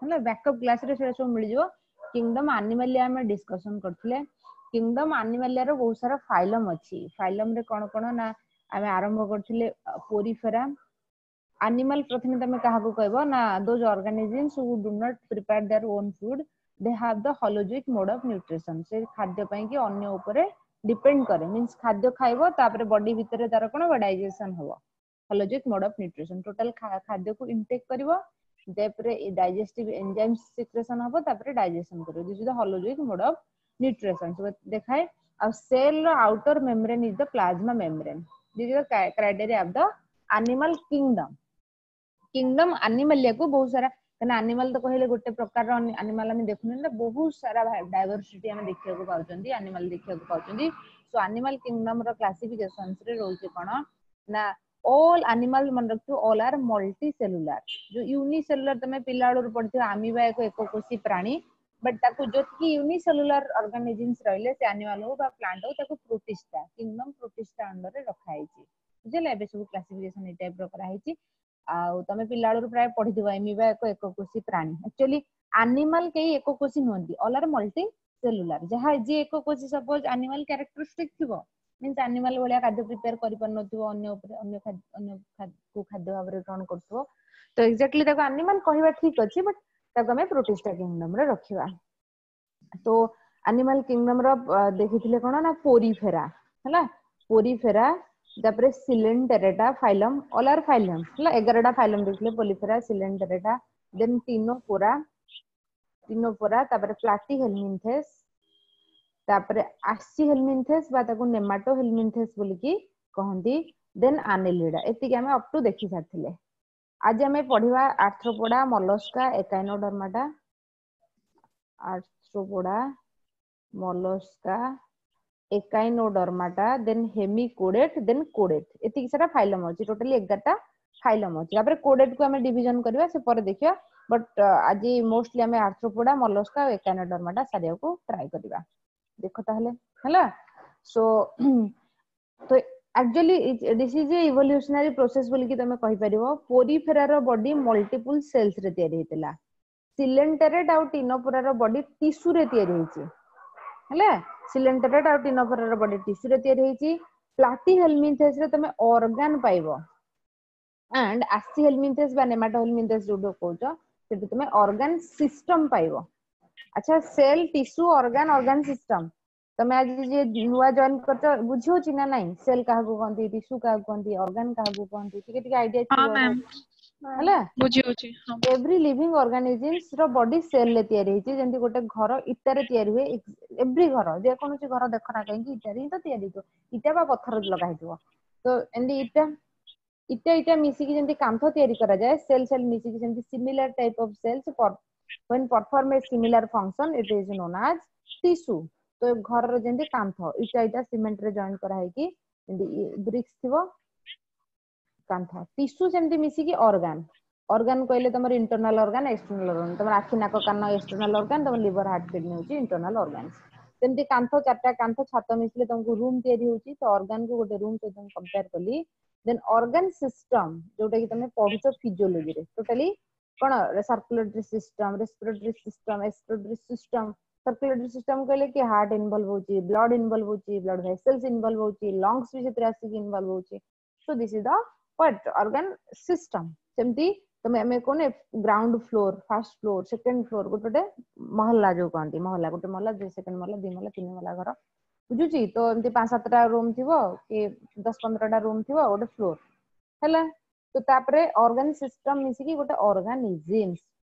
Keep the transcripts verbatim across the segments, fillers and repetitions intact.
ହେଲା ବ୍ୟାକଅପ୍ କ୍ଲାସରେ ସେଟା ସବୁ ମିଳିଯିବ କିଙ୍ଗଡମ ଆନିମାଲିଆ ଆମେ ଡିସ୍କସନ କରିଥିଲେ କିଙ୍ଗଡମ ଆନିମାଲିଆର ବହୁତ ସାରା ଫାଇଲମ ଅଛି ଫାଇଲମ ରେ କଣ କଣ ନା ଆମେ ଆରମ୍ଭ କରିଥିଲେ ପୋରିଫେରା ଆନିମାଲ ପ୍ରଥମେ ତମେ କାହାକୁ କହିବ ନା those organisms who do not prepare their own food they have the holozoic mode of nutrition ସେ ଖାଦ୍ୟ ପାଇଁ କି ଅନ୍ୟ ଉପରେ ଡିପେଣ୍ଡ କରେ ମିନ୍ସ ଖାଦ୍ୟ ଖାଇବ ତାପରେ ବଡି ଭିତରେ ତାର କଣ ହବ ଡାଇଜେସନ ହବ holozoic mode of nutrition total ଖାଦ୍ୟକୁ ଇନଟେକ୍ କରିବ ତାପରେ ଡାଇଜେଷ୍ଟିଭ ଏନଜାଇମ ସିକ୍ରେସନ ହବ ତାପରେ ଡାଇଜେସନ କରିବ this is the holozoic mode of nutrition ସବୁ ଦେଖାଏ ଆଉ ସେଲ ର outer membrane is the plasma membrane this is the criteria of the animal kingdom kingdom ଆନିମାଲିଆକୁ ବହୁତ ସାରା କାହିଁକିନା ଆନିମାଲ ତ କହିଲେ ଗୋଟେ ପ୍ରକାରର ଆନିମାଲ ଆମେ ଦେଖୁନେ ନା ବହୁତ ସାରା ଡାଇଭରସିଟି ଆମେ ଦେଖିବାକୁ ପାଉଛନ୍ତି ଆନିମାଲ ଦେଖିବାକୁ ପାଉଛନ୍ତି ସୋ ଆନିମାଲ କିଙ୍ଗଡମ ର କ୍ଲାସିଫିକେସନ ରେ ରହୁଛି କଣ ନା ଅଲ୍ ଆନିମାଲ ମନେ ରଖିଥିବ ଅଲ୍ ଆର୍ ମଲ୍ଟି ସେଲୁଲାର ଯୋଉ ୟୁନିସେଲୁଲାର ତମେ ପିଲାବେଳରୁ ପଢିଥିବ ଆମିବା ଏକ ଏକକୋଷୀ ପ୍ରାଣୀ ବଟ୍ ତାକୁ ଯେତିକି ୟୁନିସେଲୁଲାର ଅର୍ଗାନିଜିମ୍ସ ରହିଲେ ସେ ଆନିମାଲ ହଉ ବା ପ୍ଲାଣ୍ଟ ହଉ ତାକୁ ପ୍ରୋଟିଷ୍ଟା କିଙ୍ଗଡମ ପ୍ରୋଟିଷ୍ଟା ଅଣ୍ଡରରେ ରଖା ହେଇଛି ବୁଝିଲା ଏବେ ସବୁ କ୍ଲାସିଫିକେସନ ଏଇ ଟାଇପ ର କରାହେଇଛି ଆଉ ତମେ ପିଲାବେଳରୁ ପ୍ରାୟ ପଢିଥିବ ଏମିବା ଏକ ଏକକୋଷୀ ପ୍ରାଣୀ ଆକ୍ଚୁଆଲି ଆନିମାଲ କେହି ଏକକୋଷୀ ନୁହନ୍ତି ଅଲ୍ ଆର୍ ମଲ୍ଟି ସେଲୁଲାର ଯାହା ଯିଏ ଏକକୋଷୀ ସପୋଜ ଆନିମାଲ କ୍ୟାରେକ୍ଟରିଷ୍ଟିକ ଥିବ ମିନ୍ସ ଆନିମାଲ ଭଳିଆ ଖାଦ୍ୟ ପ୍ରିପେୟାର କରିପାରୁନଥିବ ଅନ୍ୟ ଉପରେ ଅନ୍ୟ ଅନ୍ୟ କୁ ଖାଦ୍ୟ ଭାବରେ ଗ୍ରହଣ କରୁଥିବ ତ ଏକ୍ଜାକ୍ଟଲି ତାକୁ ଆନିମାଲ କହିବା ଠିକ ଅଛି ବଟ୍ ତାକୁ ଆମେ ପ୍ରୋଟିଷ୍ଟା କିଙ୍ଗଡମ ରେ ରଖିବା ତ ଆନିମାଲ କିଙ୍ଗଡମ ର ଦେଖିଥିଲେ କଣ ନା ପୋରିଫେରା ହେଲା ପୋରିଫେରା ତାପରେ ସିଲେଣ୍ଟେରେଟା ଫାଇଲମ ଅଲ୍ ଆର୍ ଫାଇଲମ ହେଲା ଏଗାରଟା ଫାଇଲମ ଦେଖିଲେ ପୋରିଫେରା ସିଲେଣ୍ଟେରେଟା ଦେନ୍ ଟିନୋପୋରା ଟିନୋପୋରା ତାପରେ ପ୍ଲାଟି ହେଲମିନ୍ଥେସ୍ ତାପରେ ଆସି ହେଲମିନ୍ଥେସ୍ ବା ତାକୁ ନେମାଟୋ ହେଲମିନ୍ଥେସ୍ ବୋଲିକି କହନ୍ତି ଦେନ୍ ଆନେଲିଡା ଏତିକି ଆମେ ଅପ୍ ଟୁ ଦେଖି ସାରିଥିଲେ ଆଜି ଆମେ ପଢିବା ଆର୍ଥ୍ରୋପୋଡା ମଲସ୍କା ଏକାଇନୋଡର୍ମାଟା ଆର୍ଥ୍ରୋପୋଡା ମଲସ୍କା ଏକାଇନୋଡର୍ମାଟା ଦେନ୍ ହେମିକୋଡେଟ୍ ଦେନ୍ କୋଡେଟ୍ ଏତିକି ସାରା ଫାଇଲମ ଅଛି ଟୋଟାଲି ଏଗାରଟା ଫାଇଲମ ଅଛି ତାପରେ କୋଡେଟ୍ କୁ ଆମେ ଡିଭିଜନ କରିବା ସେ ପରେ ଦେଖିବା ବଟ୍ ଆଜି ମୋଷ୍ଟଲି ଆମେ ଆର୍ଥ୍ରୋପୋଡା ମଲସ୍କା ଆଉ ଏକାଇନୋଡର୍ମାଟା ସାରିବାକୁ ଟ୍ରାଏ କରିବା ଦେଖ ତାହେଲେ ହେଲା ସୋ ତ actually this is a evolutionary process ବୋଲିକି ତମେ କହିପାରିବ ପୋରିଫେରାର ବଡି ମଲ୍ଟିପୁଲ ସେଲ୍ସ ରେ ତିଆରି ହେଇଥିଲା ସିଲେଣ୍ଟରେଟ୍ ଆଉ ଟିନୋପୋରାର ବଡି ଟିସୁରେ ତିଆରି ହେଇଛି ହେଲା ସିଲେଣ୍ଟରେଟ୍ ଆଉ ଟିନୋପୋରାର ବଡି ଟିସୁରେ ତିଆରି ହେଇଛି ପ୍ଲାଟି ହେଲମିନ୍ଥେସ୍ ରେ ତମେ ଅର୍ଗାନ ପାଇବ ଆଣ୍ଡ ଆସି ହେଲମିନ୍ଥେସ୍ ବା ନେମାଟୋ ହେଲମିନ୍ଥେସ୍ ଯୋଉଟା କହୁଛ ସେଠି ତମେ ଅର୍ଗାନ ସିଷ୍ଟମ ପାଇବ ଆଚ୍ଛା cell tissue organ organ system ତମେ ଆଜି ଯିଏ ନୂଆ ଜଏନ କରିଛ ବୁଝି ହଉଛି ନା ନାଇଁ ସେଲ୍ କାହାକୁ କହନ୍ତି ଟିସୁ କାହାକୁ କହନ୍ତି ଅର୍ଗାନ କାହାକୁ କହନ୍ତି ଟିକେ ଟିକେ ଆଇଡିଆ ହଁ ଥିବ ମ୍ୟାମ୍ ହେଲା ବୁଝି ହଉଛି ହଁ ଏଭ୍ରି ଲିଭିଙ୍ଗ ଅର୍ଗାନିଜିମ୍ସ ର ବଡି ସେଲ୍ ରେ ତିଆରି ହେଇଛି ଯେମିତି ଗୋଟେ ଘର ଇଟାରେ ତିଆରି ହୁଏ ଏଭ୍ରି ଘର ଯେକୌଣସି ଘର ଦେଖ ନା କାହିଁକି ଇଟାରେ ହିଁ ତ ତିଆରି ହେଇଥିବ ଇଟା ବା ପଥର ଲଗା ହେଇଥିବ ତ ଏମିତି ଇଟା ଇଟା ଇଟା ମିଶିକି ଯେମିତି କାନ୍ଥ ତିଆରି କରାଯାଏ ସେଲ୍ ସେଲ୍ ମିଶିକି ସେମିତି similar type of cells when perform a similar function it is known as tissue ତ ଘରର ଯେମିତି କାନ୍ଥ ଇଟା ଇଟା ସିମେଣ୍ଟ ରେ ଜଏନ୍ କରାହେଇକି ଯେମିତି ବ୍ରିକ୍ସ ଥିବ କାନ୍ଥ ଟିସୁ ସେମିତି ମିଶିକି ଅର୍ଗାନ ଅର୍ଗାନ କହିଲେ ତମର ଇଣ୍ଟରନାଲ ଅର୍ଗାନ ଏକ୍ସଟର୍ନାଲ ଅର୍ଗାନ ତମର ଆଖି ନାକ କାନ ଏକ୍ସଟର୍ନାଲ ଅର୍ଗାନ ତମ ଲିଭର ହାର୍ଟ କିଡନୀ ହଉଛି ଇଣ୍ଟରନାଲ ଅର୍ଗାନ ସେମିତି କାନ୍ଥ ଚାରିଟା କାନ୍ଥ ଛାତ ମିଶିଲେ ତମକୁ ରୁମ୍ ତିଆରି ହଉଛି ତ ଅର୍ଗାନ କୁ ଗୋଟେ ରୁମ୍ ସହିତ ମୁଁ କମ୍ପେୟାର କଲି ଦେନ୍ ଅର୍ଗାନ ସିଷ୍ଟମ ଯୋଉଟା କି ତମେ ପଢୁଛ ଫିଜିଓଲୋଜିରେ ଟୋଟାଲି କଣ circulatory system respiratory system excretory system circulatory system କହିଲେ କି ହାର୍ଟ ଇନଭଲଭ ହଉଛି ବ୍ଲଡ ଇନଭଲଭ ହଉଛି ବ୍ଲଡ ଭେସେଲ୍ସ ଇନଭଲଭ ହଉଛି ଲଙ୍ଗସ ବି ସେଥିରେ ଆସିକି ଇନଭଲଭ ହଉଛି so this is the what organ system ସେମିତି ତମେ ଆମେ କହୁନେ ground floor first floor second floor ଗୋଟେ ଗୋଟେ ମହଲା ଯୋଉ କହନ୍ତି ମହଲା ଗୋଟେ ମହଲା ସେକେଣ୍ଡ ମହଲା ଦି ମହଲା ତିନି ମହଲା ଘର ବୁଝୁଛି ତ ଏମିତି ପାଞ୍ଚ ସାତଟା ରୁମ୍ ଥିବ କି ଦଶ ପନ୍ଦରଟା ରୁମ୍ ଥିବ ଗୋଟେ ଫ୍ଲୋର ହେଲା ତ ତାପରେ ଅର୍ଗାନ ସିଷ୍ଟମ ମିଶିକି ଗୋଟେ ଅର୍ଗାନିଜିମ୍ସ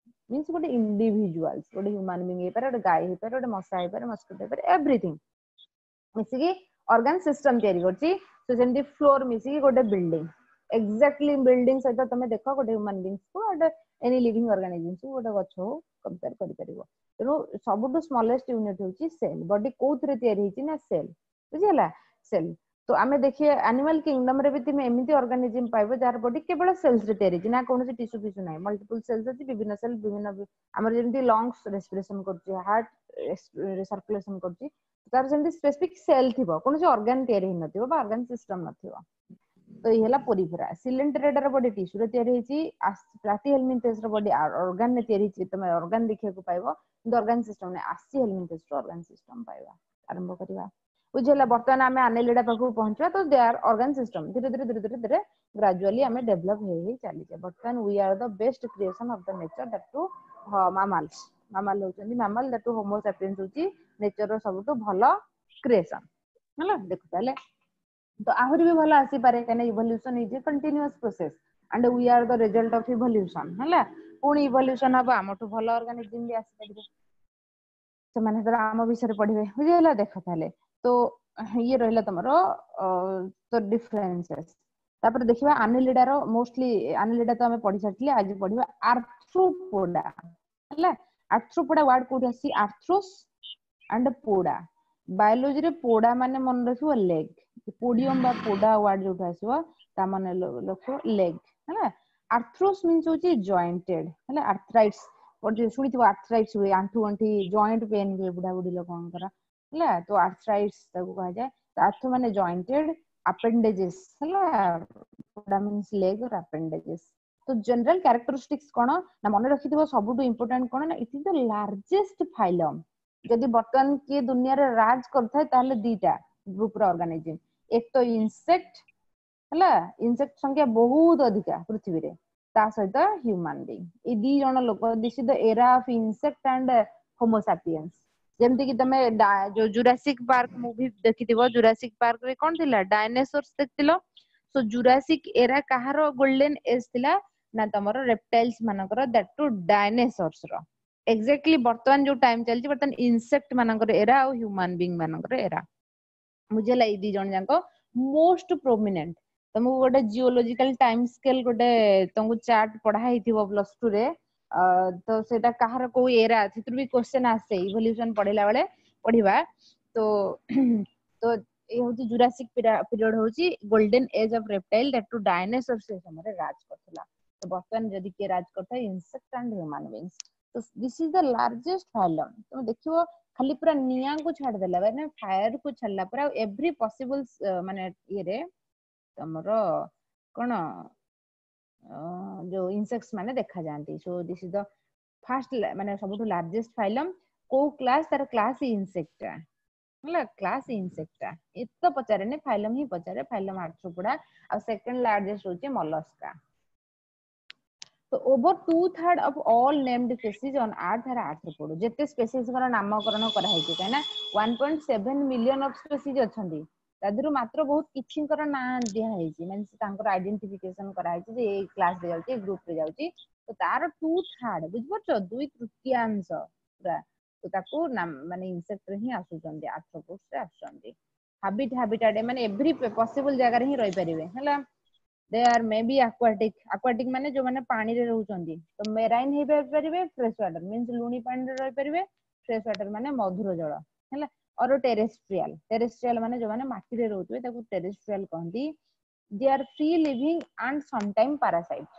ମିନ୍ସ ଗୋଟେ ଇଣ୍ଡିଭିଜୁଆଲ୍ସ ଗୋଟେ ହ୍ୟୁମାନ ବିଙ୍ଗ ହେଇପାରେ ଗୋଟେ ଗାଈ ହେଇପାରେ ଗୋଟେ ମଶା ହେଇପାରେ ମସ୍କିଟୋ ହେଇପାରେ ଏଭ୍ରିଥିଙ୍ଗ ମିଶିକି ଅର୍ଗାନ ସିଷ୍ଟମ ତିଆରି କରୁଛି ତ ସେମିତି ଫ୍ଲୋର ମିଶିକି ଗୋଟେ ବିଲ୍ଡିଂ ଏକ୍ଜାକ୍ଟଲି ବିଲ୍ଡିଂ ସହିତ ତମେ ଦେଖ ଗୋଟେ ହ୍ୟୁମାନ ବିଙ୍ଗସ କୁ ଗୋଟେ ଏନି ଲିଭିଙ୍ଗ ଅର୍ଗାନିଜିମ୍ସ କୁ ଗୋଟେ ଗଛ ହଉ କମ୍ପେୟାର କରିପାରିବ ତେଣୁ ସବୁଠୁ ସ୍ମଲେଷ୍ଟ ୟୁନିଟ ହଉଛି ସେଲ୍ ବଡି କୋଉଥିରେ ତିଆରି ହେଇଛି ନା ସେଲ୍ ବୁଝିହେଲା ସେଲ୍ ତ ଆମେ ଦେଖିବା ଆନିମାଲ କିଙ୍ଗଡମ ରେ ବି ତୁମେ ଏମିତି ଅର୍ଗାନିଜିମ ପାଇବ ଯାହାର ବଡି କେବଳ ସେଲ୍ସ ରେ ତିଆରି ହେଇଛି ନା କୌଣସି ଟିସୁ ଫିସୁ ନାହିଁ ମଲ୍ଟିପୁଲ ସେଲ୍ସ ଅଛି ବିଭିନ୍ନ ସେଲ୍ ବିଭିନ୍ନ ଆମର ଯେମିତି ଲଙ୍ଗସ ରେସ୍ପିରେସନ କରୁଛି ହାର୍ଟ ସର୍କୁଲେସନ କରୁଛି ତାର ସେମିତି ସ୍ପେସିଫିକ ସେଲ୍ ଥିବ କୌଣସି ଅର୍ଗାନ ତିଆରି ହେଇନଥିବ ବା ଅର୍ଗାନ ସିଷ୍ଟମ ନଥିବ ତ ଏଇ ହେଲା ପୋରିଫେରା ସିଲେଣ୍ଟରେଟାର ବଡି ଟିସ୍ୟୁରେ ତିଆରି ହେଇଛି ପ୍ଲାଟିହେଲମିନ୍ଥେସ୍ ର ବଡି ଅର୍ଗାନ ରେ ତିଆରି ହେଇଛି ତମେ ଅର୍ଗାନ ଦେଖିବାକୁ ପାଇବ କିନ୍ତୁ ଅର୍ଗାନ ସିଷ୍ଟମ ନାହିଁ ଆସ୍କିହେଲମିନ୍ଥେସ୍ ର ଅର୍ଗାନ ସିଷ୍ଟମ ପାଇବା ଆରମ୍ଭ କରିବା ବୁଝିହେଲା ବର୍ତ୍ତମାନ ଆମେ ଆନେଲିଡା ପାଖକୁ ପହଞ୍ଚିବା ତ ଦେ ଆର୍ ଅର୍ଗାନ ସିଷ୍ଟମ ଧୀରେ ଧୀରେ ଧୀରେ ଧୀରେ ଧୀରେ ଗ୍ରାଜୁଆଲି ଆମେ ଡେଭଲପ ହେଇ ହେଇ ଚାଲିଛେ ବର୍ତ୍ତମାନ we are the best creation of the nature that too mammals ମାମାଲ ହଉଛନ୍ତି ମାମାଲ that two ହୋମୋସାପିଏନ୍ସ ହଉଛି ନେଚର ର ସବୁଠୁ ଭଲ କ୍ରିଏସନ ହେଲା ଦେଖ ତାହେଲେ ତ ଆହୁରି ବି ଭଲ ଆସିପାରେ କାହିଁକିନା evolution is a continuous process and we are the result of evolution ହେଲା ପୁଣି ଇଭଲ୍ୟୁସନ ହବ ଆମଠୁ ଭଲ ଅର୍ଗାନିଜିମ ବି ଆସିପାରିବେ ସେମାନେ ସେତେବେଳେ ଆମ ବିଷୟରେ ପଢିବେ ବୁଝିହେଲା ଦେଖ ତାହେଲେ ତ ଇଏ ରହିଲା ତମର ତ ଡିଫରେନ୍ସେସ୍ ତାପରେ ଦେଖିବା ଆନେଲିଡାର ମୋଷ୍ଟଲି ଆନେଲିଡା ତ ଆମେ ପଢି ସାରିଥିଲେ ଆଜି ପଢିବା ଆର୍ଥ୍ରୋପୋଡା ହେଲା ଆର୍ଥ୍ରୋପୋଡା ୱାର୍ଡ କୋଉଠି ଆସିଛି ଆର୍ଥ୍ରୋସ୍ ଆଣ୍ଡ ପୋଡା ବାୟୋଲୋଜିରେ ପୋଡା ମାନେ ମନେ ରଖିବ ଲେଗ ପୋଡିୟମ ବା ପୋଡା ୱାର୍ଡ ଯୋଉଠୁ ଆସିବ ତା ମାନେ ରଖିବ ଲେଗ ହେଲା ଆର୍ଥ୍ରୋସ୍ ମିନ୍ସ ହଉଛି ଜଏଣ୍ଟେଡ ହେଲା ଆର୍ଥ୍ରାଇଟ୍ସ ଶୁଣିଥିବ ଆର୍ଥ୍ରାଇଟ୍ସ ହୁଏ ଆଣ୍ଠୁ ଗଣ୍ଠି ଜଏଣ୍ଟ ପେନ୍ ହୁଏ ବୁଢା ବୁଢୀ ଲୋକଙ୍କର ହେଲା ତ ଆର୍ଥ୍ରାଇଟ୍ସ ତାକୁ କୁହାଯାଏ ଆର୍ଥ୍ରୋ ମାନେ ଜଏଣ୍ଟେଡ ଆପେଣ୍ଡେଜେସ୍ ହେଲା ପୋଡା ମିନ୍ସ ଲେଗ ଅର ଆପେଣ୍ଡେଜେସ୍ ତ ଜେନେରାଲ କ୍ୟାରେକ୍ଟରିଷ୍ଟିକ୍ସ କଣ ନା ମନେ ରଖିଥିବ ସବୁଠୁ ଇମ୍ପୋର୍ଟାଣ୍ଟ କଣ ନା it is the largest phylum ଯଦି ବର୍ତ୍ତମାନ କିଏ ଦୁନିଆରେ ରାଜ କରୁଥାଏ ତାହେଲେ ଦିଟା ଗ୍ରୁପ ର ଅର୍ଗାନିଜିମ ଏକ ତ ଇନସେକ୍ଟ ହେଲା ଇନସେକ୍ଟ ସଂଖ୍ୟା ବହୁତ ଅଧିକା ପୃଥିବୀରେ ତା ସହିତ ହ୍ୟୁମାନ ବିଙ୍ଗ ଏଇ ଦି ଜଣ ଲୋକ this is the era of insect and homo sapiens ଯେମିତି କି ତମେ ଯୋଉ ଜୁରାସିକ ପାର୍କ ମୁଭି ଦେଖିଥିବ ଜୁରାସିକ ପାର୍କ ରେ କଣ ଥିଲା ଡାଇନେସୋର୍ସ ଦେଖିଥିଲ ସୋ ଜୁରାସିକ ଏରା କାହାର ଗୋଲ୍ଡେନ ଏଜ ଥିଲା ନା ତମର ରେପ୍ଟାଇଲ୍ସ ମାନଙ୍କର that two ଡାଇନେସୋର୍ସ ର ଏକ୍ଜାକ୍ଟଲି ବର୍ତ୍ତମାନ ଯୋଉ ଟାଇମ ଚାଲିଛି ବର୍ତ୍ତମାନ ଇନସେକ୍ଟ ମାନଙ୍କର ଏରା ଆଉ ହ୍ୟୁମାନ ବିଙ୍ଗ ମାନଙ୍କର ଏରା ବୁଝିହେଲା ଏଇ ଦି ଜଣ ଯାକ ମୋଷ୍ଟ ପ୍ରୋମିନେଣ୍ଟ ତମକୁ ଗୋଟେ ଜିଓଲୋଜିକାଲ ଟାଇମ ସ୍କେଲ ଗୋଟେ ତମକୁ ଚାର୍ଟ ପଢା ହେଇଥିବ ପ୍ଲସ ଟୁ ରେ ତ ସେଇଟା କାହାର କୋଉ ଏରା ସେଥିରୁ ବି କ୍ୱେଶ୍ଚନ ଆସେ ଇଭଲ୍ୟୁସନ ପଢିଲା ବେଳେ ପଢିବା ତ ତ ଏଇ ହଉଛି ଜୁରାସିକ ପିରିୟଡ ହଉଛି golden age of reptile that too dinosaur ସେ ସମୟରେ ରାଜ କରୁଥିଲା ତ ବର୍ତ୍ତମାନ ଯଦି କିଏ ରାଜ କରିଥାଏ ଇନସେକ୍ଟ ଆଣ୍ଡ ହ୍ୟୁମାନ ବିଙ୍ଗସ ତ this is the largest phylum ତମେ ଦେଖିବ ଖାଲି ପୁରା ନିଆଁକୁ ଛାଡିଦେଲା ମାନେ ଫାୟାର କୁ ଛାଡିଲା ପରେ ଆଉ ଏଭ୍ରି ପସିବଲ ମାନେ ଇଏରେ ତମର କଣ ଯୋଉ ଇନସେକ୍ଟ ମାନେ ଦେଖାଯାଆନ୍ତି so this is the first ମାନେ ସବୁଠୁ ଲାର୍ଜେଷ୍ଟ ଫାଇଲମ କୋଉ କ୍ଲାସ ତାର କ୍ଲାସ ଇନସେକ୍ଟା ହେଲା କ୍ଲାସ ଇନସେକ୍ଟା ଏତେ ତ ପଚାରେନି ଫାଇଲମ ହିଁ ପଚାରେ ଫାଇଲମ ଆର୍ଥ୍ରୋପୋଡା ଆଉ ସେକେଣ୍ଡ ଲାର୍ଜେଷ୍ଟ ହଉଛି ମଲସ୍କା ତ over two third of all named species on earth are arthropod ଯେତେ ସ୍ପେସିସଙ୍କର ନାମକରଣ କରାହେଇଛି କାହିଁକି ନା one point seven million of species ଅଛନ୍ତି ତା ଦେହରୁ ମାତ୍ର ବହୁତ କିଛିଙ୍କର ନାଁ ଦିଆ ହେଇଛି ମାନେ ତାଙ୍କର ଆଇଡେଣ୍ଟିଫିକେସନ କରାହେଇଛି ଯେ ଏଇ କ୍ଲାସ ରେ ଯାଉଛି ଏଇ ଗ୍ରୁପ ରେ ଯାଉଛି ତ ତାର ଟୁ ଥାର୍ଡ ବୁଝିପାରୁଛ ଦୁଇ ତୃତୀୟାଂଶ ପୁରା ତ ତାକୁ ମାନେ ଇନସେକ୍ଟ ରେ ହିଁ ଆସୁଛନ୍ତି ଆର୍ଥ୍ରୋପୋଡ୍ସ ରେ ଆସୁଛନ୍ତି ହାବିଟ ହାବିଟାଟ ମାନେ ଏଭ୍ରି ପସିବଲ ଜାଗାରେ ହିଁ ରହିପାରିବେ ହେଲା they are may be aquatic aquatic ମାନେ ଯୋଉମାନେ ପାଣିରେ ରହୁଛନ୍ତି ତ ମେରାଇନ ହେଇପାରିବେ ଫ୍ରେଶ ୱାଟର ମିନ୍ସ ଲୁଣି ପାଣିରେ ରହିପାରିବେ ଫ୍ରେଶ ୱାଟର ମାନେ ମଧୁର ଜଳ ହେଲା ଅର ଟେରେଷ୍ଟ୍ରିଆଲ ଟେରେଷ୍ଟ୍ରିଆଲ ମାନେ ଯୋଉମାନେ ମାଟିରେ ରହୁଥିବେ ତାକୁ ଟେରେଷ୍ଟ୍ରିଆଲ କହନ୍ତି they are free living and sometime parasite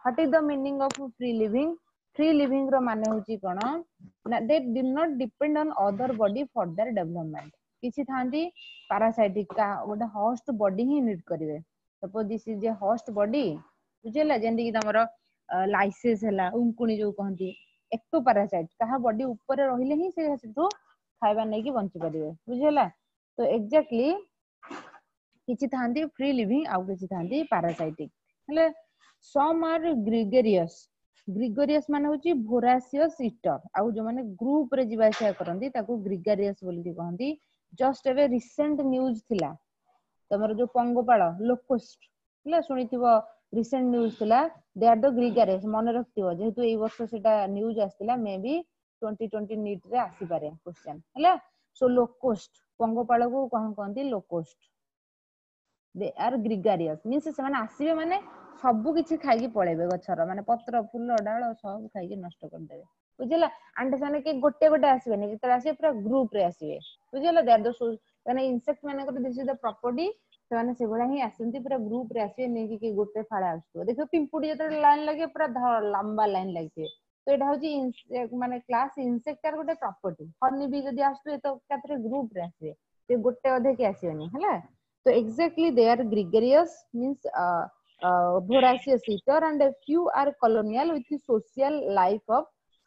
what is the meaning of free living free living ର ମାନେ ହଉଛି କଣ ନା they do not depend on other body for their development କିଛି ଥାନ୍ତି ପାରାସାଇଟିକ ଗୋଟେ ହଷ୍ଟ ବଡି ହିଁ ନିଡ୍ କରିବେ suppose this is a host body ବୁଝିହେଲା ଯେମିତି କି ତମର ଲାଇସେସ୍ ହେଲା ଉଙ୍କୁଣି ଯୋଉ କହନ୍ତି ଏକ୍ଟୋ ପାରାସାଇଟ କାହା ବଡି ଉପରେ ରହିଲେ ହିଁ ସେ ସେଠୁ ଖାଇବା ନେଇକି ବଞ୍ଚି ପାରିବେ ବୁଝିହେଲା ତ ଏକ୍ଜାକ୍ଟଲି କିଛି ଥାନ୍ତି ଫ୍ରି ଲିଭିଂ ଆଉ କିଛି ଥାନ୍ତି ପାରାସାଇଟିକ ହେଲେ ସମ୍ ଆର୍ ଗ୍ରିଗେରିୟସ୍ ଗ୍ରିଗୋରିୟସ୍ ମାନେ ହଉଛି ଭୋରାସିୟସ୍ ଇଟର ଆଉ ଯୋଉମାନେ ଗ୍ରୁପ ରେ ଯିବା ଆସିବା କରନ୍ତି ତାକୁ ଗ୍ରିଗାରିୟସ୍ ବୋଲିକି କହନ୍ତି ଜଷ୍ଟ ଏବେ ରିସେଣ୍ଟ ନ୍ୟୁଜ ଥିଲା ତମର ଯୋଉ ପଙ୍ଗପାଳ ଲୋକଷ୍ଟ ହେଲା ଶୁଣିଥିବ ରିସେଣ୍ଟ ନ୍ୟୁଜ ଥିଲା they are the gregarious ମନେ ରଖିଥିବ ଯେହେତୁ ଏଇ ବର୍ଷ ସେଟା ନ୍ୟୁଜ ଆସିଥିଲା ମେ ବି ଟ୍ୱେଣ୍ଟି ଟ୍ୱେଣ୍ଟି ନିଟ୍ ରେ ଆସିପାରେ କ୍ୱେଶ୍ଚନ ହେଲା ସୋ ଲୋକୋଷ୍ଟ ପଙ୍ଗପାଳକୁ କଣ କହନ୍ତି locust they are gregarious means ସେମାନେ ଆସିବେ ମାନେ ସବୁ କିଛି ଖାଇକି ପଳେଇବେ ଗଛର ମାନେ ପତ୍ର ଫୁଲ ଡାଳ ସବୁ ଖାଇକି ନଷ୍ଟ କରିଦେବେ ବୁଝିଲା ଆଣ୍ଡ ସେମାନେ କି ଗୋଟେ ଗୋଟେ ଆସିବେନି ଯେତେବେଳେ ଆସିବେ ପୁରା ଗ୍ରୁପ ରେ ଆସିବେ ବୁଝିଲା ଦେ ଆର୍ ଦ ମାନେ ଇନସେକ୍ଟ ମାନଙ୍କର this is the property ସେମାନେ ସେଭଳିଆ ହିଁ ଆସନ୍ତି ପୁରା ଗ୍ରୁପ ରେ ଆସିବେ ନେଇକି କି ଗୋଟେ ଫାଳେ ଆସୁଥିବ ଦେଖିବ ପିମ୍ପୁଡି ଯେତେବେଳେ ଲାଇନ ଲାଗିବ ପୁରା ଲମ୍ବା ଲାଇନ ଲାଗିଥିବେ ତ ଏଇଟା ହଉଛି ମାନେ କ୍ଲାସ ଇନସେକ୍ଟ ଗୋଟେ ପ୍ରପର୍ଟି ହନି ବି ଯଦି ଆସୁଥିବେ ତ ଏକାଥରେ ଗ୍ରୁପ ରେ ଆସିବେ ସେ ଗୋଟେ ଅଧେ କି ଆସିବେନି ହେଲା ତ exactly they are gregarious means uh, uh, voracious eater and a few are colonial with social life of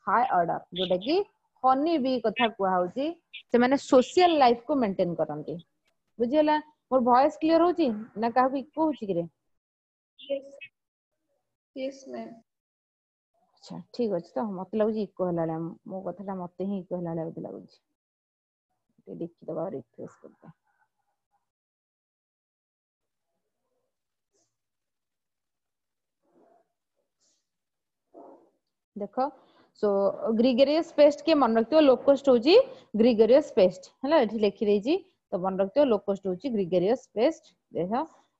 high order ଯୋଉଟା କି ହନି ବି କଥା କୁହା ହଉଛି ସେମାନେ ସୋସିଆଲ ଲାଇଫ କୁ ମେଣ୍ଟେନ କରନ୍ତି ବୁଝିହେଲା ମୋର ଭଏସ କ୍ଲିୟର ହଉଛି ନା କାହାକୁ ଇକୋ ହଉଛି କିରେ Yes. Yes, ma'am. ଆଚ୍ଛା ଠିକ ଅଛି ତ ମତେ ଲାଗୁଛି ଇକୋ ହେଲା ଭଳିଆ ମୋ କଥାଟା ମତେ ହିଁ ଇକୋ ହେଲା ଭଳିଆ ବୋଧେ ଲାଗୁଛି ଟିକେ ଦେଖିଦବା ରିଫ୍ରେଶ କରିଦେ ଦେଖ ସୋ ଗ୍ରିଗେରିୟସ୍ ପେଷ୍ଟ କିଏ ମନେ ରଖିଥିବ ଲୋକଷ୍ଟ ହଉଛି ଗ୍ରିଗେରିୟସ୍ ପେଷ୍ଟ ହେଲା ଏଠି ଲେଖିଦେଇଛି ତ ମନେ ରଖିଥିବ ଲୋକଷ୍ଟ ହଉଛି ଗ୍ରିଗେରିୟସ୍ ପେଷ୍ଟ ଦେଖ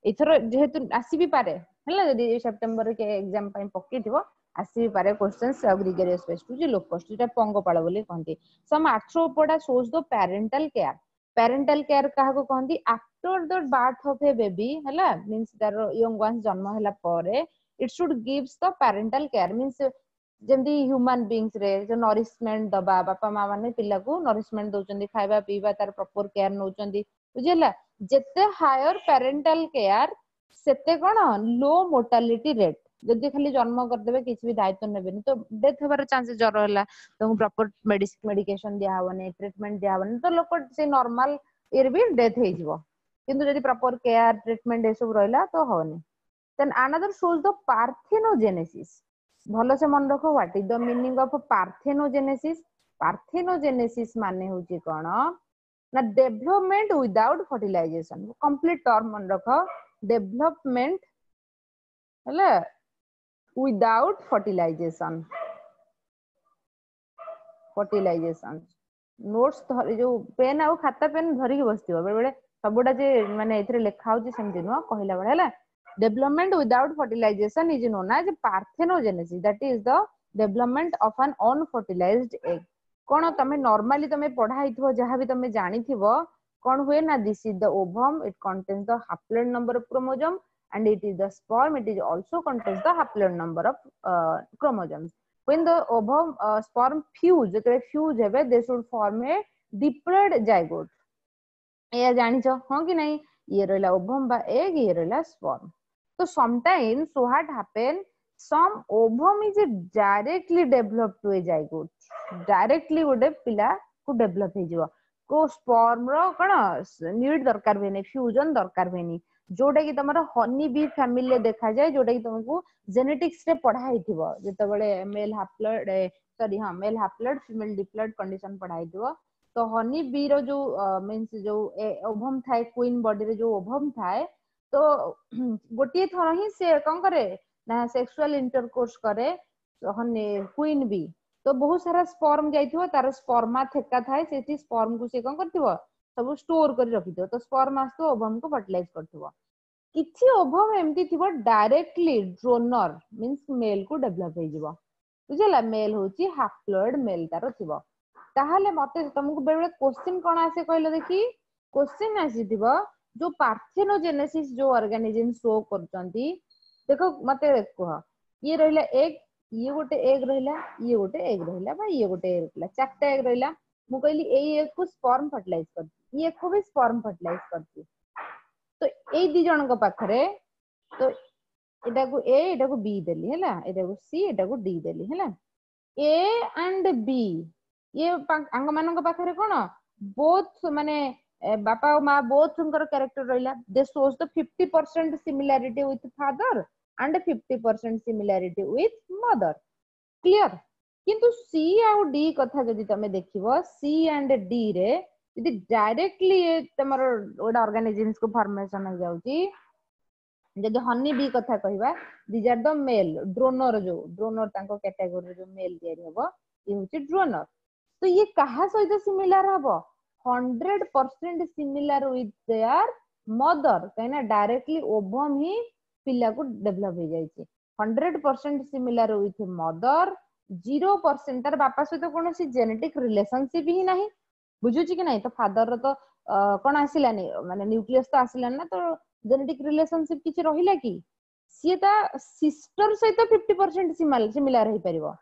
ଏଥର ଯେହେତୁ ଆସିବି ପାରେ ହେଲା ଯଦି ସେପ୍ଟେମ୍ବର ଏକ୍ଜାମ ପାଇଁ ପକେଇଥିବ ଆସିବି ପାରେ କ୍ୱେଶ୍ଚନ୍ସ ଆଉ ଗ୍ରିଗେରିୟସ୍ ପେଷ୍ଟ ହଉଛି ଲୋକଷ୍ଟ ଯୋଉଟା ପଙ୍ଗପାଳ ବୋଲି କହନ୍ତି some arthropoda shows the parental care parental care କାହାକୁ କହନ୍ତି after the birth of a baby ହେଲା ମିନ୍ସ ତାର ୟଙ୍ଗ ୱାନ୍ସ ଜନ୍ମ ହେଲା ପରେ it should gives the parental care means ଯେମିତି ହ୍ୟୁମାନ ବିଙ୍ଗସ ରେ ଯୋଉ ନରିଶମେଣ୍ଟ ଦବା ବାପା ମା ମାନେ ପିଲାକୁ ନରିଶମେଣ୍ଟ ଦଉଛନ୍ତି ଖାଇବା ପିଇବା ତାର ପ୍ରପର କେୟାର ନଉଛନ୍ତି ବୁଝିହେଲା ଯେତେ ହାୟର ପ୍ୟାରେଣ୍ଟାଲ କେୟାର ସେତେ କଣ ଲୋ ମୋର୍ଟାଲିଟି ରେଟ୍ ଯଦି ଖାଲି ଜନ୍ମ କରିଦେବେ କିଛି ବି ଦାୟିତ୍ୱ ନେବେନି ତ ଡେଥ୍ ହେବାର ଚାନ୍ସେସ୍ ଜର ହେଲା ତାଙ୍କୁ ପ୍ରପର ମେଡିକେସନ ଦିଆହବନି ଟ୍ରିଟମେଣ୍ଟ ଦିଆହବନି ତ ଲୋକ ସେ ନର୍ମାଲ ଇଏରେ ବି ଡେଥ୍ ହେଇଯିବ କିନ୍ତୁ ଯଦି ପ୍ରପର କେୟାର ଟ୍ରିଟମେଣ୍ଟ ଏସବୁ ରହିଲା ତ ହବନି then another shows the parthenogenesis ଭଲସେ ମନେ ରଖ what is the meaning of parthenogenesis parthenogenesis ମାନେ ହଉଛି କଣ ନା development without fertilization complete term ମନେ ରଖ ଡେଭଲପମେଣ୍ଟ ହେଲା ୱିଦାଉଟ୍ ଫର୍ଟିଲାଇଜେସନ ଫର୍ଟିଲାଇଜେସନ ନୋଟ୍ସ ଧରି ଯୋଉ ପେନ୍ ଆଉ ଖାତା ପେନ୍ ଧରିକି ବସିଥିବ ବେଳେ ବେଳେ ସବୁଟା ଯେ ମାନେ ଏଥିରେ ଲେଖା ହଉଛି ସେମିତି ନୁହଁ କହିଲା ବେଳେ ହେଲା development without fertilization is known as parthenogenesis that is the development of an unfertilized egg କଣ ତମେ ନର୍ମାଲି ତମେ ପଢା ହେଇଥିବ ଯାହା ବି ତମେ ଜାଣିଥିବ କଣ ହୁଏ ନା this is the ovum it contains the haploid number of chromosome and it is the sperm it is also contains the haploid number of uh, chromosomes when the ovum uh, sperm fuse ଯେତେବେଳେ fuse ହେବେ they should form a diploid zygote ଏଇଆ ଜାଣିଛ ହଁ କି ନାଇଁ ଇଏ ରହିଲା ଓଭମ ବା ଏଗ ଇଏ ରହିଲା ସ୍ପର୍ମ ତ sometimes what happen some ovum is directly developed to a zygote directly ଗୋଟେ ପିଲା କୁ ଡେଭଲପ ହେଇଯିବ କୋଉ ସ୍ପର୍ମ ର କଣ ନିଡ୍ ଦରକାର ହୁଏନି ଫ୍ୟୁଜନ ଦରକାର ହୁଏନି ଯୋଉଟା କି ତମର ହନି ବି ଫ୍ୟାମିଲିରେ ଦେଖାଯାଏ ଯୋଉଟା କି ତମକୁ ଜେନେଟିକ୍ସ ରେ ପଢା ହେଇଥିବ ଯେତେବେଳେ ମେଲ ହାପ୍ଲଏଡ ସରି ହଁ male haploid female diploid condition ପଢା ହେଇଥିବ ତ ହନି ବି ର ଯୋଉ ମିନ୍ସ ଯୋଉ ଓଭମ ଥାଏ କୁଇନ ବଡିରେ ଯୋଉ ଓଭମ ଥାଏ ତ ଗୋଟିଏ ଥର ହିଁ ସେ କଣ କରେ ନା ସେକ୍ସୁଆଲ ଇଣ୍ଟରକୋର୍ସ କରେ ହନି କୁଇନ ବି ତ ବହୁତ ସାରା ସ୍ପର୍ମ ଯାଇଥିବ ତାର ସ୍ପର୍ମା ଥେକା ଥାଏ ସେଠି ସ୍ପର୍ମ କୁ ସେ କଣ କରିଥିବ ସବୁ ଷ୍ଟୋର କରି ରଖିଥିବ ତ ସ୍ପର୍ମ ଆସୁଥିବ ଓଭମ କୁ ଫର୍ଟିଲାଇଜ କରୁଥିବ କିଛି ଓଭମ ଏମିତି ଥିବ ଡାଇରେକ୍ଟଲି ଡ୍ରୋନର ମିନ୍ସ ମେଲ କୁ ଡେଭଲପ ହେଇଯିବ ବୁଝିଲା ମେଲ ହଉଛି ହାପ୍ଲଏଡ ମେଲ ତାର ଥିବ ତାହେଲେ ମତେ ତମକୁ ବେଳେ ବେଳେ କୋଶ୍ଚିନ୍ କଣ ଆସେ କହିଲ ଦେଖି କୋଶ୍ଚିନ୍ ଆସିଥିବ ଯୋଉ ପାର୍ଥେନୋଜେନେସିସ୍ ଯୋଉ ଅର୍ଗାନିଜିମ ଶୋ କରୁଛନ୍ତି ଦେଖ ମତେ କୁହ ଇଏ ରହିଲା ଏଗ ଇଏ ଗୋଟେ ଏଗ ରହିଲା ଇଏ ଗୋଟେ ଏଗ ରହିଲା ବା ଇଏ ଗୋଟେ ଏଗ ରହିଲା ଚାରିଟା ଏଗ ରହିଲା ମୁଁ କହିଲି ଏଇ ଏଗ କୁ ସ୍ପର୍ମ ଫର୍ଟିଲାଇଜ କରିଛି ଇଏ କୁ ବି ସ୍ପର୍ମ ଫର୍ଟିଲାଇଜ କରିଛି ତ ଏଇ ଦି ଜଣଙ୍କ ପାଖରେ ତ ଏଟାକୁ ଏ ଏଟାକୁ ବି ଦେଲି ହେଲା ଏଟାକୁ ସି ଏଟାକୁ ଡି ଦେଲି ହେଲା ଏ ଆଣ୍ଡ ବି ଇଏ ଆଙ୍କ ମାନଙ୍କ ପାଖରେ କଣ ବୋଥ ମାନେ ବାପା ଆଉ ମା ବୋଥଙ୍କର କ୍ୟାରେକ୍ଟର ରହିଲା they shows the fifty percent similarity with father and fifty percent similarity with mother clear କିନ୍ତୁ ସି ଆଉ ଡି କଥା ଯଦି ତମେ ଦେଖିବ ସି ଆଣ୍ଡ ଡି ରେ ଯଦି ଡାଇରେକ୍ଟଲି ତମର ଗୋଟେ ଅର୍ଗାନିଜିମ୍ସ କୁ ଫର୍ମେସନ ହେଇଯାଉଛି ଯଦି ହନି ବି କଥା କହିବା these are the male ଡ୍ରୋନର ଯୋଉ ଡ୍ରୋନର ତାଙ୍କ କ୍ୟାଟାଗୋରୀରେ ଯୋଉ ମେଲ ତିଆରି ହବ ଇଏ ହଉଛି ଡ୍ରୋନର ତ ଇଏ କାହା ସହିତ ସିମିଲାର ହବ hundred percent similar with their mother କାହିଁକି ନା ଡାଇରେକ୍ଟଲି ଓଭମ ହିଁ ପିଲାକୁ ଡେଭଲପ ହେଇଯାଇଛି hundred percent similar with mother zero percent ତାର ବାପା ସହିତ କୌଣସି ଜେନେଟିକ ରିଲେସନସିପ ହିଁ ନାହିଁ ବୁଝୁଛି କି ନାଇଁ ତ ଫାଦର ର ତ କଣ ଆସିଲାନି ମାନେ ନ୍ୟୁକ୍ଲିୟସ ତ ଆସିଲାନି ନା ତ ଜେନେଟିକ ରିଲେସନସିପ କିଛି ରହିଲା କି ସିଏ ତା ସିଷ୍ଟର ସହିତ ଫିଫ୍ଟି ପରସେଣ୍ଟ ସିମିଲାର ହେଇପାରିବ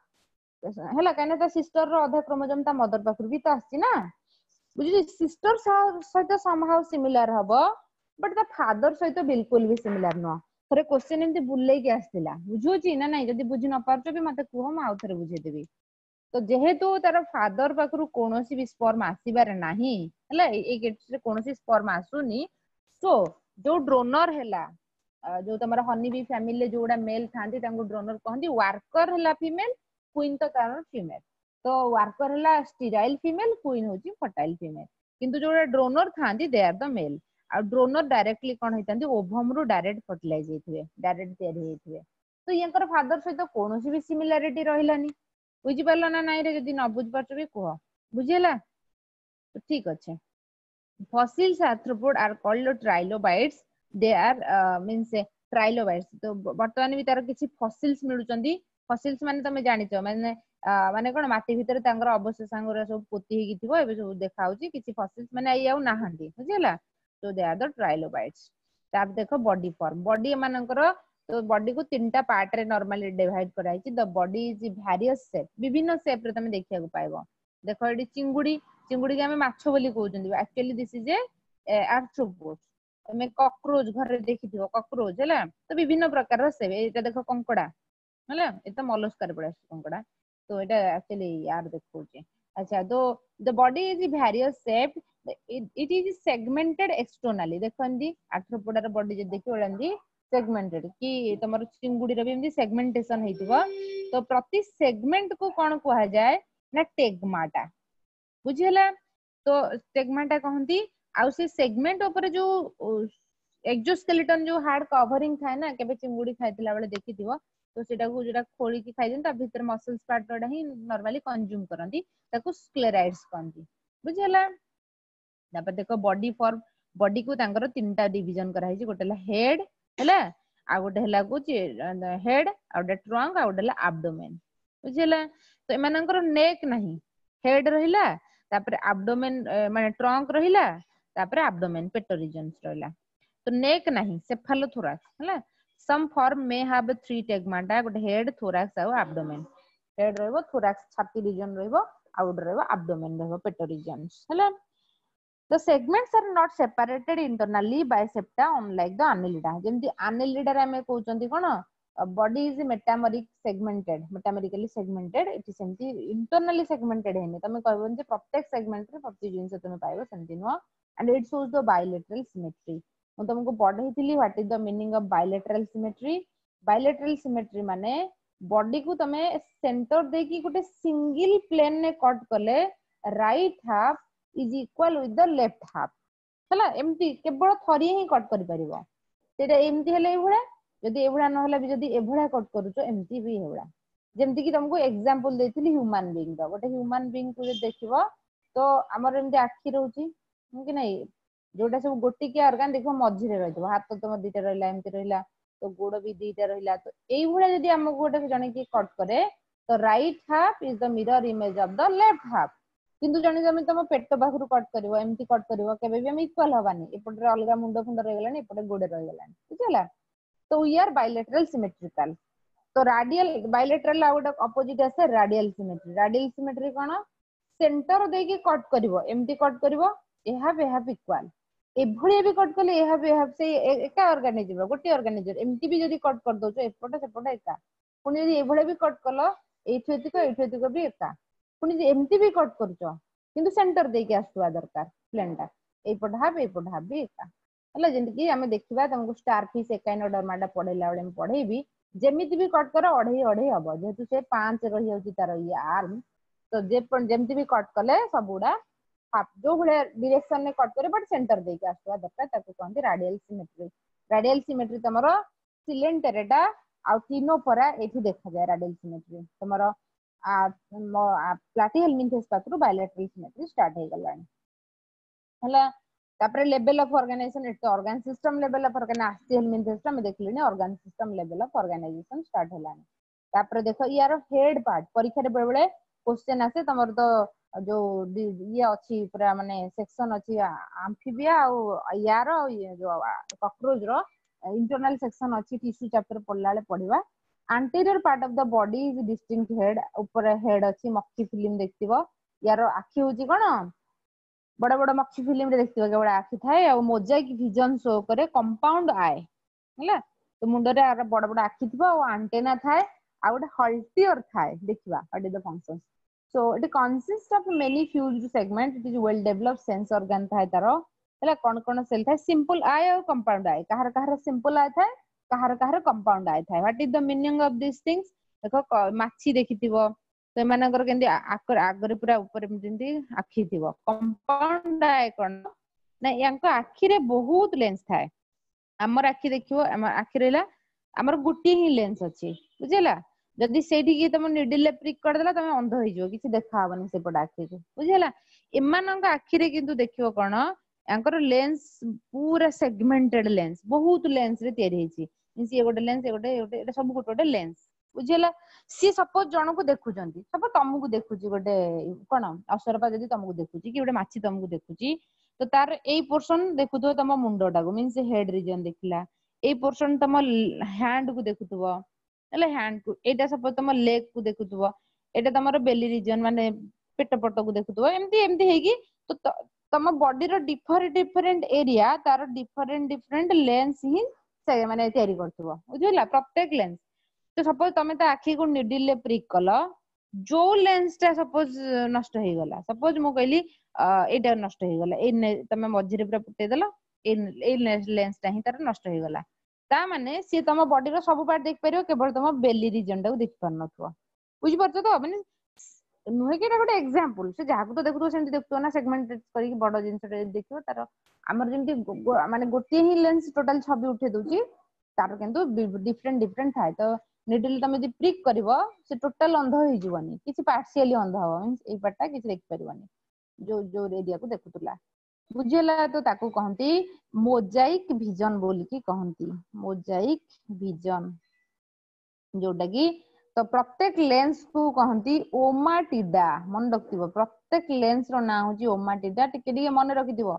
ହେଲା କାହିଁକି ନା ତା ସିଷ୍ଟର ର ଅଧା କ୍ରୋମୋଜୋମ ତା ମଦର ପାଖରୁ ବି ତ ଆସିଛି ନା ବୁଝୁଛି ସିଷ୍ଟର ସହିତ ସମହାଉ ସିମିଲାର ହବ ବଟ୍ ତା ଫାଦର ସହିତ ବିଲକୁଲ ବି ସିମିଲାର ନୁହଁ ଥରେ କ୍ୱେଶ୍ଚନ ଏମିତି ବୁଲେଇକି ଆସିଥିଲା ବୁଝୁଛି ନା ନାଇଁ ଯଦି ବୁଝି ନ ପାରୁଛ ବି ମତେ କୁହ ମୁଁ ଆଉ ଥରେ ବୁଝେଇଦେବି ତ ଯେହେତୁ ତାର ଫାଦର ପାଖରୁ କୌଣସି ବି ସ୍ପର୍ମ ଆସିବାର ନାହିଁ ହେଲା ଏଇ କେସରେ କୌଣସି ସ୍ପର୍ମ ଆସୁନି ସୋ ଯୋଉ ଡ୍ରୋନର ହେଲା ଯୋଉ ତମର ହନି ବି ଫ୍ୟାମିଲିରେ ଯୋଉଗୁଡା ମେଲ ଥାନ୍ତି ତାଙ୍କୁ ଡ୍ରୋନର କହନ୍ତି ୱାର୍କର ହେଲା ଫିମେଲ କୁଇନ ତ ତାର ଫିମେଲ ତ ୱାର୍କର ହେଲା ଷ୍ଟିରାଇଲ ଫିମେଲ କୁଇନ ହଉଛି ଫର୍ଟାଇଲ ଫିମେଲ କିନ୍ତୁ ଯୋଉଟା ଡ୍ରୋନର ଥାନ୍ତି they are the male ଆଉ ଡ୍ରୋନର ଡାଇରେକ୍ଟଲି କଣ ହେଇଥାନ୍ତି ଓଭମ ରୁ ଡାଇରେକ୍ଟ ଫର୍ଟିଲାଇଜ ହେଇଥିବେ ଡାଇରେକ୍ଟ ତିଆରି ହେଇଥିବେ ତ ୟାଙ୍କର ଫାଦର ସହିତ କୌଣସି ବି ସିମିଲାରିଟି ରହିଲାନି ବୁଝିପାରିଲ ନା ନାଇଁ ରେ ଯଦି ନ ବୁଝିପାରୁଛ ବି କୁହ ବୁଝିହେଲା ଠିକ ଅଛି fossils arthropod are called trilobites they are uh, means trilobites ତ ବର୍ତ୍ତମାନ ବି ତାର କିଛି fossils ମିଳୁଛନ୍ତି fossils ମାନେ ତମେ ଜାଣିଛ ମାନେ ମାନେ କଣ ମାଟି ଭିତରେ ତାଙ୍କର ଅବଶେଷାଙ୍ଗ ଗୁରା ସବୁ ପୋତି ହେଇକି ଥିବ ଏବେ ସବୁ ଦେଖା ହଉଛି କିଛି fossils ମାନେ ଏଇ ଆଉ ନାହାନ୍ତି ବୁଝିହେଲା so they are the trilobites ତାପରେ ଦେଖ ବଡି ଫର୍ମ ବଡି ଏମାନଙ୍କର ତ ବଡିକୁ ତିନିଟା ପାର୍ଟ ରେ ନର୍ମାଲି ଡିଭାଇଡ କରାଯାଇଛି the body is various shape ବିଭିନ୍ନ ସେପ ରେ ତମେ ଦେଖିବାକୁ ପାଇବ ଦେଖ ଏଠି ଚିଙ୍ଗୁଡି ଚିଙ୍ଗୁଡିକି ଆମେ ମାଛ ବୋଲି କହୁଛନ୍ତି actually this is a arthropod ତମେ କକ୍ରୋଚ ଘରେ ଦେଖିଥିବ କକ୍ରୋଚ ହେଲା ତ ବିଭିନ୍ନ ପ୍ରକାରର ସେପ ଏଇଟା ଦେଖ କଙ୍କଡା ହେଲା ଏ ତ ମଲସ୍କାରେ ପଳେଇ ଆସୁଛି କଙ୍କଡା ତ ଏଇଟା ଆକ୍ଚୁଆଲି ୟାର ଦେଖଉଛି ଆଚ୍ଛା ତ the body is various shape it, it is segmented externally ଦେଖନ୍ତି ଆର୍ଥ୍ରୋପୋଡାର ବଡି ଯଦି ଦେଖିବ ଏମିତି ସେଗମେଣ୍ଟେଡ କି ତମର ଚିଙ୍ଗୁଡିର ବି ଏମିତି ସେଗମେଣ୍ଟେସନ ହେଇଥିବ ତ ପ୍ରତି ସେଗମେଣ୍ଟ କୁ କଣ କୁହାଯାଏ ନା ଟେଗମାଟା ବୁଝିହେଲା ତ ଟେଗମାଟା କହନ୍ତି ଆଉ ସେ ସେଗମେଣ୍ଟ ଉପରେ ଯୋଉ ଏକ୍ସୋସ୍କେଲିଟନ ଯୋଉ ହାର୍ଡ କଭରିଂ ଥାଏ ନା କେବେ ଚିଙ୍ଗୁଡି ଖାଇଥିଲା ବେଳେ ଦେଖିଥିବ ତ ସେଟାକୁ ଯୋଉଟା ଖୋଳିକି ଖାଇଦିଅନ୍ତି ତା ଭିତରେ ମସଲ୍ସ ପାର୍ଟ ଟା ହିଁ ନର୍ମାଲି କନଜ୍ୟୁମ କରନ୍ତି ତାକୁ ସ୍କ୍ଲେରାଇଡ୍ସ କହନ୍ତି ବୁଝିହେଲା ତାପରେ ଦେଖ ବଡି ଫର୍ମ ବଡିକୁ ତାଙ୍କର ତିନିଟା ଡିଭିଜନ କରାହେଇଛି ଗୋଟେ ହେଲା ହେଡ ହେଲା ଆଉ ଗୋଟେ ହେଲା କହୁଛି ହେଡ ଆଉ ଗୋଟେ ଟ୍ରଙ୍କ ଆଉ ଗୋଟେ ହେଲା ଆବଡୋମେନ ବୁଝିହେଲା ତ ଏମାନଙ୍କର ନେକ୍ ନାହିଁ ହେଡ ରହିଲା ତାପରେ ଆବଡୋମେନ ମାନେ ଟ୍ରଙ୍କ ରହିଲା ତାପରେ ଆବଡୋମେନ ପେଟ ରିଜନ୍ସ ରହିଲା ତ ନେକ୍ ନାହିଁ ସେଫାଲୋଥୋରାକ୍ସ ହେଲା some form may have three tagmata ଗୋଟେ ହେଡ ଥୋରାକ୍ସ ଆଉ ଆବଡୋମେନ ହେଡ ରହିବ ଥୋରାକ୍ସ ଛାତି ରିଜନ ରହିବ ଆଉ ଗୋଟେ ରହିବ ଆବଡୋମେନ ରହିବ ପେଟ ରିଜନ୍ସ ହେଲା The segments are not separated internally by septa unlike the annelida ଯେମିତି annelida ରେ ଆମେ କହୁଛନ୍ତି କଣ body is metameric segmented metamerically segmented ଏଠି ସେମିତି internally segmented ହେଇନି ତମେ କହିବନି ଯେ ପ୍ରତ୍ୟେକ segment ରେ ପ୍ରତି ଜିନିଷ ତମେ ପାଇବ ସେମିତି ନୁହଁ and it shows the bilateral symmetry ମୁଁ ତମକୁ ପଢେଇଥିଲି what is the meaning of bilateral symmetry bilateral symmetry ମାନେ ବଡିକୁ ତମେ ସେଣ୍ଟର ଦେଇକି ଗୋଟେ ସିଙ୍ଗଲ ପ୍ଲେନ ରେ କଟ୍ କଲେ right half is equal with the left half ହେଲା ଏମିତି କେବଳ ଥରିଏ ହିଁ କଟ୍ କରିପାରିବ ସେଇଟା ଏମିତି ହେଲେ ଏଇଭଳିଆ ଯଦି ଏଇଭଳିଆ ନହେଲେ ବି ଯଦି ଏଭଳିଆ କଟ୍ କରୁଛ ଏମିତି ବି ଏଇଭଳିଆ ଯେମିତି କି ତମକୁ ଏକ୍ସାମ୍ପଲ ଦେଇଥିଲି ହ୍ୟୁମାନ ବିଙ୍ଗ ର ଗୋଟେ ହ୍ୟୁମାନ ବିଙ୍ଗ କୁ ଯଦି ଦେଖିବ ତ ଆମର ଏମିତି ଆଖି ରହୁଛି କି ନାଇଁ ଯୋଉଟା ସବୁ ଗୋଟିକିଆ ଅର୍ଗାନ ଦେଖିବ ମଝିରେ ରହିଥିବ ହାତ ତମ ଦିଟା ରହିଲା ଏମିତି ରହିଲା ତ ଗୋଡ ବି ଦିଟା ରହିଲା ତ ଏଇଭଳିଆ ଯଦି ଆମକୁ ଗୋଟେ ଜଣେ କିଏ କଟ୍ କରେ ତ right half is the mirror image of the left half କିନ୍ତୁ ଜଣେ ଜଣେ ତମ ପେଟ ପାଖରୁ କଟ୍ କରିବ ଏମିତି କଟ୍ କରିବ କେବେ ବି ଆମେ ଇକ୍ୱାଲ ହବାନି ଏପଟରେ ଅଲଗା ମୁଣ୍ଡ ଫୁଣ୍ଡ ରହିଗଲାଣି ଏପଟେ ଗୋଡ ରହିଗଲାଣି ବୁଝିହେଲା ତ we are bilateral symmetrical ତ ରାଡିଆଲ ବାଇଲେଟରାଲ ଆଉ ଗୋଟେ ଅପୋଜିଟ ଆସେ ରାଡିଆଲ ସିମେଟ୍ରି ରାଡିଆଲ ସିମେଟ୍ରି କଣ ସେଣ୍ଟର ଦେଇକି କଟ୍ କରିବ ଏମିତି କଟ୍ କରିବ ଏ ହାଫ ଏ ହାଫ ଇକ୍ୱାଲ ଏଭଳିଆ ବି କଟ୍ କଲେ ଏ ହାଫ ଏ ହାଫ ସେଇ ଏକା ଅର୍ଗାନିଜମ ଗୋଟିଏ ଅର୍ଗାନିଜମ ଏମିତି ବି ଯଦି କଟ୍ କରିଦଉଛ ଏପଟ ସେପଟ ଏକା ପୁଣି ଯଦି ଏଭଳିଆ ବି କଟ୍ କଲ ଏଇଠୁ ଏତିକ ଏଇଠୁ ଏତିକ ବି ଏକା ପୁଣି ଏମିତି ବି କଟ୍ କରୁଛ କିନ୍ତୁ ସେଣ୍ଟର ଦେଇକି ଆସୁଥିବା ଦରକାର ପ୍ଲେନ ଟା ଏଇପଟ ହାଫ ଏଇପଟ ହାଫ ବି ଏକା ହେଲା ଯେମିତି କି ଆମେ ଦେଖିବା ତମକୁ ଷ୍ଟାର ଫିସ୍ ଏକାଇନୋଡର୍ମାଟା ପଢେଇଲା ବେଳେ ମୁଁ ପଢେଇବି ଯେମିତି ବି କଟ୍ କର ଅଢେଇ ଅଢେଇ ହବ ଯେହେତୁ ସେ ପାଞ୍ଚ ରହିଯାଉଛି ତାର ଇଏ ଆର୍ମ ତ ଯେମିତି ବି କଟ୍ କଲେ ସବୁଗୁଡା ହାଫ ଯୋଉ ଭଳିଆ ଡିରେକ୍ସନ ରେ କଟ୍ କରେ ବଟ୍ ସେଣ୍ଟର ଦେଇକି ଆସୁଥିବା ଦରକାର ତାକୁ କହନ୍ତି ରାଡିଆଲ ସିମେଟ୍ରି ରାଡିଆଲ ସିମେଟ୍ରି ତମର ସିଲେଣ୍ଟେରେଟା ଆଉ ଟିନୋଫୋରା ଏଇଠି ଦେଖାଯାଏ ରାଡିଆଲ ସିମେଟ୍ରି ତମର ପ୍ଲାଟିହେଲମିନ୍ଥେସ୍ ପାଖରୁ ବାଇଲାଟରାଲ ସିମେଟ୍ରି ଷ୍ଟାର୍ଟ ହେଇଗଲାଣି ହେଲା ତାପରେ ଲେଭେଲ ଅଫ ଅର୍ଗାନାଇଜେସନ ଏଠି ତ organ system level of organ ଆସ୍ଟିହେଲମିନ୍ଥେସ୍ ଆମେ ଦେଖିଲେଣି organ system level of organization start ହେଲାଣି ତାପରେ ଦେଖ ୟାର ହେଡ ପାର୍ଟ ପରୀକ୍ଷାରେ ବେଳେ ବେଳେ କ୍ୱେଶ୍ଚେନ ଆସେ ତମର ତ ଯୋଉ ଇଏ ଅଛି ପୁରା ମାନେ ସେକ୍ସନ ଅଛି ଆମ୍ଫିବିଆ ଆଉ ୟାର ଯୋଉ କକ୍ରୋଚ ର ଇଣ୍ଟରନାଲ ସେକ୍ସନ ଅଛି ଟିସ୍ୟୁ ଚାପ୍ଟର ପଢିଲା ବେଳେ ପଢିବା anterior part of the body is distinct head ଉପରେ ହେଡ ଅଛି ମକ୍ଷୀ ଫିଲ୍ମ ଦେଖିଥିବ ୟାର ଆଖି ହଉଛି କଣ ବଡ ବଡ ମକ୍ଷୀ ଫିଲ୍ମରେ ଦେଖିଥିବ କେବଳ ଆଖି ଥାଏ ଆଉ ମୋଜାଇକ ଭିଜନ ଶୋ କରେ କମ୍ପାଉଣ୍ଡ ଆଏ ହେଲା ତ ମୁଣ୍ଡରେ ଆର ବଡ ବଡ ଆଖି ଥିବ ଆଉ ଆଣ୍ଟେନା ଥାଏ ଆଉ ଗୋଟେ ହଲ୍ଟିୟର ଥାଏ ଦେଖିବା what is the function so it consists of many fused segment it is well developed sense organ ଥାଏ ତାର ହେଲା କଣ କଣ ସେଲ୍ ଥାଏ ସିମ୍ପଲ ଆଏ ଆଉ କମ୍ପାଉଣ୍ଡ ଆଏ କାହାର କାହାର ସିମ୍ପଲ ଆଏ ଥାଏ କାହାର କାହାର କମ୍ପାଉଣ୍ଡ ଆଏ ଥାଏ what is the meaning of this things ଦେଖ ମାଛି ଦେଖିଥିବ ସେମାନଙ୍କର କେମିତି ଆଗରେ ପୁରା ଉପରେ ଯେମିତି ଆଖି ଥିବ କମ୍ପାଉଣ୍ଡ ଆଏ କଣ ନା ୟାଙ୍କ ଆଖିରେ ବହୁତ ଲେନ୍ସ ଥାଏ ଆମର ଆଖି ଦେଖିବ ଆମ ଆଖି ରହିଲା ଆମର ଗୋଟିଏ ହିଁ ଲେନ୍ସ ଅଛି ବୁଝିହେଲା ଯଦି ସେଇଠିକି ତମ ନିଡିଲ ପ୍ରିକ୍ କରିଦେଲା ତମେ ଅନ୍ଧ ହେଇଯିବ କିଛି ଦେଖା ହବନି ସେପଟ ଆଖିକୁ ବୁଝିହେଲା ଏମାନଙ୍କ ଆଖିରେ କିନ୍ତୁ ଦେଖିବ କଣ ୟାଙ୍କର ଲେନ୍ସ ପୁରା ସେଗମେଣ୍ଟେଡ ଲେନ୍ସ ବହୁତ ଲେନ୍ସ ରେ ତିଆରି ହେଇଛି ଇଏ ଗୋଟେ ଲେନ୍ସ ଗୋଟେ ଗୋଟେ ଏଇଟା ସବୁ ଗୋଟେ ଗୋଟେ ଲେନ୍ସ ବୁଝିହେଲା ସିଏ ସପୋଜ ଜଣକୁ ଦେଖୁଛନ୍ତି ସପୋଜ ତମକୁ ଦେଖୁଛି ଗୋଟେ କଣ ଅସରପା ଯଦି ତମକୁ ଦେଖୁଛି କି ଗୋଟେ ମାଛି ତମକୁ ଦେଖୁଛି ତ ତାର ଏଇ ପୋର୍ସନ ଦେଖୁଥିବ ତମ ମୁଣ୍ଡ ଟାକୁ ମିନ୍ସ ହେଡ ରିଜନ ଦେଖିଲା ଏଇ ପୋର୍ସନ ତମ ହ୍ୟାଣ୍ଡ କୁ ଦେଖୁଥିବ ହେଲା ହ୍ୟାଣ୍ଡ କୁ ଏଇଟା ସପୋଜ ତମ ଲେଗ କୁ ଦେଖୁଥିବ ଏଇଟା ତମର ବେଲି ରିଜନ ମାନେ ପେଟ ପଟକୁ ଦେଖୁଥିବ ଏମିତି ଏମିତି ହେଇକି ତ ତମ ବଡିର ଡିଫରେଣ୍ଟ ଡିଫରେଣ୍ଟ ଏରିଆ ତାର ଡିଫରେଣ୍ଟ ଡିଫରେଣ୍ଟ ଲେନ୍ସ ହିଁ ସେ ମାନେ ତିଆରି କରୁଥିବ ବୁଝିଲା ପ୍ରତ୍ୟେକ ଲେନ୍ସ ତ ସପୋଜ ତମେ ତା ଆଖିକୁ ନିଡିଲ ରେ ପ୍ରିକ୍ କଲ ଯୋଉ ଲେନ୍ସ ଟା ସପୋଜ ନଷ୍ଟ ହେଇଗଲା ସପୋଜ ମୁଁ କହିଲି ଏଇଟା ନଷ୍ଟ ହେଇଗଲା ଏଇ ତମେ ମଝିରେ ପୁରା ଫୁଟେଇଦେଲ ଏଇ ଏଇ ଲେନ୍ସ ଟା ହିଁ ତାର ନଷ୍ଟ ହେଇଗଲା ତା ମାନେ ସିଏ ତମ ବଡିର ସବୁ ପାର୍ଟ ଦେଖିପାରିବ କେବଳ ତମ ବେଲି ରିଜନ ଟାକୁ ଦେଖି ପାରୁନଥିବ ବୁଝିପାରୁଛ ତ ମାନେ ନୁହେଁ କି ଏଇଟା ଗୋଟେ ଏକ୍ସାମ୍ପଲ ସେ ଯାହାକୁ ତ ଦେଖୁଥିବ ସେମିତି ଦେଖୁଥିବ ନା ସେଗମେଣ୍ଟ କରିକି ବଡ ଜିନିଷଟା ଯଦି ଦେଖିବ ତାର ଆମର ଯେମିତି ମାନେ ଗୋଟିଏ ହିଁ ଲେନ୍ସ ଟୋଟାଲ ଛବି ଉଠେଇ ଦଉଛି ତାର କିନ୍ତୁ ଡିଫରେଣ୍ଟ ଡିଫରେଣ୍ଟ ଥାଏ ତ ନିଡିଲ ତମେ ଯଦି ପ୍ରିକ୍ କରିବ ସେ ଟୋଟାଲ ଅନ୍ଧ ହେଇଯିବନି କିଛି ପାର୍ସିଆଲି ଅନ୍ଧ ହବ ମିନ୍ସ ଏଇ ପାର୍ଟ ଟା କିଛି ଦେଖିପାରିବନି ଯୋଉ ଯୋଉ ଏରିଆକୁ ଦେଖୁଥିଲା ବୁଝିହେଲା ତ ତାକୁ କହନ୍ତି ମୋଜାଇକ ଭିଜନ ବୋଲିକି କହନ୍ତି ମୋଜାଇକ ଭିଜନ ଯୋଉଟା କି ତ ପ୍ରତ୍ୟେକ ଲେନ୍ସ କୁ କହନ୍ତି ଓମାଟିଡା ମନେ ରଖିଥିବ ପ୍ରତ୍ୟେକ ଲେନ୍ସ ର ନାଁ ହଉଛି ଓମାଟିଡା ଟିକେ ଟିକେ ମନେ ରଖିଥିବ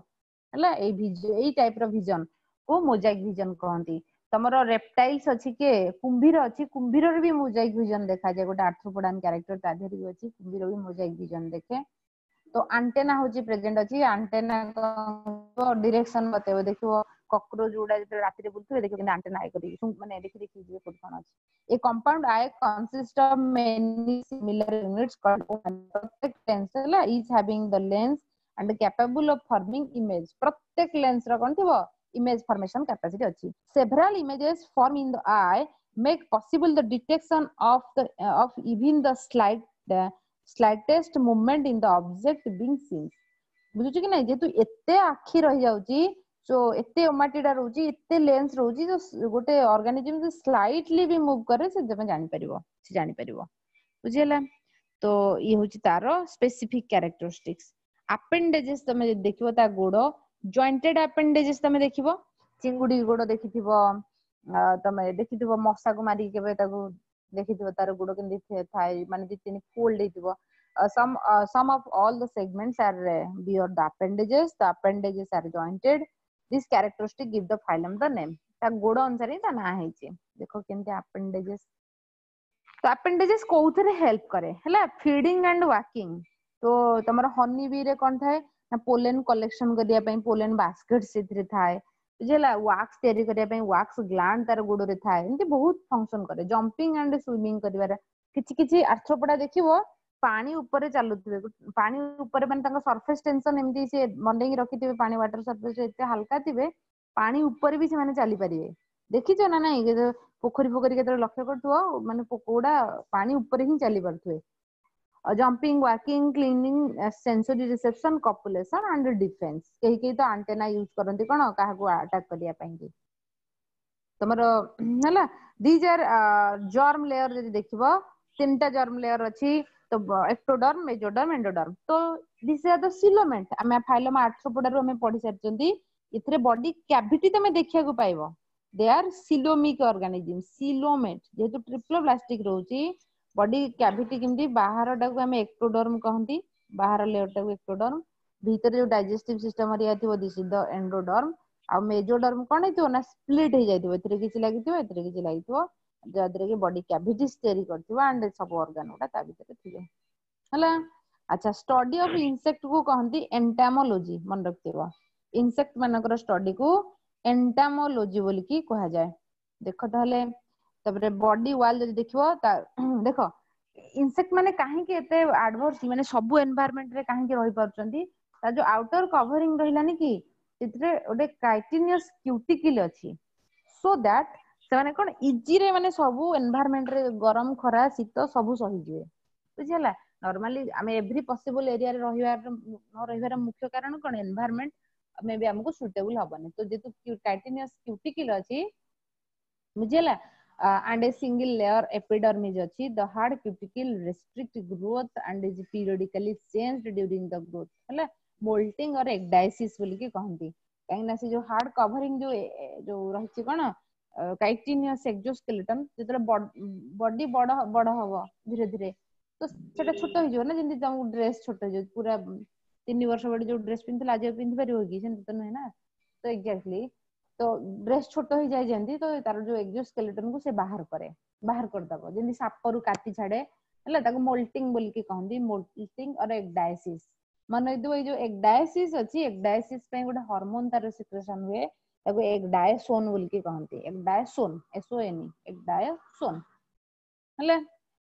ହେଲା ଏଇ ଏଇ ଟାଇପ ର ଭିଜନ କୁ ମୋଜାଇକ ଭିଜନ କହନ୍ତି ତମର ରେପଟାଇଲ୍ସ ଅଛି କିଏ କୁମ୍ଭୀର ଅଛି କୁମ୍ଭୀରରେ ବି ମୋଜାଇକ ଭିଜନ ଦେଖାଯାଏ ଗୋଟେ ଆର୍ଥ୍ରୋପୋଡାନ କ୍ୟାରେକ୍ଟର ତା ଦେହରେ ବି ଅଛି କୁମ୍ଭୀର ବି ମୋଜାଇକ ଭିଜନ ଦେଖେ ତ ଆଣ୍ଟେନା ହଉଛି ପ୍ରେଜେଣ୍ଟ ଅଛି ଆଣ୍ଟେନା ଡିରେକ୍ସନ ବତେଇବ ଦେଖିବ କକ୍ରୋଚ ଗୁଡା ଯେତେବେଳେ ରାତିରେ ବୁଲୁଥିବେ ଦେଖିବ କିନ୍ତୁ ଆଣ୍ଟେନା I କରିକି ମାନେ ଦେଖି ଦେଖି ଯିବେ କୋଉଠି କଣ ଅଛି A compound eye consists of many similar units called ପ୍ରତ୍ୟେକ lens ହେଲା each having the lens and capable of forming image ପ୍ରତ୍ୟେକ ଲେନ୍ସ ର କଣ ଥିବ image formation capacity ଅଛି several images form in the eye make possible the detection of the uh, of even the slight uh, slightest movement in the object being seen ବୁଝୁଛୁ କି ନାଇଁ ଯେହେତୁ ଏତେ ଆଖି ରହିଯାଉଛି ସୋ ଏତେ ଓମାଟିଡା ରହୁଛି ଏତେ ଲେନ୍ସ ରହୁଛି ତ ଗୋଟେ ଅର୍ଗାନିଜମ ସ୍ଲାଇଟଲି ବି ମୁଭ କରେ ସେ ତମେ ଜାଣିପାରିବ ସେ ଜାଣିପାରିବ ବୁଝିହେଲା ତ ଇଏ ହଉଛି ତାର ସ୍ପେସିଫିକ କ୍ୟାରେକ୍ଟରିଷ୍ଟିକ୍ସ ଆପେଣ୍ଡେଜେସ୍ ତମେ ଯଦି ଦେଖିବ ତା ଗୋଡ ଜଏଣ୍ଟେଡ ଆପେଣ୍ଡେଜେସ୍ ତମେ ଦେଖିବ ଚିଙ୍ଗୁଡି ଗୋଡ ଦେଖିଥିବ ତମେ ଦେଖିଥିବ ମଶାକୁ ମାରିକି କେବେ ତାକୁ ଦେଖିଥିବ ତାର ଗୋଡ କେମିତି ଥାଏ ମାନେ ଦି ତିନି ଫୋଲ୍ଡ ହେଇଥିବ uh, some uh, some of all the segments are uh, bear the appendages the appendages are jointed this characteristic give the phylum the name ତା ଗୋଡ ଅନୁସାରେ ତା ନାଁ ହେଇଛି ଦେଖ କେମିତି appendages ତ appendages କୋଉଥିରେ ହେଲ୍ପ କରେ ହେଲା ଫିଡିଂ ଆଣ୍ଡ ୱାକିଂ ତ ତମର ହନି ବି ରେ କଣ ଥାଏ ନା ପୋଲେନ କଲେକ୍ସନ କରିବା ପାଇଁ ପୋଲେନ ବାସ୍କେଟ ସେଥିରେ ଥାଏ ବୁଝିହେଲା ୱାକ୍ସ ତିଆରି କରିବା ପାଇଁ ୱାକ୍ସ ଗ୍ଲାଣ୍ଡ ତାର ଗୋଡରେ ଥାଏ ଏମିତି ବହୁତ ଫଙ୍କସନ କରେ ଜମ୍ପିଂ ଆଣ୍ଡ ସୁଇମିଂ କରିବାର କିଛି କିଛି ଆର୍ଥ୍ରୋପୋଡା ଦେଖିବ ପାଣି ଉପରେ ଚାଲୁଥିବେ ପାଣି ଉପରେ ମାନେ ତାଙ୍କ ସରଫେସ ଟେନସନ ଏମିତି ସେ ବନେଇକି ରଖିଥିବେ ପାଣି ୱାଟର ସରଫେସ ଏତେ ହାଲକା ଥିବେ ପାଣି ଉପରେ ବି ସେମାନେ ଚାଲିପାରିବେ ଦେଖିଛ ନା ନାଇଁ ପୋଖରୀ ଫୋଖରୀ କେତେବେଳେ ଲକ୍ଷ୍ୟ କରୁଥିବ ମାନେ ପୋକ ଗୁଡା ପାଣି ଉପରେ ହିଁ ଚାଲି ପାରୁଥିବେ jumping walking climbing sensory reception copulation and defence କେହି କେହି ତ ଆଣ୍ଟେନା ୟୁଜ କରନ୍ତି କଣ କାହାକୁ ଆଟାକ କରିବା ପାଇଁ କି ତମର ହେଲା these are germ layer ଯଦି ଦେଖିବ ତିନିଟା ଜର୍ମ ଲେୟର ଅଛି ତ ଏକ୍ଟୋଡର୍ମ ମେଜୋଡର୍ମ ଏଣ୍ଡୋଡର୍ମ ତ this are the coelomate ଆମେ ଫାଇଲମ ଆର୍ଥ୍ରୋପୋଡାରୁ ଆମେ ପଢି ସାରିଛନ୍ତି ଏଥିରେ ବଡି କ୍ୟାଭିଟି ତମେ ଦେଖିବାକୁ ପାଇବ they are coelomic organism coelomate ଯେହେତୁ ଟ୍ରିପ୍ଲୋବ୍ଲାଷ୍ଟିକ ରହୁଛି ବଡି କ୍ୟାଭିଟି କେମିତି ବାହାରଟାକୁ ଆମେ ଏକ୍ଟୋଡର୍ମ କହନ୍ତି ବାହାର ଲେୟର ଟାକୁ ଏକ୍ଟୋଡର୍ମ ଭିତରେ ଯୋଉ ଡାଇଜେଷ୍ଟିଭ ସିଷ୍ଟମ ହେରିକା ଥିବ this is the endoderm ଆଉ ମେଜୋଡର୍ମ କଣ ହେଇଥିବ ନା ସ୍ପ୍ଲିଟ ହେଇଯାଇଥିବ ଏଥିରେ କିଛି ଲାଗିଥିବ ଏଥିରେ କିଛି ଲାଗିଥିବ ଯାହାଦ୍ୱାରା କି ବଡି କ୍ୟାଭିଟିସ୍ ତିଆରି କରିଥିବ ଆଣ୍ଡ ସବୁ ଅର୍ଗାନ ଗୁଡା ତା ଭିତରେ ଥିବେ ହେଲା ଆଚ୍ଛା ଷ୍ଟଡି ଅଫ ଇନସେକ୍ଟ କୁ କହନ୍ତି ଏଣ୍ଟାମୋଲୋଜି ମନେ ରଖିଥିବ ଇନସେକ୍ଟ ମାନଙ୍କର ଷ୍ଟଡି କୁ ଏଣ୍ଟାମୋଲୋଜି ବୋଲିକି କୁହାଯାଏ ଦେଖ ତାହେଲେ ତାପରେ ବଡି ୱାଲ ଯଦି ଦେଖିବ ତା ଦେଖ ଇନସେକ୍ଟ ମାନେ କାହିଁକି ଏତେ ଆଡଭର୍ସ ମାନେ ସବୁ ଏନଭାରମେଣ୍ଟ ରେ କାହିଁକି ରହିପାରୁଛନ୍ତି ତା ଯୋଉ ଆଉଟର କଭରିଂ ରହିଲାନି କି ସେଥିରେ ଗୋଟେ କାଇଟିନିୟସ କ୍ୟୁଟିକିଲ ଅଛି ସୋ that ସେମାନେ କଣ ଇଜିରେ ମାନେ ସବୁ ଏନଭାରମେଣ୍ଟ ରେ ଗରମ ଖରା ଶୀତ ସବୁ ସହିଯିବେ ବୁଝିହେଲା ନର୍ମାଲି ଆମେ ଏଭ୍ରି ପସିବଲ ଏରିଆରେ ରହିବାର ନ ରହିବାର ମୁଖ୍ୟ କାରଣ କଣ ଏନଭାରମେଣ୍ଟ ମେ ବି ଆମକୁ ସୁଇଟେବୁଲ ହବନି ତ ଯେହେତୁ କାଇଟିନିୟସ କ୍ୟୁଟିକିଲ ଅଛି ବୁଝିହେଲା and a single layer epidermis ଅଛି the hard cuticle restrict growth and is periodically changed during the growth ହେଲା molting or ecdysis ବୋଲିକି କହନ୍ତି କାହିଁକି ନା ସେ ଯୋଉ ହାର୍ଡ କଭରିଂ ଯୋଉ ଯୋଉ ରହିଛି କଣ କାଇଟିନିୟସ ଏକ୍ସୋସ୍କେଲେଟନ ଯେତେବେଳେ ବଡି ବଡ ବଡ ହବ ଧୀରେ ଧୀରେ ତ ସେଟା ଛୋଟ ହେଇଯିବ ନା ଯେମିତି ତମକୁ ଡ୍ରେସ ଛୋଟ ହେଇଯିବ ପୁରା ତିନି ବର୍ଷ ବଡ ଯୋଉ ଡ୍ରେସ ପିନ୍ଧିଥିଲା ଆଜି ଆଉ ପିନ୍ଧି ପାରିବ କି ସେମିତି ତ ନୁହେଁ ନା ତ ଏକ୍ଜାକ୍ଟଲି ତ ଡ୍ରେସ ଛୋଟ ହେଇଯାଏ ଯେମିତି ତ ତାର ଯୋଉ ଏକ୍ସୋସ୍କେଲେଟନ କୁ ସେ ବାହାର କରେ ବାହାର କରିଦବ ଯେମିତି ସାପରୁ କାତି ଛାଡେ ହେଲା ତାକୁ ମୋଲ୍ଟିଂ ବୋଲିକି କହନ୍ତି ମୋଲ୍ଟିଂ ଅର ଏକ୍ଡାଇସିସ୍ ମନେ ରଖିଥିବ ଏଇ ଯୋଉ ଏକ୍ଡାଇସିସ୍ ଅଛି ଏକ୍ଡାଇସିସ୍ ପାଇଁ ଗୋଟେ ହରମୋନ ତାର ସିକ୍ରେସନ ହୁଏ ତାକୁ ଏକ୍ଡାଇସୋନ ବୋଲିକି କହନ୍ତି ଏକ୍ଡାଇସୋନ ଏସ୍ ଓ ଏନ୍ ଏକ୍ଡାଇସୋନ ହେଲା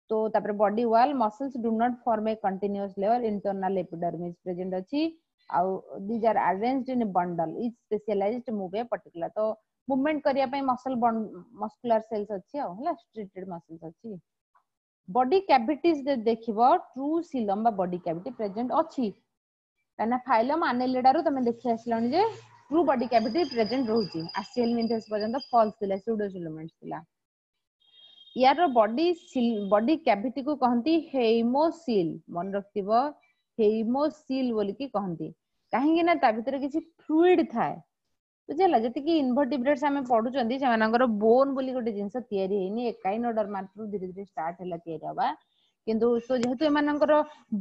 ତ ତାପରେ body wall muscles do not form a continuous layer internal epidermis present ଅଛି ଆଉ these are arranged in bundle each specialized move a particular ତ ମୁଭମେଣ୍ଟ କରିବା ପାଇଁ ମସଲ ମସ୍କୁଲାର ସେଲ୍ସ ଅଛି ଆଉ ହେଲା ଷ୍ଟ୍ରିଏଟେଡ ମସଲ୍ସ ଅଛି ବଡି କ୍ୟାଭିଟିଜ ଯଦି ଦେଖିବ ଟ୍ରୁ ସିଲମ ବା ବଡି କ୍ୟାଭିଟି ପ୍ରେଜେଣ୍ଟ ଅଛି କାହିଁକିନା ଫାଇଲମ ଆନେଲିଡାରୁ ତମେ ଦେଖି ଆସିଲଣି ଯେ ଟ୍ରୁ ବଡି କ୍ୟାଭିଟି ପ୍ରେଜେଣ୍ଟ ରହୁଛି ଆସିଏଲମିନ୍ଥେସ୍ ପର୍ଯ୍ୟନ୍ତ ଫଲ୍ସ ଥିଲା ସୁଡୋସିଲୋମେଟ୍ସ ଥିଲା ୟାର ବଡି ବଡି କ୍ୟାଭିଟି କୁ କହନ୍ତି ହେଇମୋସିଲ ମନେ ରଖିଥିବ ହେଇମୋସିଲ ବୋଲିକି କହନ୍ତି କାହିଁକି ନା ତା ଭିତରେ କିଛି ଫ୍ଲୁଇଡ ଥାଏ ବୁଝିହେଲା ଯେତିକି ଇନଭର୍ଟିବ୍ରେଟ୍ସ ଆମେ ପଢୁଛନ୍ତି ସେମାନଙ୍କର ବୋନ ବୋଲି ଗୋଟେ ଜିନିଷ ତିଆରି ହେଇନି ଏକାଇନୋଡର୍ମାରୁ ଧୀରେ ଧୀରେ ଷ୍ଟାର୍ଟ ହେଲା ତିଆରି ହବା କିନ୍ତୁ ଯେହେତୁ ଏମାନଙ୍କର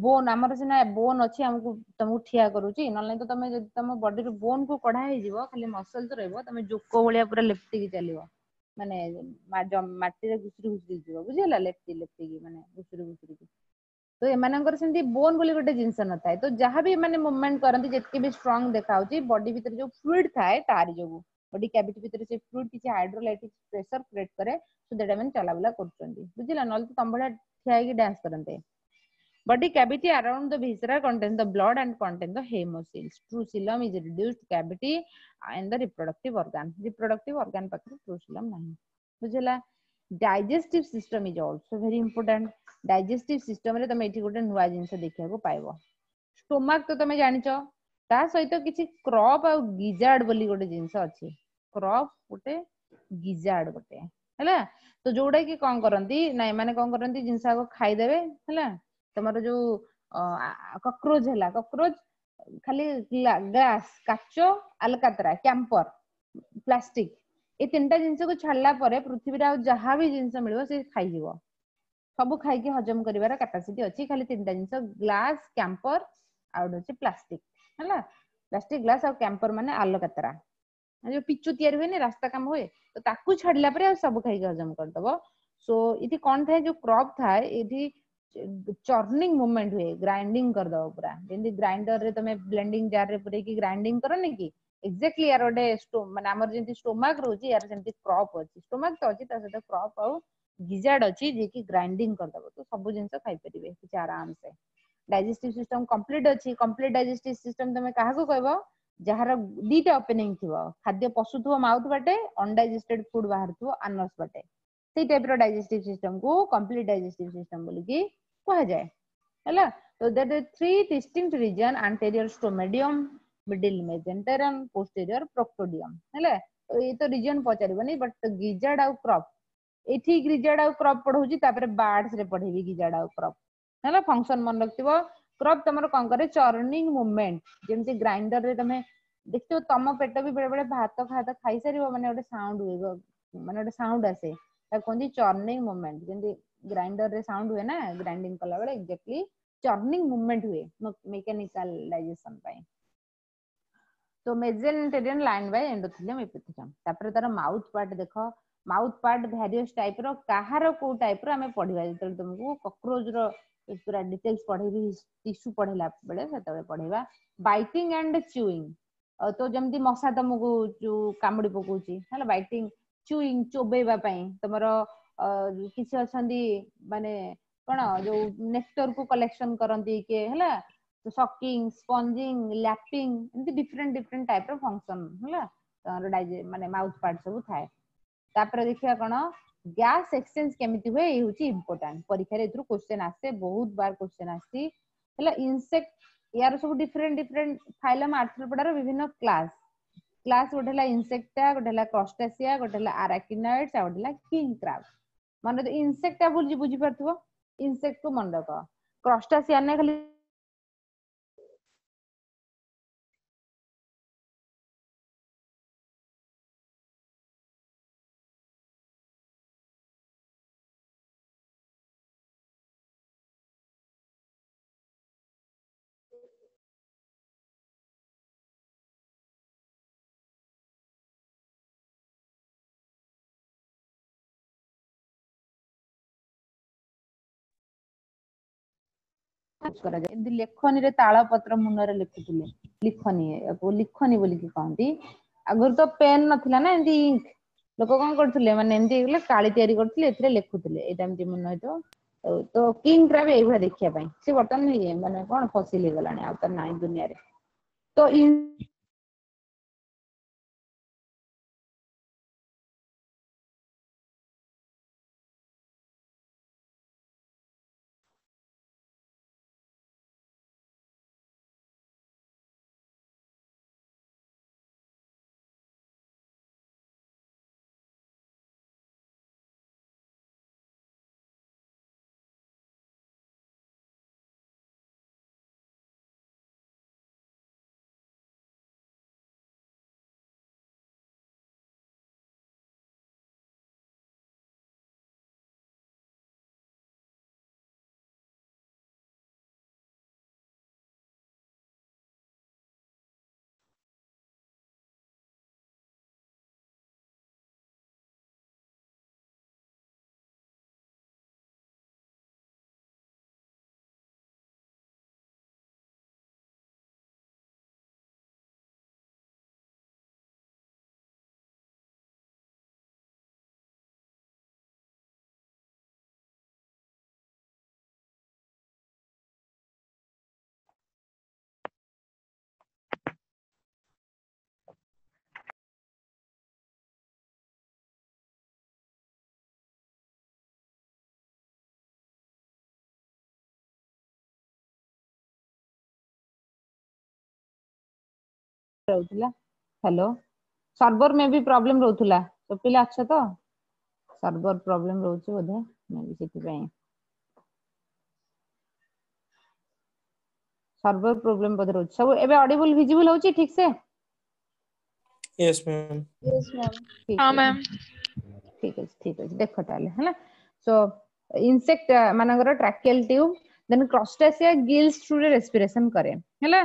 ବୋନ ଆମର ସିନା ବୋନ ଅଛି ଆମକୁ ତମକୁ ଠିଆ କରୁଛି ନହେଲେ ତ ତମେ ଯଦି ତମ ବଡିରୁ ବୋନ କୁ କଢା ହେଇଯିବ ଖାଲି ମସଲ୍ସ ରହିବ ତମେ ଜୋକ ଭଳିଆ ପୁରା ଲେପ୍ଟିକି ଚାଲିବ ମାନେ ମାଟିରେ ଘୁଷୁରି ଘୁଷୁରି ଯିବ ବୁଝିହେଲା ଲେପ୍ଟି ଲେପ୍ଟିକି ମାନେ ଘୁଷୁରି ଘୁଷୁରିକି ତ ଏମାନଙ୍କର ସେମିତି ବୋନ ବୋଲି ଗୋଟେ ଜିନିଷ ନଥାଏ ତ ଯାହାବି ଏମାନେ ମୁଭମେଣ୍ଟ କରନ୍ତି ଯେତିକି ବି ଷ୍ଟ୍ରଙ୍ଗ ଦେଖାଯାଉଛି ବଡି ଭିତରେ ଯୋଉ ଫ୍ଲୁଇଡ ଥାଏ ତାରି ଯୋଗୁ ବଡି କ୍ୟାଭିଟି ଭିତରେ ସେ ଫ୍ଲୁଇଡ କିଛି ହାଇଡ୍ରୋଲାଇଟିକ ପ୍ରେସର କ୍ରିଏଟ କରେ ସୋ that ଏମାନେ ଚଲାବୁଲା କରୁଛନ୍ତି ବୁଝିଲା ନହେଲେ ତ ତମ ଭଳିଆ ଠିଆ ହେଇକି ଡ୍ୟାନ୍ସ କରନ୍ତେ Body cavity around the viscera contain the blood and contain the hemocoels. True coelom is reduced cavity in the reproductive organ. Reproductive organ ପାଖରେ true coelom ନାହିଁ ବୁଝିଲା digestive system is also very important. Digestive system ରେ ତମେ ଏଠି ଗୋଟେ ନୂଆ ଜିନିଷ ଦେଖିବାକୁ ପାଇବ ଷ୍ଟୋମାକ ତ ତମେ ଜାଣିଛ ତା ସହିତ କିଛି କ୍ରପ ଆଉ ଗିଜାର୍ଡ ବୋଲି ଗୋଟେ ଜିନିଷ ଅଛି କ୍ରପ ଗୋଟେ ଗିଜାର୍ଡ ଗୋଟେ ହେଲା ତ ଯୋଉଟା କି କଣ କରନ୍ତି ନା ଏମାନେ କଣ କରନ୍ତି ଜିନିଷ ଆଗ ଖାଇଦେବେ ହେଲା ତମର ଯୋଉ କକ୍ରୋଚ ହେଲା କକ୍ରୋଚ ଖାଲି ଗ୍ଲାସ କାଚ ଆଲକାତରା କ୍ୟାମ୍ପର ପ୍ଲାଷ୍ଟିକ ଏଇ ତିନିଟା ଜିନିଷକୁ ଛାଡିଲା ପରେ ପୃଥିବୀରେ ଆଉ ଯାହା ବି ଜିନିଷ ମିଳିବ ସେ ଖାଇଯିବ ସବୁ ଖାଇକି ହଜମ କରିବାର କାପାସିଟି ଅଛି ଖାଲି ତିନିଟା ଜିନିଷ ଗ୍ଲାସ କ୍ୟାମ୍ପର ଆଉ ଗୋଟେ ହଉଛି ପ୍ଲାଷ୍ଟିକ ହେଲା ପ୍ଲାଷ୍ଟିକ ଗ୍ଲାସ ଆଉ କ୍ୟାମ୍ପର ମାନେ ଆଲକାତରା ଯୋଉ ପିଚୁ ତିଆରି ହୁଏନି ରାସ୍ତା କାମ ହୁଏ ତ ତାକୁ ଛାଡିଲା ପରେ ଆଉ ସବୁ ଖାଇକି ହଜମ କରିଦବ ସୋ ଏଠି କଣ ଥାଏ ଯୋଉ କ୍ରପ ଥାଏ ଏଠି ଚର୍ନିଂ ମୁଭମେଣ୍ଟ ହୁଏ ଗ୍ରାଇଣ୍ଡିଙ୍ଗ କରିଦବ ପୁରା ଯେମିତି ଗ୍ରାଇଣ୍ଡର ରେ ତମେ ବ୍ଲେଣ୍ଡିଂ ଜାର ରେ ପୁରେଇକି ଗ୍ରାଇଣ୍ଡିଙ୍ଗ କରନି କି ଏକ୍ଜାକ୍ଟଲି ୟାର ଗୋଟେ ମାନେ ଆମର ଯେମିତି ଷ୍ଟୋମାକ ରହୁଛି ୟାର ସେମିତି କ୍ରପ ଅଛି ଷ୍ଟୋମାକ ତ ଅଛି ତା ସହିତ କ୍ରପ ଆଉ ଗିଜାର୍ଡ ଅଛି ଯିଏକି ଗ୍ରାଇଣ୍ଡିଙ୍ଗ କରିଦବ ତ ସବୁ ଜିନିଷ ଖାଇପାରିବେ କିଛି ଆରାମସେ ଡାଇଜେଷ୍ଟିଭ ସିଷ୍ଟମ କମ୍ପ୍ଲିଟ ଅଛି କମ୍ପ୍ଲିଟ ଡାଇଜେଷ୍ଟିଭ ସିଷ୍ଟମ ତମେ କାହାକୁ କହିବ ଯାହାର ଦିଟା ଓପେନିଂ ଥିବ ଖାଦ୍ୟ ପଶୁଥିବ ମାଉଥ ବାଟେ ଅନଡାଇଜେଷ୍ଟେଡ ଫୁଡ ବାହାରୁଥିବ ଆନସ୍ ବାଟେ ସେଇ ଟାଇପ ର ଡାଇଜେଷ୍ଟିଭ ସିଷ୍ଟମ କୁ କମ୍ପ୍ଲିଟ ଡାଇଜେଷ୍ଟିଭ ସିଷ୍ଟମ ବୋଲିକି କୁହାଯାଏ ହେଲା ତ there are three distinct region anterior stomodeum middle mesenteron posterior proctodeum ହେଲା ତ ଏଇ ତ ରିଜନ ପଚାରିବନି ବଟ ଗିଜାର୍ଡ ଆଉ କ୍ରପ ଏଠି ଗିଜାର୍ଡ ଆଉ କ୍ରପ ପଢଉଛି ତାପରେ ବାର୍ଡସ ରେ ପଢେଇବି ଗିଜାର୍ଡ ଆଉ କ୍ରପ ହେଲା ଫଙ୍କସନ ମନେ ରଖିଥିବ କ୍ରପ ତମର କଣ କରେ ଚର୍ନିଂ ମୁଭମେଣ୍ଟ ଯେମିତି ଗ୍ରାଇଣ୍ଡର ରେ ତମେ ଦେଖିଥିବ ତମ ପେଟ ବି ବେଳେ ବେଳେ ଭାତ ଖାତ ଖାଇସାରିବ ମାନେ ଗୋଟେ ସାଉଣ୍ଡ ହୁଏ ମାନେ ଗୋଟେ ସାଉଣ୍ଡ ଆସେ ତାକୁ କୁହନ୍ତି ଚର୍ନିଂ ମୁଭମେଣ୍ଟ ଯେମିତି ଗ୍ରାଇଣ୍ଡର ରେ ସାଉଣ୍ଡ ହୁଏ ନା ଗ୍ରାଇଣ୍ଡିଙ୍ଗ କଲା ବେଳେ ଏକ୍ଜାକ୍ଟଲି ଚର୍ନିଂ ମୁଭମେଣ୍ଟ ହୁଏ ମେକାନିକାଲ ଡାଇଜେସନ ପାଇଁ ତ mesenteron lined by endothelium epithelium ତାପରେ ତାର ମାଉଥ ପାର୍ଟ ଦେଖ ମାଉଥ ପାର୍ଟ ଭ୍ୟାରିୟସ ଟାଇପ ର କାହାର କୋଉ ଟାଇପ ର ଆମେ ପଢିବା ଯେତେବେଳେ ତମକୁ କକ୍ରୋଚ ର ପୁରା ଡିଟେଲ୍ସ ପଢେଇବି ଟିସୁ ପଢେଇଲା ବେଳେ ସେତେବେଳେ ପଢେଇବା ବାଇଟିଂ ଆଣ୍ଡ ଚୁଇଂ ତ ଯେମିତି ମଶା ତମକୁ ଯୋଉ କାମୁଡି ପକଉଛି ହେଲା ବାଇଟିଂ ଚୁଇଂ ଚୋବେଇବା ପାଇଁ ତମର କିଛି ଅଛନ୍ତି ମାନେ କଣ ଯୋଉ ନେକ୍ଟର କୁ କଲେକ୍ସନ କରନ୍ତି କିଏ ହେଲା ସକିଂ ସ୍ପଞ୍ଜିଂ ଲ୍ୟାପିଂ ଏମିତି ଡିଫରେଣ୍ଟ ଡିଫରେଣ୍ଟ ଟାଇପ ର ଫଙ୍କସନ ହେଲା ତମର ଡାଇଜେ ମାନେ ମାଉଥ ପାର୍ଟ ସବୁ ଥାଏ ତାପରେ ଦେଖିବା କଣ ଗ୍ୟାସ ଏକ୍ସଚେଞ୍ଜ କେମିତି ହୁଏ ଏଇ ହଉଛି ଇମ୍ପୋର୍ଟାଣ୍ଟ ପରୀକ୍ଷାରେ ଏଥିରୁ କ୍ୱେଶ୍ଚନ ଆସେ ବହୁତ ବାର କ୍ୱେଶ୍ଚନ ଆସିଛି ହେଲା ଇନସେକ୍ଟ ୟାର ସବୁ ଡିଫରେଣ୍ଟ ଡିଫରେଣ୍ଟ ଫାଇଲମ ଆର୍ଥ୍ରୋପୋଡାର ବିଭିନ୍ନ କ୍ଲାସ କ୍ଲାସ ଗୋଟେ ହେଲା ଇନସେକ୍ଟା ଗୋଟେ ହେଲା କ୍ରଷ୍ଟାସିଆ ଗୋଟେ ହେଲା ଆରାକିନଏଡ୍ସ ଆଉ ଗୋଟେ ହେଲା କିଙ୍ଗ କ୍ରାବ ମନେ ଇନସେକ୍ଟା ବୁଝି ବୁଝିପାରୁଥିବ ଇନସେକ୍ଟ କୁ ମନେ ରଖ କ୍ରଷ୍ଟାସିଆ ନା ଖାଲି କରାଯାଏ ଏମିତି ଲେଖନୀରେ ତାଳ ପତ୍ର ମୁନରେ ଲେଖୁଥିଲେ ଲିଖନୀ ଲିଖନୀ ବୋଲିକି କହନ୍ତି ଆଗରୁ ତ ପେନ୍ ନଥିଲା ନା ଏମିତି ଇଙ୍କ ଲୋକ କଣ କରୁଥିଲେ ମାନେ ଏମିତି ହେଇଗଲେ କାଳି ତିଆରି କରୁଥିଲେ ଏଥିରେ ଲେଖୁଥିଲେ ଏଇଟା ଏମିତି ମୁନ ହେଇଥିବ ତ କିଙ୍ଗ କ୍ରାବ ଏଇଭଳିଆ ଦେଖିବା ପାଇଁ ସେ ବର୍ତ୍ତମାନ ମାନେ କଣ ଫସିଲ ହେଇଗଲାଣି ଆଉ ତାର ନାହିଁ ଦୁନିଆରେ ତ ରହୁଥିଲା ହ୍ୟାଲୋ ସର୍ଭର ମେ ବି ପ୍ରୋବ୍ଲେମ ରହୁଥିଲା ତ ପିଲା ଅଛ ତ ସର୍ଭର ପ୍ରୋବ୍ଲେମ ରହୁଛି ବୋଧେ ମେ ବି ସେଥିପାଇଁ ସର୍ଭର ପ୍ରୋବ୍ଲେମ ବୋଧେ ରହୁଛି ସବୁ ଏବେ ଅଡିବୁଲ ଭିଜିବୁଲ ହଉଛି ଠିକ ସେ Yes, ma'am. Yes, ma'am. ଠିକ ହଁ ଅଛି ମ୍ୟାମ୍ ଠିକ ଅଛି ଠିକ ଅଛି ଦେଖ ତାହେଲେ ହେଲା ସୋ ଇନସେକ୍ଟ ମାନଙ୍କର ଟ୍ରାକିଆଲ ଟ୍ୟୁବ ଦେନ୍ କ୍ରଷ୍ଟାସିଆ ଗିଲ୍ସ ଥ୍ରୁରେ ରେସ୍ପିରେସନ କରେ ହେଲା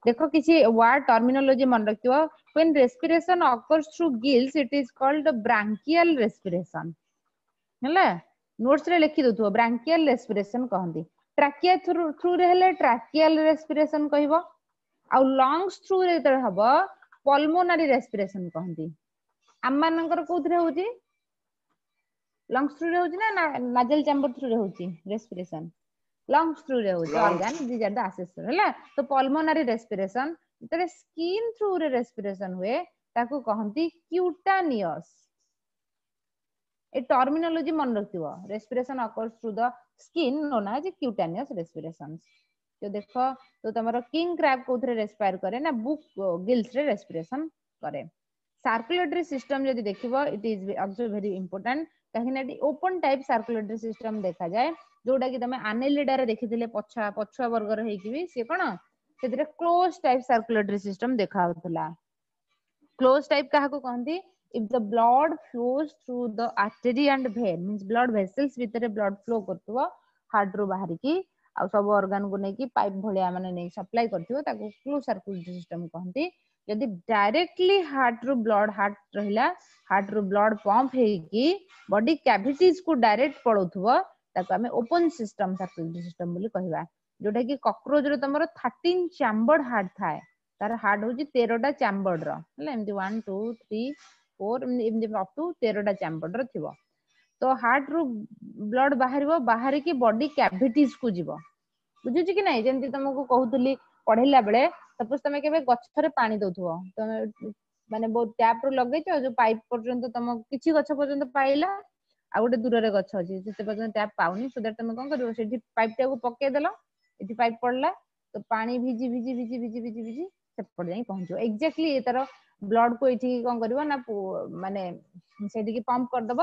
ଦେଖ କିଛି ୱାର୍ଡ ଟର୍ମିନୋଲୋଜି ମନେ ରଖିଥିବ when respiration occurs through gills it is called branchial respiration ହେଲା ନୋଟ୍ସ ରେ ଲେଖି ଦଉଥିବ ବ୍ରାଙ୍କିଆଲ ରେସ୍ପିରେସନ କହନ୍ତି ଟ୍ରାକିଆ ଥ୍ରୁ ରେ ହେଲେ ଟ୍ରାକିଆଲ ରେସ୍ପିରେସନ କହିବ ଆଉ ଲଙ୍ଗସ ଥ୍ରୁ ରେ ଯେତେବେଳେ ହବ ପଲମୋନାରୀ ରେସ୍ପିରେସନ କହନ୍ତି ଆମମାନଙ୍କର କୋଉଥିରେ ହଉଛି ଲଙ୍ଗସ ଥ୍ରୁ ରେ ହଉଛି ନା ନାଜଲ ଚାମ୍ବର ଥ୍ରୁ ରେ ହଉଛି ରେସ୍ପିରେସନ ଲଙ୍ଗସ ଥ୍ରୁ ରେ ହଉଛି Lungs. Organ these are the accessory ହେଲା ତ ପଲମୋନାରୀ ରେସ୍ପିରେସନ ଯେତେବେଳେ ସ୍କିନ୍ ଥ୍ରୁ ରେ ରେସ୍ପିରେସନ ହୁଏ ତାକୁ କହନ୍ତି କ୍ୟୁଟାନିୟସ ଏ ଟର୍ମିନୋଲୋଜି ମନେ ରଖିଥିବ respiration occurs through the skin known as cutaneous respiration ତ ଦେଖ ତ ତମର କିଙ୍ଗ କ୍ରାବ କୋଉଥିରେ ରେସ୍ପାୟାର କରେ ନା ବୁକ୍ ଗିଲ୍ସ ରେ ରେସ୍ପିରେସନ କରେ ସାର୍କୁଲେଟରୀ ସିଷ୍ଟମ ଯଦି ଦେଖିବ it is also very important କାହିଁକି ନା ଏଠି ଓପନ ଟାଇପ ସାର୍କୁଲେଟରୀ ସିଷ୍ଟମ ଦେଖାଯାଏ ଯୋଉଟା କି ତମେ ଆନେଲିଡାରେ ଦେଖିଥିଲେ ପଛୁଆ ପଛୁଆ ବର୍ଗର ହେଇକି ବି ସିଏ କଣ ସେଥିରେ କ୍ଲୋଜ ଟାଇପ ସାର୍କୁଲେଟରୀ ସିଷ୍ଟମ ଦେଖା ହଉଥିଲା କ୍ଲୋଜ ଟାଇପ କାହାକୁ କହନ୍ତି if the blood flows through the artery and vein means blood vessels ଭିତରେ blood flow କରୁଥିବ ହାର୍ଟ ରୁ ବାହାରିକି ଆଉ ସବୁ ଅର୍ଗାନ କୁ ନେଇକି ପାଇପ ଭଳିଆ ମାନେ ନେଇ ସପ୍ଲାଇ କରୁଥିବ ତାକୁ କ୍ଲୋଜ ସାର୍କୁଲେଟରୀ ସିଷ୍ଟମ କହନ୍ତି ଯଦି ଡାଇରେକ୍ଟଲି ହାର୍ଟ ରୁ ବ୍ଲଡ ହାର୍ଟ ରହିଲା ହାର୍ଟ ରୁ ବ୍ଲଡ ପମ୍ପ ହେଇକି ବଡି କ୍ୟାଭିଟିଜ କୁ ଡାଇରେକ୍ଟ ପଳଉଥିବ ତାକୁ ଆମେ ଓପନ ସିଷ୍ଟମ ସାର୍କୁଲେଟରୀ ସିଷ୍ଟମ ବୋଲି କହିବା ଯୋଉଟା କି କକ୍ରୋଚ ର ତମର ଥାର୍ଟିନ ଚାମ୍ବର୍ଡ ହାର୍ଟ ଥାଏ ତାର ହାର୍ଟ ହଉଛି ତେରଟା ଚାମ୍ବର୍ଡ ର ହେଲା ଏମିତି ୱାନ୍ ଟୁ ଥ୍ରୀ ଫୋର ଏମିତି ଅପ୍ ଟୁ ତେରଟା ଚାମ୍ବର୍ଡ ର ଥିବ ତ ହାର୍ଟ ରୁ ବ୍ଲଡ ବାହାରିବ ବାହାରିକି ବଡି କ୍ୟାଭିଟିଜ କୁ ଯିବ ବୁଝୁଛି କି ନାଇଁ ଯେମିତି ତମକୁ କହୁଥିଲି ପଢେଇଲା ବେଳେ ସପୋଜ ତମେ କେବେ ଗଛରେ ପାଣି ଦଉଥିବ ତମେ ମାନେ ବହୁତ ଟ୍ୟାପ ରୁ ଲଗେଇଛ ଯୋଉ ପାଇପ ପର୍ଯ୍ୟନ୍ତ ତମ କିଛି ଗଛ ପର୍ଯ୍ୟନ୍ତ ପାଇଲା ଆଉ ଗୋଟେ ଦୂରରେ ଗଛ ଅଛି ସେତେ ପର୍ଯ୍ୟନ୍ତ ଟ୍ୟାପ ପାଉନି ସୋ that ତମେ କଣ କରିବ ସେଠି ପାଇପ ଟାକୁ ପକେଇଦେଲ ଏଠି ପାଇପ ପଡିଲା ତ ପାଣି ଭିଜି ଭିଜି ଭିଜି ଭିଜି ଭିଜି ଭିଜି ସେପଟେ ଯାଇ ପହଞ୍ଚିବ ଏକ୍ଜାକ୍ଟଲି ତାର ବ୍ଲଡ କୁ ଏଇଠିକି କଣ କରିବ ନା ମାନେ ସେଇଠିକି ପମ୍ପ କରିଦବ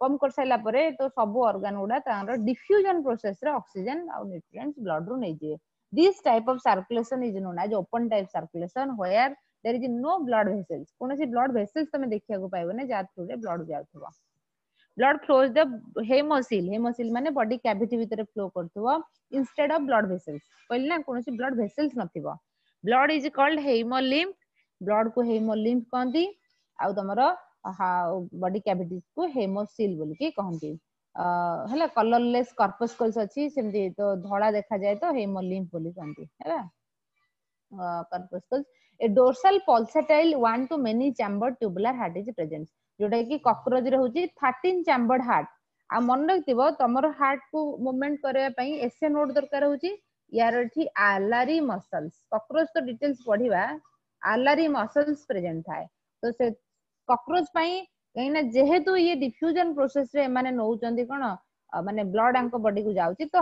ପମ୍ପ କରିସାରିଲା ପରେ ତ ସବୁ ଅର୍ଗାନ ଗୁଡା ତାଙ୍କର ଡିଫ୍ୟୁଜନ ପ୍ରୋସେସ ରେ ଅକ୍ସିଜେନ ଆଉ ନ୍ୟୁଟ୍ରିଏଣ୍ଟସ ବ୍ଲଡ ରୁ ନେଇଯିବେ this type of circulation is known as open type circulation where there is no blood vessels କୌଣସି blood vessels ତମେ ଦେଖିବାକୁ ପାଇବନି ଯାହା ଥ୍ରୁ ରେ ବ୍ଲଡ ଯାଉଥିବ blood flows the hemocoel hemocoel ମାନେ ବଡି କ୍ୟାଭିଟି ଭିତରେ ଫ୍ଲୋ କରୁଥିବ instead of blood vessels କହିଲି ନା କୌଣସି ବ୍ଲଡ ଭେସେଲ୍ସ ନଥିବ blood is called hemolymph blood କୁ ହେମୋଲିମ୍ଫ କହନ୍ତି ଆଉ ତମର ବଡି କ୍ୟାଭିଟିଜ କୁ ହେମୋସିଲ ବୋଲିକି କହନ୍ତି ଅ ହେଲା କଲରଲେସ୍ କର୍ପସ୍କଲ୍ସ ଅଛି ସେମିତି ତ ଧଳା ଦେଖାଯାଏ ତ ହେମୋଲିମ୍ଫ ବୋଲି କହନ୍ତି ହେଲା corpuscles a dorsal pulsatile one to many chambered tubular heart is present ଯୋଉଟା କି କକ୍ରୋଚ ରେ ହଉଛି ଥାର୍ଟିନ ଚାମ୍ବର୍ଡ ହାର୍ଟ ଆଉ ମନେ ରଖିଥିବ ତମର ହାର୍ଟ କୁ ମୁଭମେଣ୍ଟ କରିବା ପାଇଁ ଏସଏ ନୋଡ ଦରକାର ହଉଛି ୟାର ଏଠି ଆଲାରି ମସଲ୍ସ କକ୍ରୋଚ ତ ଡିଟେଲ୍ସ ପଢିବା ଆଲାରି ମସଲ୍ସ ପ୍ରେଜେଣ୍ଟ ଥାଏ ତ ସେ କକ୍ରୋଚ ପାଇଁ କାହିଁକି ନା ଯେହେତୁ ଇଏ ଡିଫ୍ୟୁଜନ ପ୍ରୋସେସ ରେ ଏମାନେ ନଉଛନ୍ତି କଣ ମାନେ ବ୍ଲଡ ଆଙ୍କ ବଡିକୁ ଯାଉଛି ତ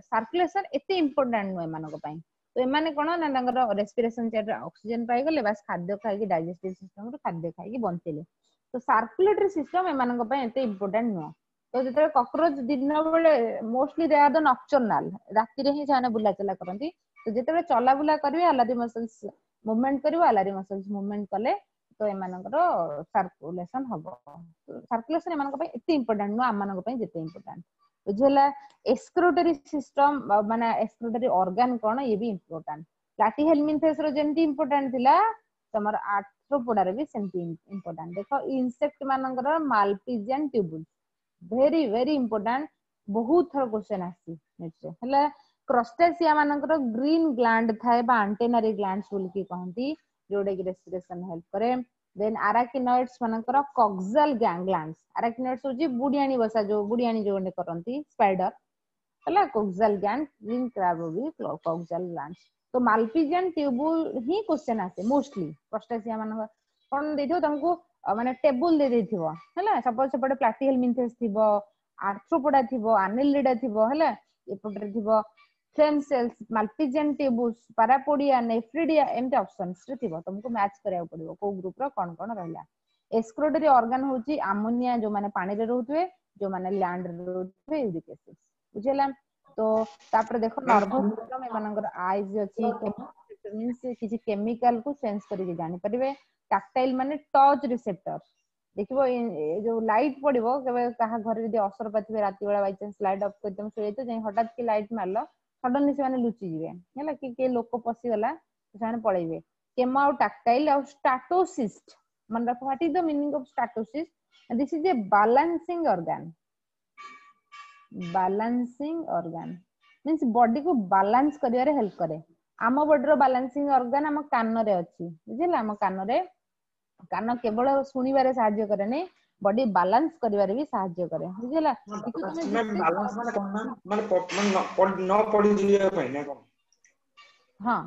ସାର୍କୁଲେସନ ଏତେ ଇମ୍ପୋର୍ଟାଣ୍ଟ ନୁହେଁ ଏମାନଙ୍କ ପାଇଁ ତ ଏମାନେ କଣ ନା ତାଙ୍କର ରେସ୍ପିରେସନ ଚେନରେ ଅକ୍ସିଜେନ ପାଇଗଲେ ବାସ୍ ଖାଦ୍ୟ ଖାଇକି ଡାଇଜେଷ୍ଟିଭ ସିଷ୍ଟମ ରୁ ଖାଦ୍ୟ ଖାଇକି ବଞ୍ଚିଲେ ତ ସାର୍କୁଲେଟରୀ ସିଷ୍ଟମ ଏମାନଙ୍କ ପାଇଁ ଏତେ ଇମ୍ପୋର୍ଟାଣ୍ଟ ନୁହଁ ତ ଯେତେବେଳେ କକ୍ରୋଚ ଦିନ ବେଳେ mostly they are the nocturnal ରାତିରେ ହିଁ ସେମାନେ ବୁଲାଚଲା କରନ୍ତି ତ ଯେତେବେଳେ ଚଲାବୁଲା କରିବେ ଆଲାରି ମସଲ୍ସ ମୁଭମେଣ୍ଟ କରିବ ଆଲାରି ମସଲ୍ସ ମୁଭମେଣ୍ଟ କଲେ ତ ଏମାନଙ୍କର ସାର୍କୁଲେସନ ହବ ସାର୍କୁଲେସନ ଏମାନଙ୍କ ପାଇଁ ଏତେ ଇମ୍ପୋର୍ଟାଣ୍ଟ ନୁହଁ ଆମମାନଙ୍କ ପାଇଁ ଯେତେ ଇମ୍ପୋର୍ଟାଣ୍ଟ ବୁଝିହେଲା ଏକ୍ସକ୍ରିଟୋରୀ ସିଷ୍ଟମ ମାନେ ଏକ୍ସକ୍ରିଟୋରୀ ଅର୍ଗାନ କଣ ଇଏ ବି ଇମ୍ପୋର୍ଟାଣ୍ଟ ପ୍ଲାଟିହେଲମିନ୍ଥେସ ର ଯେମିତି ଇମ୍ପୋର୍ଟାଣ୍ଟ ଥିଲା ତମର ଆର୍ଥ୍ରୋପୋଡାର ବି ସେମିତି ଇମ୍ପୋର୍ଟାଣ୍ଟ ଦେଖ ଇନସେକ୍ଟ ମାନଙ୍କର ମାଲପିଜିଆନ ଟ୍ୟୁବୁଲ ଭେରି ଭେରି ଇମ୍ପୋର୍ଟାଣ୍ଟ ବହୁତ ଥର କ୍ୱେଶ୍ଚନ ଆସିଛି ହେଲା କ୍ରଷ୍ଟାସିଆ ମାନଙ୍କର ଗ୍ରୀନ ଗ୍ଲାଣ୍ଡ ଥାଏ ବା ଆଣ୍ଟେନାରୀ ଗ୍ଲାଣ୍ଡ ବୋଲିକି କହନ୍ତି ଯୋଉଟା କି ରେସ୍ପିରେସନ ହେଲ୍ପ କରେ ଦେନ୍ ଆରାକିନଏଡ୍ସ ମାନଙ୍କର କକ୍ସାଲ ଗ୍ଲାଣ୍ଡ ଆରାକିନଏଡ୍ସ ହଉଛି ବୁଢିଆଣୀ ବସା ଯୋଉ ବୁଢିଆଣୀ ଯୋଉ କରନ୍ତି ସ୍ପାଇଡର ହେଲା କୋକ୍ସାଲ ଗ୍ଲାଣ୍ଡ ଗ୍ରୀନ କ୍ରାବ ବି କୋକ୍ସାଲ ଗ୍ଲାଣ୍ଡ ତ ମାଲପିଜିଆନ ଟ୍ୟୁବୁଲ ହିଁ କ୍ୱେଶ୍ଚନ ଆସେ ମୋଷ୍ଟଲି କ୍ରଷ୍ଟାସିଆ ମାନଙ୍କ କଣ ଦେଇଥିବ ତମକୁ ମାନେ ଟେବୁଲ ଦେଇ ଦେଇଥିବ ହେଲା ସପୋଜ ସେପଟେ ପ୍ଲାଟିହେଲମିନ୍ଥେସ ଥିବ ଆର୍ଥ୍ରୋପୋଡା ଥିବ ଆନେଲିଡା ଥିବ ହେଲା ଏପଟରେ ଥିବ ଫ୍ଲେମ ସେଲ୍ସ ମାଲପିଜିଆନ ଟ୍ୟୁବୁଲ୍ସ ପାରାପୋଡିଆ ନେଫ୍ରିଡିଆ ଏମିତି ଅପସନ୍ସ ରେ ଥିବ ତମକୁ ମ୍ୟାଚ୍ କରିବାକୁ ପଡିବ କୋଉ ଗ୍ରୁପ ର କଣ କଣ ରହିଲା ଏକ୍ସକ୍ରିଟୋରୀ ଅର୍ଗାନ ହଉଛି ଆମୋନିଆ ଯୋଉମାନେ ପାଣିରେ ରହୁଥିବେ ଯୋଉମାନେ ଲ୍ୟାଣ୍ଡ ରେ ରହୁଥିବେ ୟୁରିକ ଏସିଡ ବୁଝିହେଲା ତ ତାପରେ ଦେଖ ନର୍ଭସ ସିଷ୍ଟମ ଏମାନଙ୍କର ଆଇଜ ଅଛି ମିନ୍ସ କିଛି କେମିକାଲ କୁ ସେନ୍ସ କରିକି ଜାଣିପାରିବେ ଟାକ୍ଟାଇଲ ମାନେ ଟଚ୍ ରିସେପ୍ଟର ଦେଖିବ ଏ ଯୋଉ ଲାଇଟ ପଡିବ କେବେ କାହା ଘରେ ଯଦି ଅସରପା ଥିବେ ରାତି ବେଳା ବାଇଚାନ୍ସ ଲାଇଟ ଅଫ୍ କରି ତମେ ଶୋଇଯାଇଥିବ ଯାଇ ହଠାତ୍ କି ଲାଇଟ ମାରିଲ ସଡନଲି ସେମାନେ ଲୁଚିଯିବେ ହେଲା କି କିଏ ଲୋକ ପଶିଗଲା ସେମାନେ ପଳେଇବେ କେମୋ ଆଉ ଟାକ୍ଟାଇଲ ଆଉ ଷ୍ଟାଟୋସିଷ୍ଟ ମନେ ରଖ what is the meaning of statocyst this is a balancing organ balancing organ means body କୁ ବାଲାନ୍ସ କରିବାରେ ହେଲ୍ପ କରେ ଆମ ବଡିର ବାଲାନ୍ସିଂ ଅର୍ଗାନ ଆମ କାନରେ ଅଛି ବୁଝିଲା ଆମ କାନରେ କାନ କେବଳ ଶୁଣିବାରେ ସାହାଯ୍ୟ କରେନି ବଡି ବାଲାନ୍ସ କରିବାରେ ବି ସାହାଯ୍ୟ କରେ ବୁଝିଲା ବାଲାନ୍ସ ମାନେ କଣ ନା ମାନେ ନ ପଡିଯିବା ପାଇଁ ନା କଣ ହଁ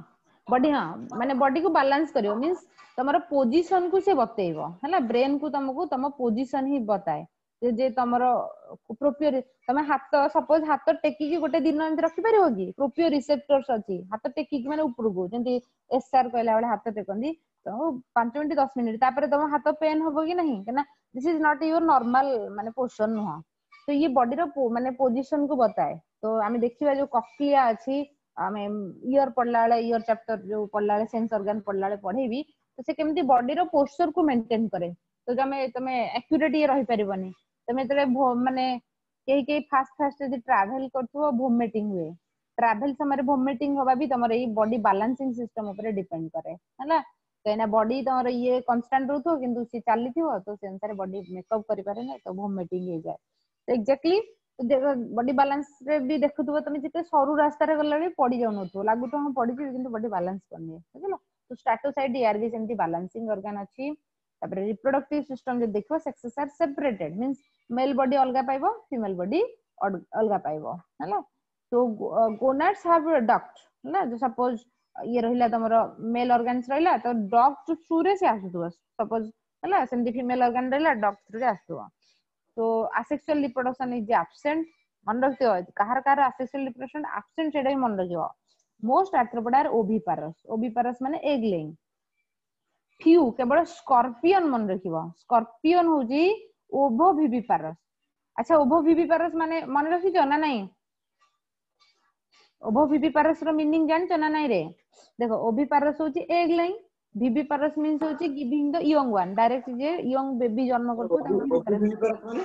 ବଡି ହଁ ମାନେ ବଡିକୁ ବାଲାନ୍ସ କରିବ ମିନ୍ସ ତମର ପୋଜିସନ କୁ ସେ ବତେଇବ ହେଲା ବ୍ରେନ କୁ ତମକୁ ତମ ପୋଜିସନ ହିଁ ବତାଏ ଯେ ତମର ପ୍ରୋପିଓ ତମେ ହାତ ସପୋଜ ହାତ ଟେକିକି ଗୋଟେ ଦିନ ଏମିତି ରଖିପାରିବ କି ପ୍ରୋପିଓ ରିସେପ୍ଟର୍ସ ଅଛି ହାତ ଟେକିକି ମାନେ ଉପରକୁ ଯେମିତି ଏସ୍ ସାର୍ କହିଲା ବେଳେ ହାତ ଟେକନ୍ତି ତ ପାଞ୍ଚ ମିନିଟ ଦଶ ମିନିଟ ତାପରେ ତମ ହାତ ପେନ୍ ହବ କି ନାହିଁ କାହିଁକିନା this is not your normal ମାନେ ପୋଜିସନ ନୁହଁ ତ ଇଏ ବଡିର ମାନେ ପୋଜିସନ କୁ ବତାଏ ତ ଆମେ ଦେଖିବା ଯୋଉ କକ୍ଲିଆ ଅଛି ଆମେ ଇୟର ପଢିଲା ବେଳେ ଇୟର ଚାପ୍ଟର ଯୋଉ ପଢିଲା ବେଳେ ସେନ୍ସ ଅର୍ଗାନ ପଢିଲା ବେଳେ ପଢେଇବି ତ ସେ କେମିତି ବଡିର ପୋସ୍ଚର କୁ ମେଣ୍ଟେନ କରେ ତ ତମେ ତମେ ଆକ୍ୟୁରେଟ ଇଏ ରହିପାରିବନି ତମେ ଯେତେବେଳେ ମାନେ କେହି କେହି ଫାଷ୍ଟ ଫାଷ୍ଟ ଯଦି ଟ୍ରାଭେଲ କରୁଥିବ ଭୋମିଟିଂ ହୁଏ ଟ୍ରାଭେଲ ସମୟରେ ଭୋମିଟିଂ ହବା ବି ତମର ଏଇ ବଡି ବାଲାନ୍ସିଂ ସିଷ୍ଟମ ଉପରେ ଡିପେଣ୍ଡ କରେ ହେଲା କାହିଁକିନା ବଡି ତମର ଇଏ କନଷ୍ଟାଣ୍ଟ ରହୁଥିବ କିନ୍ତୁ ସିଏ ଚାଲିଥିବ ତ ସେ ଅନୁସାରେ ବଡି ମେକଅପ୍ କରିପାରେନି ତ ଭୋମିଟିଂ ହେଇଯାଏ ଏକ୍ଜାକ୍ଟଲି ବଡି ବାଲାନ୍ସ ରେ ବି ଦେଖୁଥିବ ତମେ ଯେତେ ସରୁ ରାସ୍ତାରେ ଗଲା ବି ପଡି ଯାଉନଥିବ ଲାଗୁଥିବ ହଁ ପଡିଯିବି କିନ୍ତୁ ବଡି ବାଲାନ୍ସ କରିନିଏ ବୁଝିଲ ତ ଷ୍ଟାଟୋସାଇଟ୍ ୟାର ବି ସେମିତି ବାଲାନ୍ସିଂ ଅର୍ଗାନ ଅଛି ତାପରେ ରିପ୍ରଡକ୍ଟିଭ ସିଷ୍ଟମ ଯଦି ଦେଖିବ sexes are separated means male body ଅଲଗା ପାଇବ ଫିମେଲ ବଡି ଅଲଗା ପାଇବ ହେଲା ତ ଗୋନାଡ୍ସ have duct ହେଲା ସପୋଜ ଇଏ ରହିଲା ତମର ମେଲ ଅର୍ଗାନ୍ସ ରହିଲା ତ ଡକ୍ଟ ଥ୍ରୁ ରେ ସେ ଆସୁଥିବ ସପୋଜ ହେଲା ସେମିତି ଫିମେଲ ଅର୍ଗାନ ରହିଲା ଡକ୍ଟ ଥ୍ରୁ ରେ ଆସୁଥିବ ତ ଆସେକ୍ସୁଆଲ ରିପ୍ରଡକ୍ସନ is absent ମନେ ରଖିଥିବ କାହାର କାହାର ଆସେକ୍ସୁଆଲ ରିପ୍ରଡକ୍ସନ ଆବସେଣ୍ଟ ସେଇଟା ବି ମନେ ରଖିବ most arthropoda are oviparous oviparous ମାନେ ଏଗ ଲେଇଂ ଫିଉ କେବଳ ସ୍କର୍ପିଅନ ମନେ ରଖିବ ସ୍କର୍ପିଅନ ହଉଛି ଓଭୋଭିଭିପାରସ୍ ଆଚ୍ଛା ଓଭୋଭିଭିପାରସ୍ ମାନେ ମନେ ରଖିଛ ନା ନାଇଁ ଓଭୋଭିଭିପାରସ୍ ର ମିନିଂ ଜାଣିଛ ନା ନାଇଁ ରେ ଦେଖ ଓଭିପାରସ୍ ହଉଛି ଏଗ ଲେଇଂ ଭିଭିପାରସ୍ ମିନ୍ସ ହଉଛି giving the young one direct ଯେ ୟଙ୍ଗ ବେବି ଜନ୍ମ କରୁଥିବ ତାକୁ ଭିଭିପାରସ୍ ମାନେ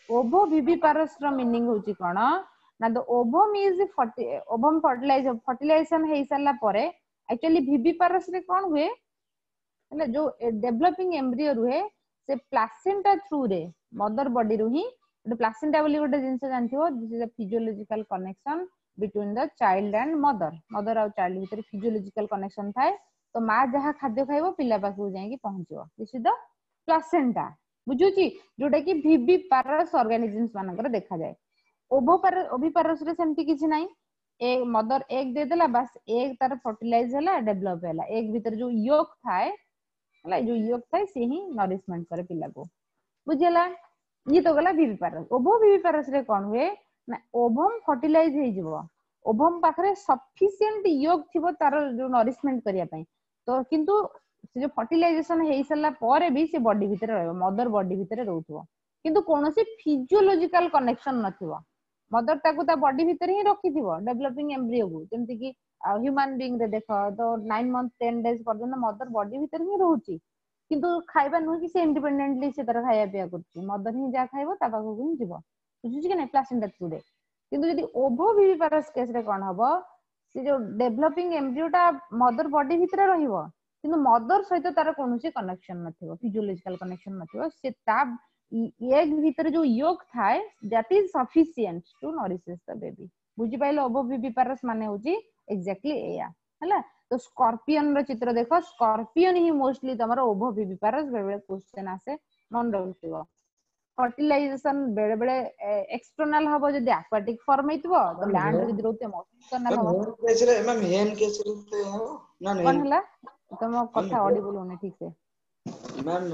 ଓଭୋଭିଭିପାରସ୍ ର ମିନିଂ ହଉଛି କଣ ନା the ovum is ovum fertilize fertilization ହେଇ ସାରିଲା ପରେ ଆକ୍ଚୁଆଲି ଭିଭିପାରସ୍ ରେ କଣ ହୁଏ ହେଲା ଯୋଉ ଡେଭଲପିଂ ଏମ୍ବ୍ରିଓ ରୁହେ ସେ ପ୍ଲାସେଣ୍ଟା ଥ୍ରୁ ରେ ମଦର ବଡିରୁ ହିଁ ଗୋଟେ ପ୍ଲାସେଣ୍ଟା ବୋଲି ଗୋଟେ ଜିନିଷ ଜାଣିଥିବ this is a physiological connection between the child and mother mother ଆଉ ଚାଇଲ୍ଡ ଭିତରେ ଫିଜିଓଲୋଜିକାଲ କନେକ୍ସନ ଥାଏ ତ ମା ଯାହା ଖାଦ୍ୟ ଖାଇବ ପିଲା ପାଖକୁ ଯାଇକି ପହଞ୍ଚିବ this is the placenta ବୁଝୁଛି ଯୋଉଟା କି ଭିଭିପାରସ୍ ଅର୍ଗାନିଜମ୍ସ ମାନଙ୍କର ଦେଖାଯାଏ ଓଭୋପାର ଓଭିପାରସ୍ ରେ ସେମିତି କିଛି ନାହିଁ ଏ ମଦର ଏଗ ଦେଇଦେଲା ବାସ୍ ଏଗ ତାର ଫର୍ଟିଲାଇଜ ହେଲା ଡେଭଲପ ହେଲା ଏଗ ଭିତରେ ଯୋଉ ୟୋକ ଥାଏ ହେଲା ଯୋଉ ୟୋକ ଥାଏ ସେ ହିଁ ନରିଶମେଣ୍ଟ କରେ ପିଲାକୁ ବୁଝିହେଲା ଇଏ ତ ଗଲା ଭିଭିପାରସ୍ ଓଭୋ ଭିଭିପାରସ୍ ରେ କଣ ହୁଏ ନା ଓଭମ ଫର୍ଟିଲାଇଜ ହେଇଯିବ ଓଭମ ପାଖରେ ସଫିସିଏଣ୍ଟ ୟୋକ ଥିବ ତାର ଯୋଉ ନରିଶମେଣ୍ଟ କରିବା ପାଇଁ ତ କିନ୍ତୁ ସେ ଯୋଉ ଫର୍ଟିଲାଇଜେସନ ହେଇ ସାରିଲା ପରେ ବି ସେ ବଡି ଭିତରେ ରହିବ ମଦର ବଡି ଭିତରେ ରହୁଥିବ କିନ୍ତୁ କୌଣସି ଫିଜିଓଲୋଜିକାଲ କନେକ୍ସନ ନଥିବ ମଦର ତାକୁ ତା ବଡି ଭିତରେ ହିଁ ରଖିଥିବ ଡେଭଲପିଂ ଏମ୍ବ୍ରିଓକୁ ଯେମିତି କି ହ୍ୟୁମାନ ବିଙ୍ଗ ରେ ଦେଖ ତ ନାଇନ ମନ୍ଥ ଟେନ ଡେଜ ପର୍ଯ୍ୟନ୍ତ ମଦର ବଡି ଭିତରେ ହିଁ ରହୁଛି କିନ୍ତୁ ଖାଇବା ନୁହେଁ କି ସେ ଇଣ୍ଡିପେଣ୍ଡେଣ୍ଟଲି ସେ ତାର ଖାଇବା ପିଇବା କରୁଛି ମଦର ହିଁ ଯାହା ଖାଇବ ତା ପାଖକୁ ହିଁ ଯିବ ବୁଝୁଛି କି ନାଇଁ ପ୍ଲାସେଣ୍ଟା ଥ୍ରୁରେ କିନ୍ତୁ ଯଦି ଓଭୋ ଭିଭିପାରସ୍ କେସ ରେ କଣ ହବ ସେ ଯୋଉ ଡେଭଲପିଂ ଏମ୍ବ୍ରିଓ ଟା ମଦର ବଡି ଭିତରେ ରହିବ କିନ୍ତୁ ମଦର ସହିତ ତାର କୌଣସି କନେକ୍ସନ ନଥିବ ଫିଜିଓଲୋଜିକାଲ କନେକ୍ସନ ନଥିବ ସେ ତା ଏଗ ଭିତରେ ଯୋଉ ୟୋକ ଥାଏ that is sufficient to nourishes the baby ବୁଝିପାରିଲ ଓଭୋ ଭିଭିପାରସ୍ ମାନେ ହଉଛି ଏକ୍ଜାକ୍ଟଲି ଏଇଆ ହେଲା ତ ସ୍କର୍ପିଅନ ର ଚିତ୍ର ଦେଖ ସ୍କର୍ପିଅନ ହିଁ ମୋଷ୍ଟଲି ତମର ଓଭୋ ଭିଭିପାରସ୍ ବେଳେ ବେଳେ କ୍ୱେଶ୍ଚନ ଆସେ ମନେ ରଖିଥିବ ଫର୍ଟିଲାଇଜେସନ ବେଳେ ବେଳେ ଏକ୍ସଟର୍ନାଲ ହବ ଯଦି ଆକ୍ୱାଟିକ ଫର୍ମ ହେଇଥିବ ତ ଲ୍ୟାଣ୍ଡ ଯଦି ରହୁଥିବ ଇଣ୍ଟରନାଲ ହବ ହେନ୍ କେସ ରେ ମ୍ୟାମ୍ ହେନ୍ କେସ ରେ ତ ହବ ନା କଣ ହେଲା ତମ କଥା ଅଡିବୁଲ ହଉନି ଠିକ ସେ ମ୍ୟାମ୍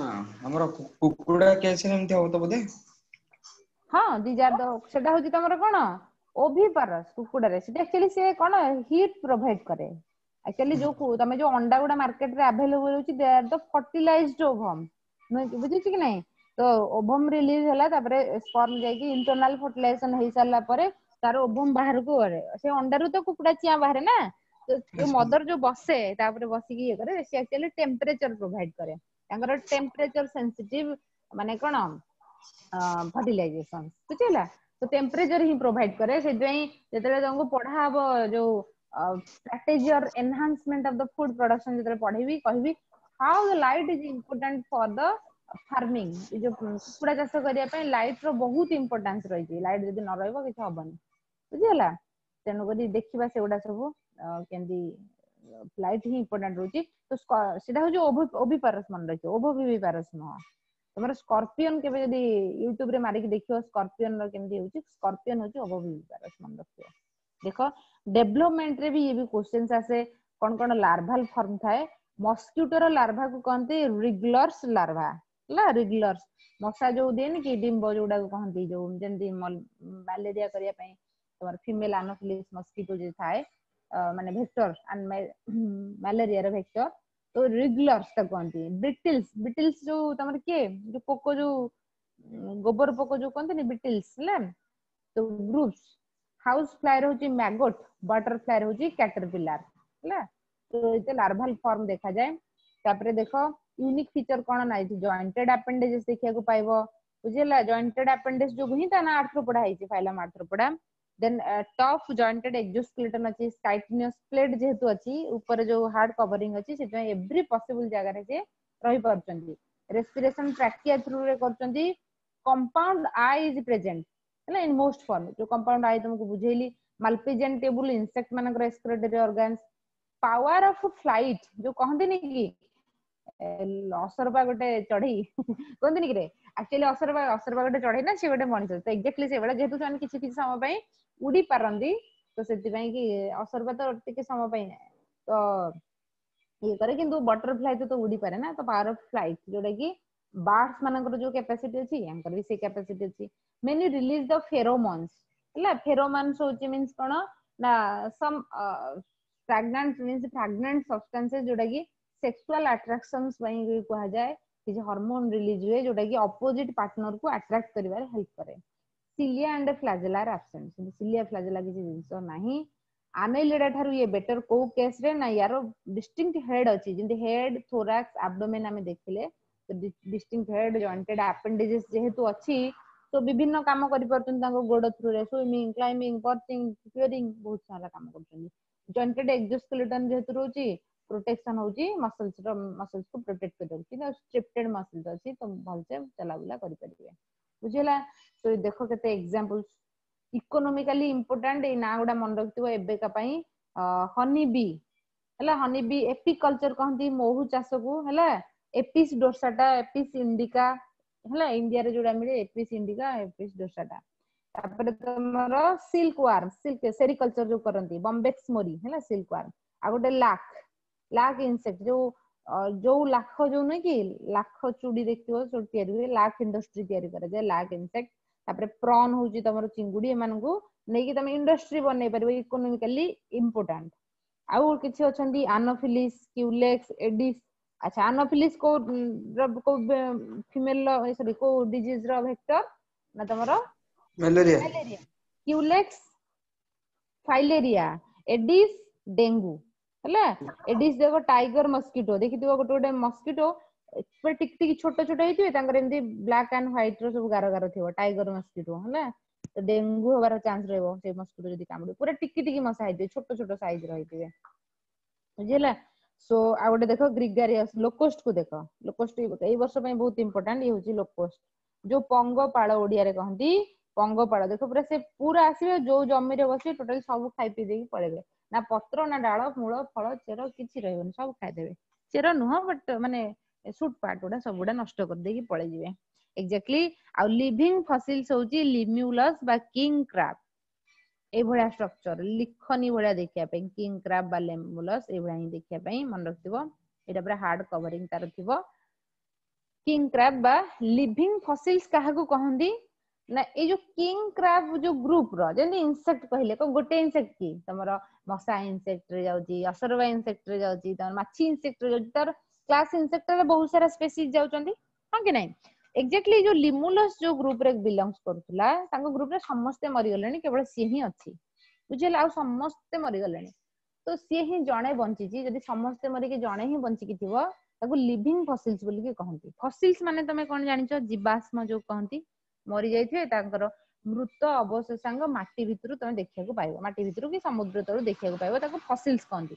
ଆମର କୁକୁଡା କେସ ରେ ଏମିତି ହବ ତ ବୋଧେ ହଁ ଦି ଜାର ସେଟା ହଉଛି ତମର କଣ ଓଭିପାରସ୍ କୁକୁଡାରେ ସେଟା ଆକ୍ଚୁଆଲି ସେ କଣ ହିଟ୍ ପ୍ରୋଭାଇଡ କରେ ଆକ୍ଚୁଆଲି ଯୋଉ ତମେ ଯୋଉ ଅଣ୍ଡା ଗୁଡା ମାର୍କେଟ ରେ ଆଭେଲେବଲ ହଉଛି they are the fertilized ovum ନୁହେଁ କି ବୁଝୁଛି କି ନାଇଁ ତ ଓଭମ ରିଲିଜ ହେଲା ତାପରେ ସ୍ପର୍ମ ଯାଇକି ଇଣ୍ଟରନାଲ ଫର୍ଟିଲାଇଜେସନ ହେଇ ସାରିଲା ପରେ ତାର ଓଭମ ବାହାରକୁ କରେ ସେ ଅଣ୍ଡାରୁ ତ କୁକୁଡା ଚିଆଁ ବାହାରେ ନା ତ ଯୋଉ ମଦର ଯୋଉ ବସେ ତାପରେ ବସିକି ଇଏ କରେ ସେ ଆକ୍ଚୁଆଲି ଟେମ୍ପରେଚର ପ୍ରୋଭାଇଡ କରେ ତାଙ୍କର ଟେମ୍ପରେଚର ସେନ୍ସିଟିଭ ମାନେ କଣ ଫର୍ଟିଲାଇଜେସନ ବୁଝିହେଲା ତ ଟେମ୍ପରେଚର ହିଁ ପ୍ରୋଭାଇଡ କରେ ସେଥିପାଇଁ ଯେତେବେଳେ ତମକୁ ପଢା ହବ ଯୋଉ strategy or enhancement of the food production ଯେତେବେଳେ ପଢେଇବି କହିବି how the light is important for the farming ଏ ଯୋଉ କୁକୁଡା ଚାଷ କରିବା ପାଇଁ ଲାଇଟ ର ବହୁତ ଇମ୍ପୋର୍ଟାନ୍ସ ରହିଛି ଲାଇଟ ଯଦି ନ ରହିବ କିଛି ହବନି ବୁଝିହେଲା ତେଣୁକରି ଦେଖିବା ସେଗୁଡା ସବୁ କେମିତି ଲାଇଟ ହିଁ ଇମ୍ପୋର୍ଟାଣ୍ଟ ରହୁଛି ତ ସେଟା ହଉଛି ଓଭିପାରସ୍ ମନେ ରଖିବ ଓଭୋଭିଭିପାରସ୍ ନୁହଁ ତମର ସ୍କର୍ପିଅନ କେବେ ଯଦି ୟୁଟ୍ୟୁବ ରେ ମାରିକି ଦେଖିବ ସ୍କର୍ପିଅନ ର କେମିତି ହଉଛି ସ୍କର୍ପିଅନ ହଉଛି ଓଭୋଭିଭିପାରସ୍ ମନେ ରଖିବ ଦେଖ ଡେଭଲପମେଣ୍ଟ ରେ ବି ଇଏ ବି କ୍ୱେଶ୍ଚନ୍ସ ଆସେ କଣ କଣ ଲାର୍ଭାଲ ଫର୍ମ ଥାଏ ମସ୍କିଟୋର ଲାର୍ଭାକୁ କହନ୍ତି ରିଗଲର୍ସ ଲାର୍ଭା ହେଲା ରିଗଲର୍ସ ମଶା ଯୋଉ ଦିଏନି କି ଡିମ୍ବ ଯୋଉଟାକୁ କହନ୍ତି ଯୋଉ ଯେମିତି ମ୍ୟାଲେରିଆ କରିବା ପାଇଁ ତମର ଫିମେଲ ଆନୋଫିଲିସ୍ ମସ୍କିଟୋ ଯୋଉ ଥାଏ ମାନେ ଭେକ୍ଟର ମ୍ୟାଲେରିଆର ଭେକ୍ଟର ତ ରିଗଲର୍ସ ତାକୁ କହନ୍ତି ବିଟିଲ୍ସ ବିଟିଲ୍ସ ଯୋଉ ତମର କିଏ ଯୋଉ ପୋକ ଯୋଉ ଗୋବର ପୋକ ଯୋଉ କହନ୍ତିନି ବିଟିଲ୍ସ ହେଲା ତ ଗ୍ରୁପ୍ସ ହାଉସ ଫ୍ଲାଏ ହଉଛି ମ୍ୟାଗୋଟ ବଟରଫ୍ଲାଏ ହଉଛି କ୍ୟାଟରପିଲାର ହେଲା ତ ଏତେ ଲାର୍ଭାଲ ଫର୍ମ ଦେଖାଯାଏ ତାପରେ ଦେଖ ୟୁନିକ ଫିଚର କଣ ନା ଏଠି ଜଏଣ୍ଟେଡ ଆପେଣ୍ଡେଜେସ୍ ଦେଖିବାକୁ ପାଇବ ବୁଝିହେଲା ଜଏଣ୍ଟେଡ ଆପେଣ୍ଡେଜ ଯୋଗୁ ହିଁ ତା ନାଁ ଆର୍ଥ୍ରୋପୋଡା ହେଇଛି ଫାଇଲମ ଆର୍ଥ୍ରୋପୋଡା ଦେନ୍ ଟଫ୍ ଜଏଣ୍ଟେଡ ଏକ୍ସୋସ୍କେଲେଟନ ଅଛି କାଇଟିନିୟସ୍ ପ୍ଲେଟ ଯେହେତୁ ଅଛି ଉପରେ ଯୋଉ ହାର୍ଡ କଭରିଂ ଅଛି ସେଥିପାଇଁ ଏଭ୍ରି ପସିବଲ ଜାଗାରେ ସେ ରହିପାରୁଛନ୍ତି ରେସ୍ପିରେସନ ଟ୍ରାକିଆ ଥ୍ରୁରେ କରୁଛନ୍ତି କମ୍ପାଉଣ୍ଡ I is present ହେଲା ଇନ ମୋଷ୍ଟ ଫର୍ମ ଯୋଉ କମ୍ପାଉଣ୍ଡ I ତମକୁ ବୁଝେଇଲି ମାଲପିଜିଆନ ଟ୍ୟୁବୁଲ ଇନସେକ୍ଟ ମାନଙ୍କର ଏକ୍ସକ୍ରିଟୋରୀ ଅର୍ଗାନ୍ସ ପାୱାର ଅଫ ଫ୍ଲାଇଟ ଯୋଉ କହନ୍ତିନି କି ଅସରପା ଗୋଟେ ଚଢେଇ କୁହନ୍ତିନି କି ରେ ଆକ୍ଚୁଆଲି ଅସରପା ଅସରପା ଗୋଟେ ଚଢେଇ ନା ସେ ଗୋଟେ ମଣିଷ ତ ଏକ୍ଜାକ୍ଟଲି ସେଇଭଳିଆ ଯେହେତୁ ସେମାନେ କିଛି କିଛି ସମୟ ପାଇଁ ଉଡି ପାରନ୍ତି ତ ସେଥିପାଇଁ କି ଅସରପା ତ ଟିକେ ସମୟ ପାଇଁ ତ ଇଏ କରେ କିନ୍ତୁ ବଟରଫ୍ଲାଏ ତ ଉଡି ପାରେ ନା ତ ପାୱାର ଅଫ ଫ୍ଲାଇଟ ଯୋଉଟା କି ବାର୍ଡସ ମାନଙ୍କର ଯୋଉ କାପାସିଟି ଅଛି ୟାଙ୍କର ବି ସେଇ କାପାସିଟି ଅଛି ମେନି ରିଲିଜ ଦ ଫେରୋମନ୍ସ ହେଲା ଫେରୋମନ୍ସ ହଉଛି ମିନ୍ସ କଣ ନା ସମ୍ ପ୍ରାଗ୍ନାଣ୍ଟ ମିନ୍ସ ଫ୍ରାଗ୍ରାଣ୍ଟ ସବଷ୍ଟାନ୍ସେସ୍ ଯୋଉଟା କି ସେକ୍ସୁଆଲ ଆଟ୍ରାକ୍ସନ୍ସ ପାଇଁ କୁହାଯାଏ କିଛି ହରମୋନ ରିଲିଜ ହୁଏ ଯୋଉଟା କି ଅପୋଜିଟ ପାର୍ଟନର କୁ ଆଟ୍ରାକ୍ଟ କରିବାରେ ହେଲ୍ପ କରେ cilia and flagella are absent cilia flagella କିଛି ଜିନିଷ ନାହିଁ ଆନେଲିଡା ଠାରୁ ଇଏ ବେଟର କୋଉ କେସ ରେ ନା ୟାର ଡିଷ୍ଟିଙ୍କ୍ଟ ହେଡ ଅଛି ଯେମିତି ହେଡ ଥୋରାକ୍ସ ଆବଡୋମେନ ଆମେ ଦେଖିଲେ ଡିଷ୍ଟିଙ୍କ୍ଟ ହେଡ ଜଏଣ୍ଟେଡ ଆପେଣ୍ଡିଜେସ୍ ଯେହେତୁ ଅଛି ତ ବିଭିନ୍ନ କାମ କରିପାରୁଛନ୍ତି ତାଙ୍କ ଗୋଡ ଥ୍ରୁରେ ସୁଇମିଂ କ୍ଲାଇମ୍ବିଂ ପର୍ଚିଂ ପିୟରିଂ ବହୁତ ସାରା କାମ କରୁଛନ୍ତି ଜଏଣ୍ଟେଡ ଏକ୍ସୋସ୍କେଲେଟନ ଯେହେତୁ ରହୁଛି ପ୍ରୋଟେକ୍ସନ ହଉଛି ମସଲ୍ସ ର ମସଲ୍ସ କୁ ପ୍ରୋଟେକ୍ଟ କରି ରଖୁଛି ଆଉ ଷ୍ଟ୍ରିପ୍ଟେଡ ମସଲ୍ସ ଅଛି ତ ଭଲସେ ଚଲାବୁଲା କରିପାରିବେ ବୁଝିହେଲା ତ ଦେଖ କେତେ ଏକ୍ସାମ୍ପଲ୍ସ ଇକୋନୋମିକାଲି ଇମ୍ପୋର୍ଟାଣ୍ଟ ଏଇ ନାଁ ଗୁଡା ମନେ ରଖିଥିବ ଏବେକା ପାଇଁ ହନି ବି ହେଲା ହନି ବି ଏପିକଲଚର କହନ୍ତି ମହୁ ଚାଷକୁ ହେଲା ଏପିସ୍ ଡୋର୍ସାଟା ଏପିସ୍ ଇଣ୍ଡିକା ହେଲା ଇଣ୍ଡିଆରେ ଯୋଉଟା ମିଳେ ଏପିସ୍ ଇଣ୍ଡିକା ଏପିସ୍ ଡୋର୍ସାଟା ତାପରେ ତମର ସିଲ୍କ ୱାର୍ମ ସିଲ୍କ ସେରିକଲଚର ଯୋଉ କରନ୍ତି ବମ୍ବେକ୍ସ ମୋରି ହେଲା ସିଲ୍କ ୱାର୍ମ ଆଉ ଗୋଟେ ଲାଖ ଲାଖ ଇନସେକ୍ଟ ଯୋଉ ଯୋଉ ଲାଖ ଯୋଉ ନୁହେଁ କି ଲାଖ ଚୁଡି ଦେଖିଥିବ ସବୁ ତିଆରି ହୁଏ ଲାଖ ଇଣ୍ଡଷ୍ଟ୍ରି ତିଆରି କରାଯାଏ ଲାଖ ଇନସେକ୍ଟ ତାପରେ ପ୍ରନ୍ ହଉଛି ତମର ଚିଙ୍ଗୁଡି ଏମାନଙ୍କୁ ନେଇକି ତମେ ଇଣ୍ଡଷ୍ଟ୍ରି ବନେଇ ପାରିବ ଇକୋନୋମିକାଲି ଇମ୍ପୋର୍ଟାଣ୍ଟ ଆଉ କିଛି ଅଛନ୍ତି ଆନୋଫିଲିସ୍ କ୍ୟୁଲେକ୍ସ ଏଡିସ୍ ଆଚ୍ଛା ଆନୋଫିଲିସ୍ କୋଉ କୋଉ ଫିମେଲ ସରି କୋଉ ଡିଜିଜ ର ଭେକ୍ଟର ନା ତମର malaria malaria Culex filaria Aedes dengue ହେଲା ଏଡିସ୍ ଦେଖ ଟାଇଗର ମସ୍କିଟୋ ଦେଖିଥିବ ଗୋଟେ ଗୋଟେ ମସ୍କିଟୋ ପୁରା ଟିକ ଟିକ ଛୋଟ ଛୋଟ ହେଇଥିବେ ତାଙ୍କର ଏମିତି ବ୍ଲାକ୍ ଆଣ୍ଡ ହ୍ୱାଇଟ ର ସବୁ ଗାର ଗାର ଥିବ ଟାଇଗର ମସ୍କିଟୋ ହେଲା ତ ଡେଙ୍ଗୁ ହବାର ଚାନ୍ସ ରହିବ ସେଇ ମସ୍କିଟୋ ଯଦି କାମୁଡିବ ପୁରା ଟିକି ଟିକି ମଶା ହେଇଥିବେ ଛୋଟ ଛୋଟ ସାଇଜ ର ହେଇଥିବେ ବୁଝିହେଲା ସୋ ଆଉ ଗୋଟେ ଦେଖ ଗ୍ରିଗାରିୟସ ଲୋକୋଷ୍ଟ କୁ ଦେଖ ଲୋକୋଷ୍ଟ ଏଇ ବର୍ଷ ପାଇଁ ବହୁତ ଇମ୍ପୋର୍ଟାଣ୍ଟ ଇଏ ହଉଛି ଲୋକୋଷ୍ଟ ଯୋଉ ପଙ୍ଗପାଳ ଓଡିଆରେ କହନ୍ତି ପଙ୍ଗପାଳ ଦେଖ ପୁରା ସେ ପୁରା ଆସିବେ ଯୋଉ ଜମିରେ ବସିବେ ଟୋଟାଲି ସବୁ ଖାଇ ପିଇ ଦେଇକି ପଳେଇବେ ନା ପତ୍ର ନା ଡାଳ ମୂଳ ଫଳ ଚେର କିଛି ରହିବନି ସବୁ ଖାଇଦେବେ ଚେର ନୁହଁ ବଟ ମାନେ ସୁଟ ପାର୍ଟ ଗୁଡା ସବୁଗୁଡା ନଷ୍ଟ କରିଦେଇକି ପଳେଇଯିବେ ଏକ୍ଜାକ୍ଟଲି ଆଉ ଲିଭିଂ ଫସିଲ୍ସ ହଉଛି ଲିମ୍ୟୁଲସ୍ ବା କିଙ୍ଗ କ୍ରାବ ଏଇଭଳିଆ ଷ୍ଟ୍ରକ୍ଚର ଲିଖନୀ ଭଳିଆ ଦେଖିବା ପାଇଁ କିଙ୍ଗ କ୍ରାବ ବା ଲିମ୍ୟୁଲସ୍ ଏଇଭଳିଆ ହିଁ ଦେଖିବା ପାଇଁ ମନେ ରଖିଥିବ ଏଇଟା ପୁରା ହାର୍ଡ କଭରିଂ ତାର ଥିବ କିଙ୍ଗ କ୍ରାବ ବା ଲିଭିଂ ଫସିଲ୍ସ କାହାକୁ କହନ୍ତି ନା ଏଇ ଯୋଉ କିଙ୍ଗ କ୍ରାବ ଯୋଉ ଗ୍ରୁପ ର ଯେମିତି ଇନସେକ୍ଟ କହିଲେ କଣ ଗୋଟେ ଇନସେକ୍ଟ କି ତମର ମଶା ଇନସେକ୍ଟ ରେ ଯାଉଛି ଅସରବା ଇନସେକ୍ଟ ରେ ଯାଉଛି ତମର ମାଛି ଇନସେକ୍ଟ ରେ ଯାଉଛି ତାର କ୍ଲାସ ଇନସେକ୍ଟ ରେ ବହୁତ ସାରା ସ୍ପେସିସ୍ ଯାଉଛନ୍ତି ହଁ କି ନାଇଁ ଏକ୍ଜାକ୍ଟଲି ଯୋଉ ଲିମୁଲସ୍ ଯୋଉ ଗ୍ରୁପ ରେ ବିଲଙ୍ଗସ କରୁଥିଲା ତାଙ୍କ ଗ୍ରୁପ ରେ ସମସ୍ତେ ମରିଗଲେଣି କେବଳ ସିଏ ହିଁ ଅଛି ବୁଝିହେଲା ଆଉ ସମସ୍ତେ ମରିଗଲେଣି ତ ସିଏ ହିଁ ଜଣେ ବଞ୍ଚିଛି ଯଦି ସମସ୍ତେ ମରିକି ଜଣେ ହିଁ ବଞ୍ଚିକି ଥିବ ତାକୁ ଲିଭିଂ ଫସିଲ୍ସ ବୋଲିକି କହନ୍ତି ଫସିଲ୍ସ ମାନେ ତମେ କଣ ଜାଣିଛ ଜୀବାଶ୍ମ ଯୋଉ କହନ୍ତି ମରି ଯାଇଥିବେ ତାଙ୍କର ମୃତ ଅବଶେଷାଙ୍ଗ ମାଟି ଭିତରୁ ତମେ ଦେଖିବାକୁ ପାଇବ ମାଟି ଭିତରୁ କି ସମୁଦ୍ର ତଳୁ ଦେଖିବାକୁ ପାଇବ ତାକୁ ଫସିଲ୍ସ କହନ୍ତି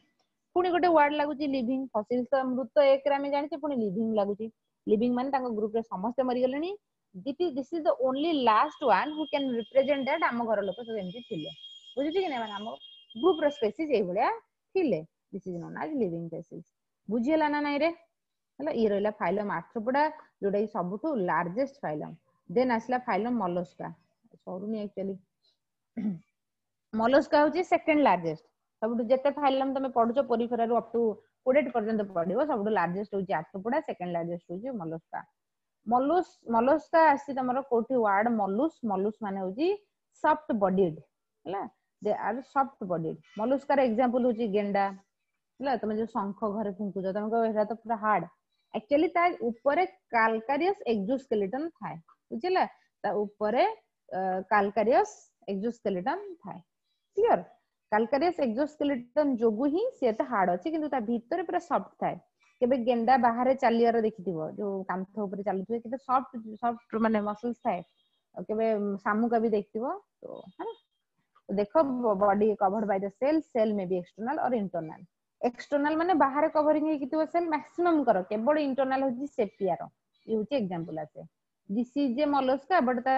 ପୁଣି ଗୋଟେ ୱାର୍ଡ ଲାଗୁଛି ଲିଭିଂ ଫସିଲ୍ସ ତ ମୃତ ଏକରେ ଆମେ ଜାଣିଛେ ପୁଣି ଲିଭିଂ ଲାଗୁଛି ଲିଭିଂ ମାନେ ତାଙ୍କ ଗ୍ରୁପରେ ସମସ୍ତେ ମରିଗଲେଣି this is the only last one who can represent that ଆମ ଘର ଲୋକ ସବୁ ଏମିତି ଥିଲେ ବୁଝୁଛି କି ନାଇଁ ମାନେ ଆମ ଗ୍ରୁପ ର ସ୍ପେସିସ୍ ଏଇଭଳିଆ ଥିଲେ this is known as living fossils ବୁଝିହେଲା ନା ନାଇଁ ରେ ହେଲା ଇଏ ରହିଲା ଫାଇଲମ ଆର୍ଥ୍ରୋପୋଡା ଯୋଉଟା କି ସବୁଠୁ ଲାର୍ଜେଷ୍ଟ ଫାଇଲମ ଦେନ୍ ଆସିଲା ଫାଇଲମ ମଲୋସ୍କା ସରୁନି ଆକ୍ଚୁଆଲି ମଲୋସ୍କା ହଉଛି ସେକେଣ୍ଡ ଲାର୍ଜେଷ୍ଟ ସବୁଠୁ ଯେତେ ଫାଇଲମ ତମେ ପଢୁଛ ପୋରିଫେରାରୁ ଅପ୍ ଟୁ କୋଡେଟ୍ ପର୍ଯ୍ୟନ୍ତ ପଢିବ ସବୁଠୁ ଲାର୍ଜେଷ୍ଟ ହଉଛି ଆର୍ଥ୍ରୋପୋଡା ସେକେଣ୍ଡ ଲାର୍ଜେଷ୍ଟ ହଉଛି ମଲୋସ୍କା ମଲୁସ ମଲୋସ୍କା ଆସିଛି ତମର କୋଉଠି ୱାର୍ଡ ମଲୁସ ମଲୁସ ମାନେ ହଉଛି ସଫ୍ଟ ବଡିଡ ହେଲା they are soft bodied ମଲୁସ୍କାର example ହଉଛି ଗେଣ୍ଡା ହେଲା ତମେ ଯୋଉ ଶଙ୍ଖ ଘରେ ଫୁଙ୍କୁଛ ତମେ କହିବ ଏଟା ତ ପୁରା ହାର୍ଡ ଆକ୍ଚୁଆଲି ତା ଉପରେ କାଲକାରିୟସ ଏକ୍ସୋସ୍କେଲିଟନ ଥାଏ ବୁଝିଲା ତା ଉପରେ କାଲକାରିୟସ ଏକ୍ସୋସ୍କେଲିଟନ ଥାଏ କ୍ଲିୟର କାଲକାରିୟସ ଏକ୍ସୋସ୍କେଲିଟନ ଯୋଗୁ ହିଁ ସେ ଏତେ ହାର୍ଡ ଅଛି କିନ୍ତୁ ତା ଭିତରେ ପୁରା ସଫ୍ଟ ଥାଏ କେବେ ଗେଣ୍ଡା ବାହାରେ ଚାଲିବାର ଦେଖିଥିବ ଯୋଉ କାନ୍ଥ ଉପରେ ଚାଲୁଥିବେ କେତେ ସଫ୍ଟ ସଫ୍ଟ ମାନେ ମସଲ୍ସ ଥାଏ ଆଉ କେବେ ଶାମୁକା ବି ଦେଖିଥିବ ତ ହେଲା ଦେଖ body covered by the shell shell may be external or internal external ମାନେ ବାହାରେ କଭରିଂ ହେଇକି ଥିବ ସେଲ୍ ମାକ୍ସିମମ୍ କର କେବଳ ଇଣ୍ଟରନାଲ ହଉଛି ସେପିଆର ଇଏ ହଉଛି ଏକ୍ସାମ୍ପଲ ଆସେ this is a mollusca but ତା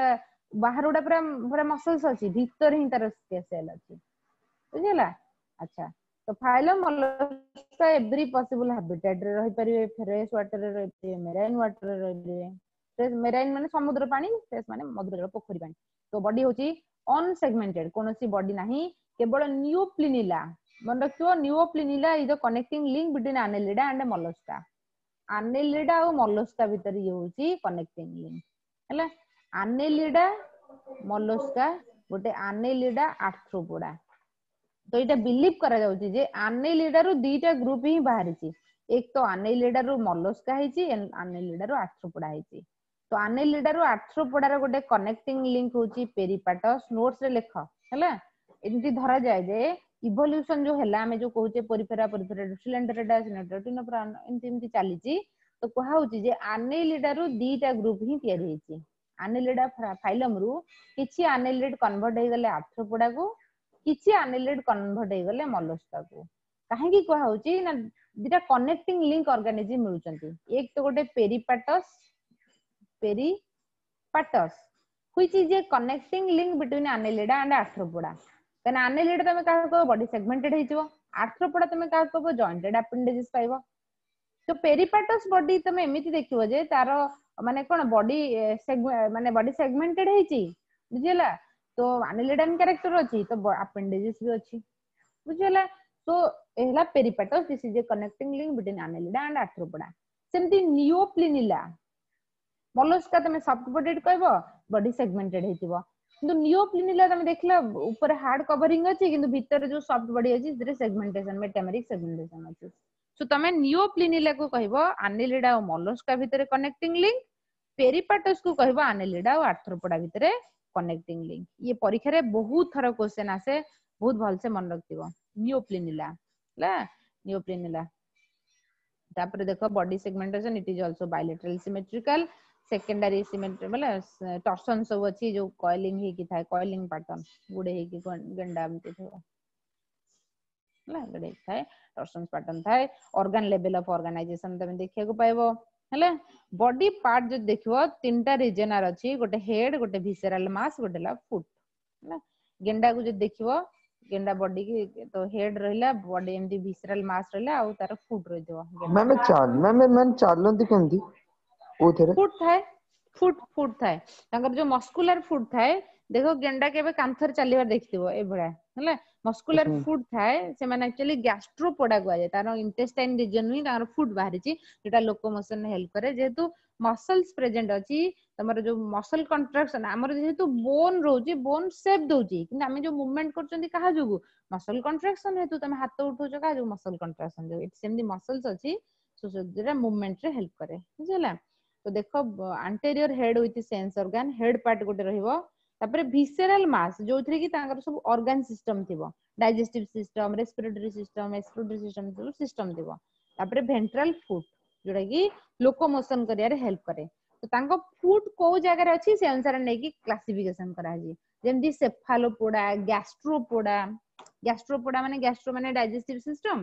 ବାହାର ଗୁଡା ପୁରା ପୁରା ମସଲ୍ସ ଅଛି, ଭିତରେ ହିଁ ତାର ସେଲ୍ ଅଛି। ବୁଝିହେଲା? ଆଚ୍ଛା, ତ ଫାଇଲମ ମଲସ୍କା ଏଭ୍ରି ପସିବଲ ହାବିଟାଟ ରେ ରହିପାରିବେ, ଫ୍ରେଶ ୱାଟର ରେ ରହିପାରିବେ, ମେରାଇନ ୱାଟର ରେ ରହିପାରିବେ। ମେରାଇନ ମାନେ ସମୁଦ୍ର ପାଣି, ଫ୍ରେଶ ମାନେ ମଧୁର ଜଳ, ପୋଖରୀ ପାଣି। ତ ବଡି ହଉଛି ଅନସେଗମେଣ୍ଟେଡ, କୌଣସି ବଡି ନାହିଁ, କେବଳ ନିଓପ୍ଲିନିଲା। ମନେ ରଖିଥିବ, Neoplanula is the connecting link between Annelida and Mollusca. Annelida ଆଉ ମଲସ୍କା ଭିତରେ ଇଏ ହଉଛି କନେକ୍ଟିଂ ଲିଙ୍କ। ହେଲା, ଆନେଲିଡା ମଲସ୍କା ଗୋଟେ, ଆନେଲିଡା ଆର୍ଥ୍ରୋପୋଡା। ତ ଏଇଟା ବିଲିଭ କରାଯାଉଛି ଯେ ଆନେଲିଡାରୁ ଦିଟା ଗ୍ରୁପ ହିଁ ବାହାରିଛି। ଏକ ତ ଆନେଲିଡାରୁ ମଲସ୍କା ହେଇଛି, ଆନେଲିଡାରୁ ଆର୍ଥ୍ରୋପୋଡା ହେଇଛି। ତ ଆନେଲିଡାରୁ ଆର୍ଥ୍ରୋପୋଡାର ଗୋଟେ କନେକ୍ଟିଂ ଲିଙ୍କ ହଉଛି ପେରିପାଟସ୍। ନୋଟ୍ସ ରେ ଲେଖ। ହେଲା, ଏମିତି ଧରାଯାଏ ଯେ ଇଭଲ୍ୟୁସନ ଯୋଉ ହେଲା, ଆମେ ଯୋଉ କହୁଛେ ପୋରିଫେରା, ପୋରିଫେରା ସିଲେଣ୍ଟରେଟା, ଏମିତି ଏମିତି ଚାଲିଛି। ତ କୁହା ହଉଛି ଯେ ଆନେଲିଡାରୁ ଦିଟା ଗ୍ରୁପ ହିଁ ତିଆରି ହେଇଛି। ଆନେଲିଡା ଫାଇଲମ ରୁ କିଛି ଆନେଲିଡ କନଭର୍ଟ ହେଇଗଲେ ଆର୍ଥ୍ରୋପୋଡାକୁ, କିଛି ଆନେଲିଡ କନଭର୍ଟ ହେଇଗଲେ ମଲସ୍କାକୁ। କାହିଁକି କୁହା ହଉଛି ନା ଦିଟା କନେକ୍ଟିଂ ଲିଙ୍କ ଅର୍ଗାନିଜିମ ମିଳୁଛନ୍ତି। ଏକ ତ ଗୋଟେ Peripatus, Peripatus which is a connecting link between Annelida and Arthropoda। କାହିଁକିନା ଆନେଲିଡା ତମେ କାହାକୁ କହିବ? ବଡି ସେଗମେଣ୍ଟେଡ ହେଇଯିବ। ଆର୍ଥ୍ରୋପୋଡା ତମେ କାହାକୁ କହିବ? ଜଏଣ୍ଟେଡ ଆପେଣ୍ଡେଜେସ୍ ପାଇବ। ତ ପେରିପାଟସ୍ ବଡି ତମେ ଏମିତି ଦେଖିବ ଯେ ତାର ମାନେ କଣ, ବଡି ମାନେ ବଡି ସେଗମେଣ୍ଟେଡ ହେଇଛି, ବୁଝିହେଲା? ତ ଆନେଲିଡାନ କ୍ୟାରେକ୍ଟର ଅଛି, ତ ଆପେଣ୍ଡେଜେସ୍ ବି ଅଛି, ବୁଝିହେଲା? ତ ଏ ହେଲା Peripatus, this is a connecting link between Annelida and Arthropoda। ସେମିତି ନିଓପ୍ଲିନିଲା, ମଲସ୍କା ତମେ ସଫ୍ଟ ବଡିଡ କହିବ, ବଡି ସେଗମେଣ୍ଟେଡ ହେଇଥିବ। କିନ୍ତୁ ନିଓପ୍ଲିନିଲା ତମେ ଦେଖିଲ ଉପରେ ହାର୍ଡ କଭରିଂ ଅଛି, କିନ୍ତୁ ଭିତରେ ଯୋଉ ସଫ୍ଟ ବଡି ଅଛି ସେଥିରେ ସେଗମେଣ୍ଟେସନ, ମେଟାମେରିକ ସେଗମେଣ୍ଟେସନ ଅଛି। ସୋ ତମେ ନିଓପ୍ଲିନିଲା କୁ କହିବ ଆନେଲିଡା ଆଉ ମଲସ୍କା ଭିତରେ କନେକ୍ଟିଂ ଲିଙ୍କ, ପେରିପାଟସ୍ କୁ କହିବ ଆନେଲିଡା ଆଉ ଆର୍ଥ୍ରୋପୋଡା ଭିତରେ କନେକ୍ଟିଂ ଲିଙ୍କ। ଇଏ ପରୀକ୍ଷାରେ ବହୁତ ଥର କ୍ୱେଶ୍ଚନ ଆସେ, ବହୁତ ଭଲସେ ମନେ ରଖିଥିବ ନିଓପ୍ଲିନିଲା। ହେଲା, ନିଓପ୍ଲିନିଲା। ତାପରେ ଦେଖ body segmentation, it is also bilateral symmetrical, secondary symmetry ବୋଲେ ଟର୍ସନ ସବୁ ଅଛି, ଯୋଉ କଏଲିଂ ହେଇକି ଥାଏ, କଏଲିଂ ପାଟର୍ନ ଗୁଡେ ହେଇକି ଗେଣ୍ଡା ଏମିତି ଥିବ, ହେଲା, ଗୁଡେ ଥାଏ, ଟର୍ସନ ପାଟର୍ନ ଥାଏ। ଅର୍ଗାନ ଲେଭେଲ ଅଫ ଅର୍ଗାନାଇଜେସନ ତମେ ଦେଖିବାକୁ ପାଇବ। ହେଲା, ବଡି ପାର୍ଟ ଯଦି ଦେଖିବ ତିନିଟା ରିଜନାର ଅଛି, ଗୋଟେ ହେଡ, ଗୋଟେ ଭିସେରାଲ ମାସ, ଗୋଟେ ହେଲା ଫୁଟ। ହେଲା, ଗେଣ୍ଡାକୁ ଯଦି ଦେଖିବ, ଗେଣ୍ଡା ବଡି କି ତ ହେଡ ରହିଲା, ବଡି ଏମିତି ଭିସେରାଲ ମାସ ରହିଲା, ଆଉ ତାର ଫୁଟ ରହିଥିବ। ମ୍ୟାମ୍ ମ୍ୟାମ୍ ମ୍ୟାମ୍ ଚାଲନ୍ତି କେମିତି? କୋଉଥିରେ? ଫୁଟ ଥାଏ, ଫୁଟ ଫୁଟ ଥାଏ ତାଙ୍କର, ଯୋଉ ମସ୍କୁଲାର ଫୁଟ ଥାଏ। ଦେଖ, ଗେଣ୍ଡା କେବେ କାନ୍ଥରେ ଚାଲିବାର ଦେଖିଥିବ ଏଇଭଳିଆ। ହେଲା, ମସ୍କୁଲାର ଫୁଟ ଥାଏ। ସେମାନେ ଆକ୍ଚୁଆଲି ଗ୍ୟାଷ୍ଟ୍ରୋପୋଡା କୁହାଯାଏ। ତାର ଇଣ୍ଟେଷ୍ଟାଇନ ରିଜନ ହିଁ ତାଙ୍କର ଫୁଟ ବାହାରିଛି, ଯୋଉଟା ଲୋକୋମୋସନ ହେଲ୍ପ କରେ। ଯେହେତୁ ମସଲ୍ସ ପ୍ରେଜେଣ୍ଟ ଅଛି, ତମର ଯୋଉ ମସଲ କଣ୍ଟ୍ରାକ୍ସନ, ଆମର ଯେହେତୁ ବୋନ ରହୁଛି, ବୋନ ସେପ୍ ଦଉଛି, କିନ୍ତୁ ଆମେ ଯୋଉ ମୁଭମେଣ୍ଟ କରୁଛନ୍ତି କାହା ଯୋଗୁ? ମସଲ କଣ୍ଟ୍ରାକ୍ସନ ହେତୁ। ତମେ ହାତ ଉଠଉଛ କାହା ଯୋଗୁ? ମସଲ କଣ୍ଟ୍ରାକ୍ସନ ଯୋଗୁ। ଏଠି ସେମିତି ମସଲ୍ସ ଅଛି ଯୋଉଟା ମୁଭମେଣ୍ଟ ରେ ହେଲ୍ପ କରେ। ବୁଝିହେଲା? ତ ଦେଖ, anterior head with sense organ, head part ଗୋଟେ ରହିବ। ତାପରେ ଭିସେରାଲ ମାସ, ଯୋଉଥିରେ କି ତାଙ୍କର ସବୁ ଅର୍ଗାନ ସିଷ୍ଟମ ଥିବ, digestive system, respiratory system, excretory system, ସବୁ ସିଷ୍ଟମ ଥିବ। ତାପରେ ଭେଣ୍ଟ୍ରାଲ ଫୁଟ, ଯୋଉଟା କି ଲୋକୋମୋସନ କରିବାରେ ହେଲ୍ପ କରେ। ତ ତାଙ୍କ ଫୁଟ କୋଉ ଜାଗାରେ ଅଛି ସେ ଅନୁସାରେ ନେଇକି କ୍ଲାସିଫିକେସନ କରାଯାଇଛି। ଯେମିତି ସେଫାଲୋପୋଡା, ଗ୍ୟାଷ୍ଟ୍ରୋପୋଡା। ଗ୍ୟାଷ୍ଟ୍ରୋପୋଡା ମାନେ ଗ୍ୟାଷ୍ଟ୍ରୋ ମାନେ ଡାଇଜେଷ୍ଟିଭ ସିଷ୍ଟମ,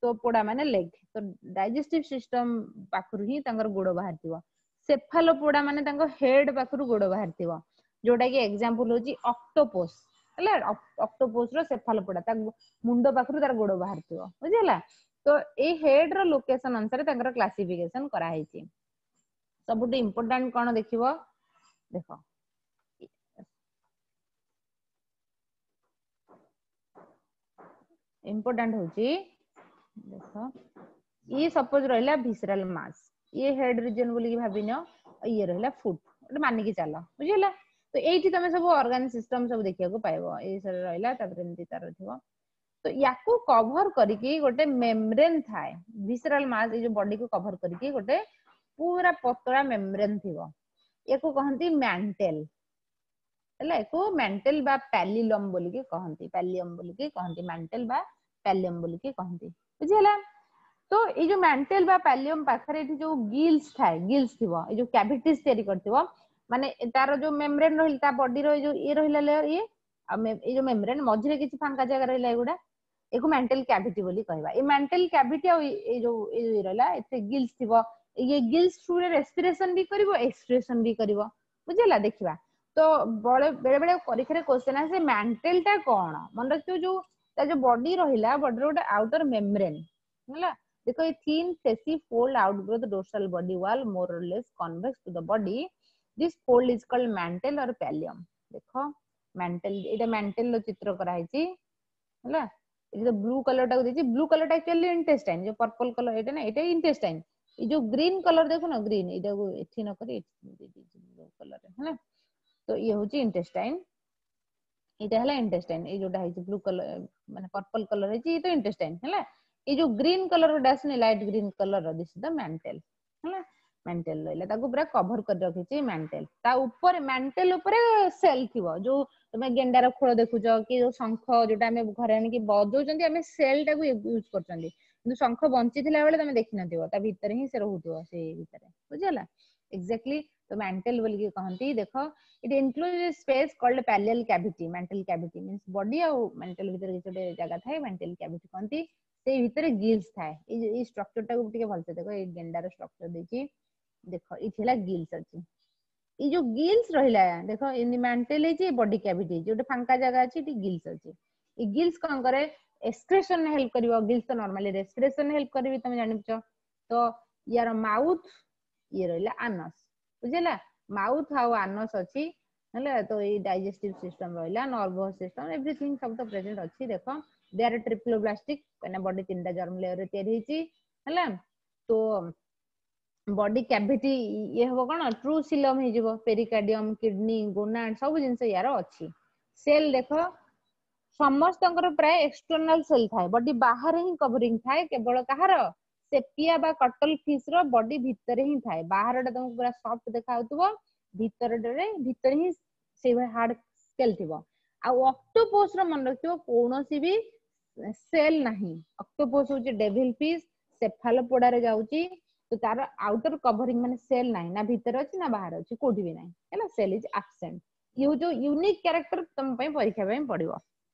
ତ ପୋଡା ମାନେ ଲେଗ, ତ ଡାଇଜେଷ୍ଟିଭ ସିଷ୍ଟମ ପାଖରୁ ହିଁ ତାଙ୍କର ଗୋଡ ବାହାରିଥିବ। ସେଫାଲୋପୋଡା ମାନେ ତାଙ୍କ ହେଡ ପାଖରୁ ଗୋଡ ବାହାରିଥିବ, ଯୋଉଟା କି ଏକ୍ସାମ୍ପଲ ହଉଛି ଅକ୍ଟୋପୋସ। ହେଲା, ଅକ୍ଟୋପୋସ ର ସେଫାଲୋପୋଡା, ତା ମୁଣ୍ଡ ପାଖରୁ ତାର ଗୋଡ ବାହାରିଥିବ। ବୁଝିହେଲା? ତ ଏଇ ହେଡ ର ଲୋକେସନ ଅନୁସାରେ ତାଙ୍କର କ୍ଲାସିଫିକେସନ କରାହେଇଛି। ସବୁଠୁ ଇମ୍ପୋର୍ଟାଣ୍ଟ କଣ ଦେଖିବ, ଦେଖ, ଇମ୍ପୋର୍ଟାଣ୍ଟ ହଉଛି ଦେଖ, ଇଏ ସପୋଜ ରହିଲା ଭିସରାଲ ମାସ, ଇଏ ହେଡ ରିଜନ ବୋଲିକି ଭାବିନିଅ, ଇଏ ରହିଲା ଫୁଟ ଗୋଟେ ମାନିକି ଚାଲ। ବୁଝିହେଲା? ତ ଏଇଠି ତମେ ସବୁ ଅର୍ଗାନ ସିଷ୍ଟମ ସବୁ ଦେଖିବାକୁ ପାଇବ। ଏଇ ସବୁ ରହିଲା, ତାପରେ ଏମିତି ତାର ଥିବ। ତ ୟାକୁ କଭର କରିକି ଗୋଟେ ମେମ୍ବ୍ରେନ ଥାଏ। ଭିସରାଲ ମାସ, ଏଇ ଯୋଉ ବଡିକୁ କଭର କରିକି ଗୋଟେ ପୁରା ପତଳା ମେମ୍ବ୍ରେନ ଥିବ, ୟାକୁ କହନ୍ତି ମ୍ୟାଣ୍ଟେଲ। ହେଲା, ୟାକୁ ମ୍ୟାଣ୍ଟେଲ ବା ପ୍ୟାଲିଲମ ବୋଲିକି କହନ୍ତି, ପ୍ୟାଲିୟମ ବୋଲିକି କହନ୍ତି, ମ୍ୟାଣ୍ଟେଲ ବା ପ୍ୟାଲିୟମ ବୋଲିକି କହନ୍ତି। ବୁଝିହେଲା? ତ ଏଇ ଯୋଉ ମ୍ୟାଣ୍ଟେଲ ବା ପ୍ୟାଲିୟମ ପାଖରେ ଏଠି ଯୋଉ ଗିଲ୍ସ ଥାଏ, ଗିଲ୍ସ ଥିବ, ଏଇ ଯୋଉ କ୍ୟାଭିଟିଜ ତିଆରି କରିଥିବ, ମାନେ ତାର ଯୋଉ ମେମ୍ବ୍ରେନ ରହିଲା, ତା ବଡିର ଏଇ ଯୋଉ ଇଏ ରହିଲା ଲେୟର ଇଏ, ଆଉ ଏଇ ଯୋଉ ମେମ୍ବ୍ରେନ ମଝିରେ କିଛି ଫାଙ୍କା ଜାଗା ରହିଲା, ଏଗୁଡା ଏକୁ ମ୍ୟାଣ୍ଟେଲ କ୍ୟାଭିଟି ବୋଲି କହିବା। ଏଇ ମ୍ୟାଣ୍ଟେଲ କ୍ୟାଭିଟି ଆଉ ଏଇ ଯୋଉ ଏଇ ଯୋଉ ରହିଲା, ଏଥିରେ ଗିଲ୍ସ ଥିବ। ଇଏ ଗିଲ୍ସ ଥ୍ରୁରେ ରେସ୍ପିରେସନ ବି କରିବ, ଏକ୍ସକ୍ରିସନ ବି କରିବ। ବୁଝିହେଲା? ଦେଖିବା ତ ବେଳେ ବେଳେ ପରୀକ୍ଷାରେ କ୍ୱେଶ୍ଚନ ଆସେ ମ୍ୟାଣ୍ଟେଲ ଟା କଣ ମନେ ରଖିଥିବ ଯୋଉ ତା ଯୋଉ ବଡି ରହିଲା ବଡିର ଗୋଟେ ଆଉଟର ମେମ୍ବ୍ରେନ୍ ହେଲା ଦେଖ ଏ thin fleshy fold outgrowth dorsal body wall more or less convex to the body this fold is called mantle or pallium ଦେଖ ମ୍ୟାଣ୍ଟେଲ ଏଇଟା ମ୍ୟାଣ୍ଟେଲ ର ଚିତ୍ର କରାହେଇଛି ହେଲା ଏଇ ଯୋଉ ବ୍ଲୁ କଲର ଟାକୁ ଦେଇଛି ବ୍ଲୁ କଲର ଟା ଆକ୍ଚୁଆଲି ଇଣ୍ଟେଷ୍ଟାଇନ ଯୋଉ ପର୍ପଲ କଲର ଏଇଟା ନା ଏଇଟା ଇଣ୍ଟେଷ୍ଟାଇନ ଏଇ ଯୋଉ ଗ୍ରୀନ କଲର ଦେଖୁନ ଗ୍ରୀନ ଏଇଟାକୁ ଏଠି ନ କରି ଏଠି ଦେଇଦେଇଛି ବ୍ଲୁ କଲର ହେଲା ତ ଇଏ ହଉଛି ଇଣ୍ଟେଷ୍ଟାଇନ ଏଇଟା ହେଲା ଇଣ୍ଟେଷ୍ଟାଇନ ଏଇ ଯୋଉଟା ହେଇଛି ବ୍ଲୁ କଲର ମାନେ ପର୍ପଲ କଲର ହେଇଛି ଇଏ ତ ଇଣ୍ଟେଷ୍ଟାଇନ ହେଲା ଏଇ ଯୋଉ ଗ୍ରୀନ କଲର ଗୋଟେ ଆସୁନି light green colour this the mantle ହେଲା ମ୍ୟାଣ୍ଟେଲ ରହିଲା ତାକୁ ପୁରା କଭର କରି ରଖିଛି ମ୍ୟାଣ୍ଟେଲ ତା ଉପରେ ମ୍ୟାଣ୍ଟେଲ ଉପରେ ସେଲ୍ ଥିବ ଯୋଉ ତମେ ଗେଣ୍ଡାର ଖୋଳ ଦେଖୁଛ କି ଯୋଉ ଶଙ୍ଖ ଯୋଉଟା ଆମେ ଘରେ ଆଣିକି ବଜଉଛନ୍ତି ଆମେ ସେଲ୍ ଟାକୁ ୟୁଜ କରୁଛନ୍ତି କିନ୍ତୁ ଶଙ୍ଖ ବଞ୍ଚିଥିଲା ବେଳେ ତମେ ଦେଖିନଥିବ ତା ଭିତରେ ହିଁ ସେ ରହୁଥିବ ସେଇ ଭିତରେ ବୁଝିହେଲା ଏକ୍ଜାକ୍ଟଲି ତ ମ୍ୟାଣ୍ଟେଲ ବୋଲିକି କହନ୍ତି ଦେଖ it enclose space called pallial cavity mantle cavity means body ଆଉ ମ୍ୟାଣ୍ଟେଲ ଭିତରେ କିଛି ଗୋଟେ ଜାଗା ଥାଏ ମ୍ୟାଣ୍ଟେଲ କ୍ୟାଭିଟି କହନ୍ତି ସେଇ ଭିତରେ ଗିଲ୍ସ ଥାଏ ଏଇ ଯୋଉ ଏଇ ଷ୍ଟ୍ରକ୍ଚର ଟାକୁ ଟିକେ ଭଲସେ ଦେଖ ଏଇ ଗେଣ୍ଡାର ଷ୍ଟ୍ରକ୍ଚର ଦେଇଛି ଦେଖ ଏଇଠି ହେଲା ଗିଲ୍ସ ଅଛି ଏଇ ଯୋଉ ଗିଲ୍ସ ରହିଲା ଦେଖ ଏମିତି ମ୍ୟାଣ୍ଟେଲ ହେଇଛି ବଡି କ୍ୟାଭିଟି ହେଇଛି ଗୋଟେ ଫାଙ୍କା ଜାଗା ଅଛି ଏଠି ଗିଲ୍ସ ଅଛି ଏଇ ଗିଲ୍ସ କଣ କରେ ଏକ୍ସକ୍ରେସନ ହେଲ୍ପ କରିବ ଗିଲ୍ସ ତ ନର୍ମାଲି ରେସ୍ପିରେସନ ହେଲ୍ପ କରିବି ତମେ ଜାଣିଛ ତ ୟାର ମାଉଥ ଇଏ ରହିଲା ଆନସ ବୁଝିଲା ମାଉଥ ଆଉ ଆନସ ଅଛି ହେଲା ତ ଏଇ ଡାଇଜେଷ୍ଟିଭ ସିଷ୍ଟମ ରହିଲା ନର୍ଭସ ସିଷ୍ଟମ ଏଭ୍ରିଥିଙ୍ଗ ସବୁ ତ ପ୍ରେଜେଣ୍ଟ ଅଛି ଦେଖ they are triploblastic କାହିଁକିନା ବଡି ତିନିଟା ଜର୍ମ ଲେୟର ତିଆରି ହେଇଛି ହେଲା ତ ବଡି କ୍ୟାଭିଟି ଇଏ ହବ କଣ ଟ୍ରୁ ସିଲମ ହେଇଯିବ ପେରିକାର୍ଡିୟମ କିଡନୀ ଗୋନାଡ ସବୁ ଜିନିଷ ୟାର ଅଛି ସେଲ ଦେଖ ସମସ୍ତଙ୍କର ପ୍ରାୟ ଏକ୍ସଟର୍ନାଲ ସେଲ ଥାଏ ବଡି ବାହାରେ ହିଁ କଭରିଂ ଥାଏ କେବଳ କାହାର ସେପିଆ ବା କଟଲ ଫିସ୍ ର ବଡି ଭିତରେ ହିଁ ଥାଏ ବାହାରଟା ତମକୁ ପୁରା ସଫ୍ଟ ଦେଖା ଯାଉଥିବ ଭିତରଟାରେ ଭିତରେ ହିଁ ସେଇଭଳିଆ ହାର୍ଡ ସ୍କେଲ ଥିବ ଆଉ ଅକ୍ଟୋପୋସ ର ମନେ ରଖିଥିବ କୌଣସି ବି ସେଲ ନାହିଁ ଅକ୍ଟୋପୋସ ହଉଛି ଡେଭିଲ ଫିସ୍ ସେଫାଲୋପୋଡାରେ ଯାଉଛି ତ ତାର ଆଉଟର କଭରିଂ ମାନେ ସେଲ ନାହିଁ ନା ଭିତରେ ଅଛି ନା ବାହାରେ ଅଛି କୋଉଠି ବି ନାହିଁ ହେଲା cell is absent ଇଏ ହଉଛି ଯୋଉ ୟୁନିକ୍ କ୍ୟାରେକ୍ଟର ତମ ପାଇଁ ପରୀକ୍ଷା ପାଇଁ ପଡିବ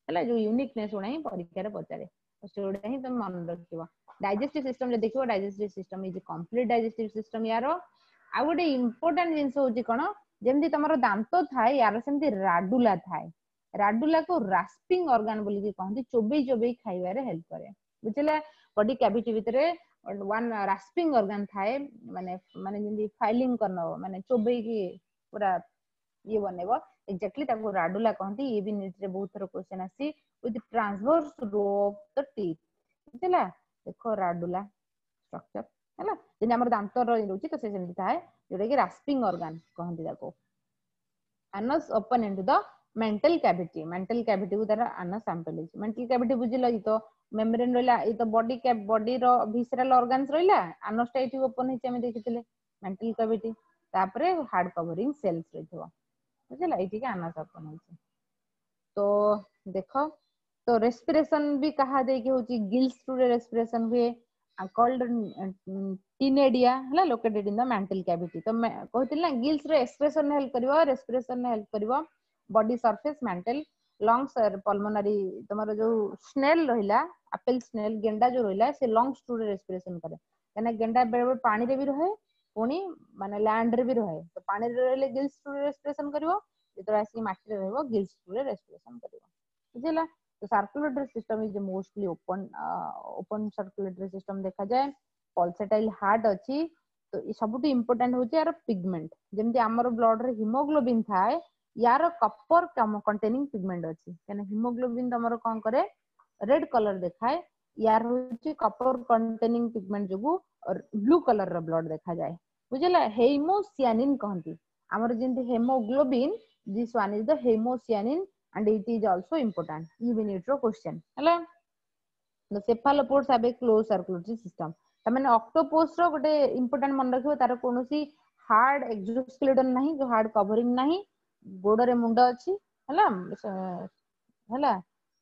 ହେଲା ଯୋଉ ୟୁନିକନେସ୍ ଗୁଡା ହିଁ ପରୀକ୍ଷାରେ ପଚାରେ ସେଗୁଡା ହିଁ ତମେ ମନେ ରଖିବ ଡାଇଜେଷ୍ଟିଭ ସିଷ୍ଟମ ଯଦି ଦେଖିବ digestive system is complete digestive system ୟାର ଆଉ ଗୋଟେ ଇମ୍ପୋର୍ଟାଣ୍ଟ ଜିନିଷ ହଉଛି କଣ ଯେମିତି ତମର ଦାନ୍ତ ଥାଏ ୟାର ସେମିତି ରାଡୁଲା ଥାଏ ରାଡୁଲାକୁ ରାସ୍ପିଂ ଅର୍ଗାନ ବୋଲିକି କହନ୍ତି ଚୋବେଇ ଚୋବେଇ ଖାଇବାରେ ହେଲ୍ପ କରେ ବୁଝିଲା ବଡି କ୍ୟାଭିଟି ଭିତରେ ୱାନ୍ ରାସ୍ପିଂ ଅର୍ଗାନ ଥାଏ ମାନେ ମାନେ ଯେମିତି ଫାଇଲିଂ କରିନବ ମାନେ ଚୋବେଇକି ପୁରା ଇଏ ବନେଇବ ଏକ୍ଜାକ୍ଟଲି ତାକୁ ରାଡୁଲା କହନ୍ତି ଇଏ ବି ନିଟ୍ ରେ ବହୁତ ଥର କ୍ୱେଶ୍ଚନ ଆସିଛି with transverse row of the teeth ବୁଝିଲା ଦେଖ ରାଡୁଲା ଷ୍ଟ୍ରକ୍ଚର ହେଲା ଯେମିତି ଆମର ଦାନ୍ତ ରହୁଛି ତ ସେ ସେମିତି ଥାଏ ଯୋଉଟା କି ରାସ୍ପିଂ ଅର୍ଗାନ କହନ୍ତି ତାକୁ anus open into the mantle cavity mantle cavity କୁ ତାର anus sample ହେଇଛି mantle cavity ବୁଝିଲ କି ତ ମେମ୍ବ୍ରେନ ରହିଲା ଏଇ ତ ବଡି ବଡିର ଭିସେରାଲ ଅର୍ଗାନ୍ସ ରହିଲା ଆନସ ଟା ଏଇଠି ଓପନ ହେଇଛି ଆମେ ଦେଖିଥିଲେ ମେଣ୍ଟାଲ କ୍ୟାଭିଟି ତାପରେ ହାର୍ଡ କଭରିଂ ସେଲ୍ସ ରହିଥିବ ବୁଝିଲା ଏଇଠିକି ଆନସ ଓପନ ହେଇଛି ତ ଦେଖ ତ ରେସ୍ପିରେସନ ବି କାହା ଦେଇକି ହଉଛି ଗିଲ୍ସ ଥ୍ରୁରେ ରେସ୍ପିରେସନ ହୁଏ କଲ୍ଡ ଟିନେଡିଆ ହେଲା located in the mantle cavity ତ କହୁଥିଲି ନା ଗିଲ୍ସ ର ଏକ୍ସକ୍ରେସନ ହେଲ୍ପ କରିବ ରେସ୍ପିରେସନ ହେଲ୍ପ କରିବ body surface mantle lungs pulmonary ତମର ଯୋଉ ସ୍ନେଲ ରହିଲା ଆପେଲ ସ୍ନେଲ ଗେଣ୍ଡା ଯୋଉ ରହିଲା ସେ ଲଙ୍ଗସ ଥ୍ରୁରେ ରେସ୍ପିରେସନ କରେ କାହିଁକିନା ଗେଣ୍ଡା ବେଳେ ବେଳେ ପାଣିରେ ବି ରହେ ପୁଣି ମାନେ ଲ୍ୟାଣ୍ଡ ରେ ବି ରହେ ତ ପାଣିରେ ରହିଲେ ଗିଲ୍ସ ଥ୍ରୁରେ ରେସ୍ପିରେସନ କରିବ ଯେତେବେଳେ ଆସିକି ମାଟିରେ ରହିବ ଗିଲ୍ସ ଥ୍ରୁରେ ରେସ୍ପିରେସନ କରିବ ବୁଝିଲା ତ circulatory system is mostly open open circulatory system ଦେଖାଯାଏ ପଲସେଟାଇଲ ହାର୍ଟ ଅଛି ତ ସବୁଠୁ ଇମ୍ପୋର୍ଟାଣ୍ଟ ହଉଛି ୟାର ପିଗମେଣ୍ଟ ଯେମିତି ଆମର ବ୍ଲଡ ରେ ହିମୋଗ୍ଲୋବିନ ଥାଏ ୟାର କପର କଣ୍ଟେନିଂ ପିଗମେଣ୍ଟ ଅଛି କାହିଁକିନା ହିମୋଗ୍ଲୋବିନ ତମର କଣ କରେ ରେଡ କଲର ଦେଖାଏ ୟାର ହଉଛି କପର କଣ୍ଟେନିଂ ପିଗମେଣ୍ଟ ଯୋଗୁ ବ୍ଲୁ କଲର ର ବ୍ଲଡ ଦେଖାଯାଏ ବୁଝିଲା ହେମୋସିଆନିନ କହନ୍ତି ଆମର ଯେମିତି haemoglobin this one is the hemocyanin and it is also important even it ର question ହେଲା the cephalopods have a closed circulatory system ତାମାନେ ଅକ୍ଟୋପୋସ ର ଗୋଟେ ଇମ୍ପୋର୍ଟାଣ୍ଟ ମନେ ରଖିବ ତାର କୌଣସି ହାର୍ଡ ଏକ୍ସୋସ୍କେଲେଟନ ନାହିଁ ଯୋଉ ହାର୍ଡ କଭରିଂ ନାହିଁ ଗୋଡରେ ମୁଣ୍ଡ ଅଛି ହେଲା ହେଲା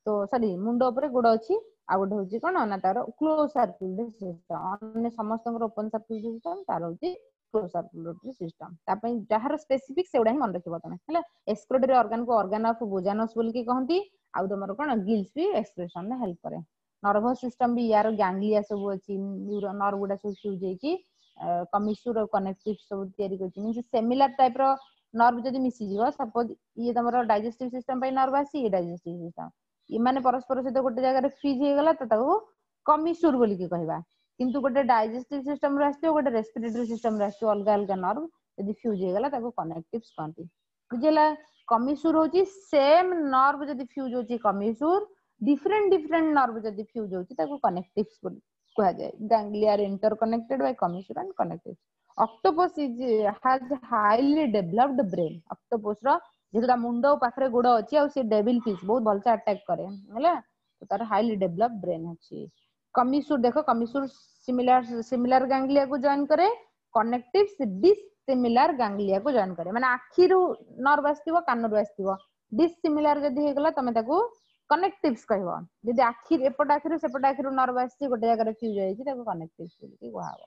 ତ ସରି ମୁଣ୍ଡ ଉପରେ ଗୋଡ ଅଛି ଆଉ ଗୋଟେ ହଉଛି କଣ ନା ତାର କ୍ଲୋଜ ସାର୍କୁଲେଟରୀ ସିଷ୍ଟମ ଅନ୍ୟ ସମସ୍ତଙ୍କର ଓପନ ସାର୍କୁଲେଟରୀ ସିଷ୍ଟମ ତାର ହଉଛି କ୍ଲୋଜ ସାର୍କୁଲେଟରୀ ସିଷ୍ଟମ ତା ପାଇଁ ଯାହାର ସ୍ପେସିଫିକ ସେଗୁଡା ହିଁ ମନେ ରଖିବ ତମେ ହେଲା ଏକ୍ସକ୍ରିଟୋରୀ ଅର୍ଗାନ କୁ ଅର୍ଗାନ ଅଫ ବୋଜାନସ ବୋଲିକି କହନ୍ତି ଆଉ ତମର କଣ ଗିଲ୍ସ ବି ଏକ୍ସକ୍ରିସନ ରେ ହେଲ୍ପ କରେ ନର୍ଭସ ସିଷ୍ଟମ ବି ୟାର ଗ୍ୟାଙ୍ଗଲିଆ ସବୁ ଅଛି ନର୍ଭ ଗୁଡା ସବୁ ଫ୍ୟୁଜ ହେଇକି କମିସୁର କନେକ୍ଟିଭ ସବୁ ତିଆରି କରୁଛି ମିନ୍ସ ସିମିଲାର ଟାଇପ ର ନର୍ଭ ଯଦି ମିଶିଯିବ ସପୋଜ ଇଏ ତମର ଡାଇଜେଷ୍ଟିଭ ସିଷ୍ଟମ ପାଇଁ ନର୍ଭ ଆସିଛି ଇଏ ଡାଇଜେଷ୍ଟିଭ ସିଷ୍ଟମ ଏମାନେ ପରସ୍ପର ସହିତ ଗୋଟେ ଜାଗାରେ ଫ୍ୟୁଜ ହେଇଗଲା ତ ତାକୁ କମିସୁର ବୋଲିକି କହିବା କିନ୍ତୁ ଗୋଟେ ଡାଇଜେଷ୍ଟିଭ ସିଷ୍ଟମ ରୁ ଆସିଥିବ ଗୋଟେ ରେସ୍ପିରେଟୋରୀ ସିଷ୍ଟମ ରୁ ଆସିଥିବ ଅଲଗା ଅଲଗା ନର୍ଭ ଯଦି ଫ୍ୟୁଜ ହେଇଗଲା ତାକୁ କନେକ୍ଟିଭ କହନ୍ତି ବୁଝିଲା କମିସୁର ହଉଛି ସେମ ନର୍ଭ ଯଦି ଫ୍ୟୁଜ ହଉଛି କମିସୁର ଡିଫରେଣ୍ଟ ଡିଫରେଣ୍ଟ ନର୍ଭ ଯଦି ଫ୍ୟୁଜ ହଉଛି ତାକୁ କନେକ୍ଟିଭ ବୋଲି କୁହାଯାଏ ganglia are interconnected by commissure and connectives octopus is has highly developed brain octopus ର ଯେହେତୁ ତା ମୁଣ୍ଡ ପାଖରେ ଗୋଡ ଅଛି ଆଉ ସେ ଡେଭିଲ ଫିସ୍ ବହୁତ ଭଲସେ ଆଟାକ୍ କରେ ହେଲା ତ ତାର ହାଇଲି ଡେଭଲପ ବ୍ରେନ୍ ଅଛି କମିସୁର ଦେଖ କମିସୁର ସିମିଲାର ସିମିଲାର ଗାଙ୍ଗଲିଆକୁ ଜଏନ କରେ କନେକ୍ଟିଭ ଡିସିମିଲାର ଗାଙ୍ଗଲିଆକୁ ଜଏନ କରେ ମାନେ ଆଖିରୁ ନର୍ଭ ଆସିଥିବ କାନରୁ ଆସିଥିବ ଡିସିମିଲାର ଯଦି ହେଇଗଲା ତମେ ତାକୁ କନେକ୍ଟିଭ କହିବ ଯଦି ଆଖି ଏପଟ ଆଖିରୁ ସେପଟ ଆଖିରୁ ନର୍ଭ ଆସିଛି ଗୋଟେ ଜାଗାରେ ଫ୍ୟୁଜ ହେଇଛି ତାକୁ କନେକ୍ଟିଭ ବୋଲିକି କୁହାହବ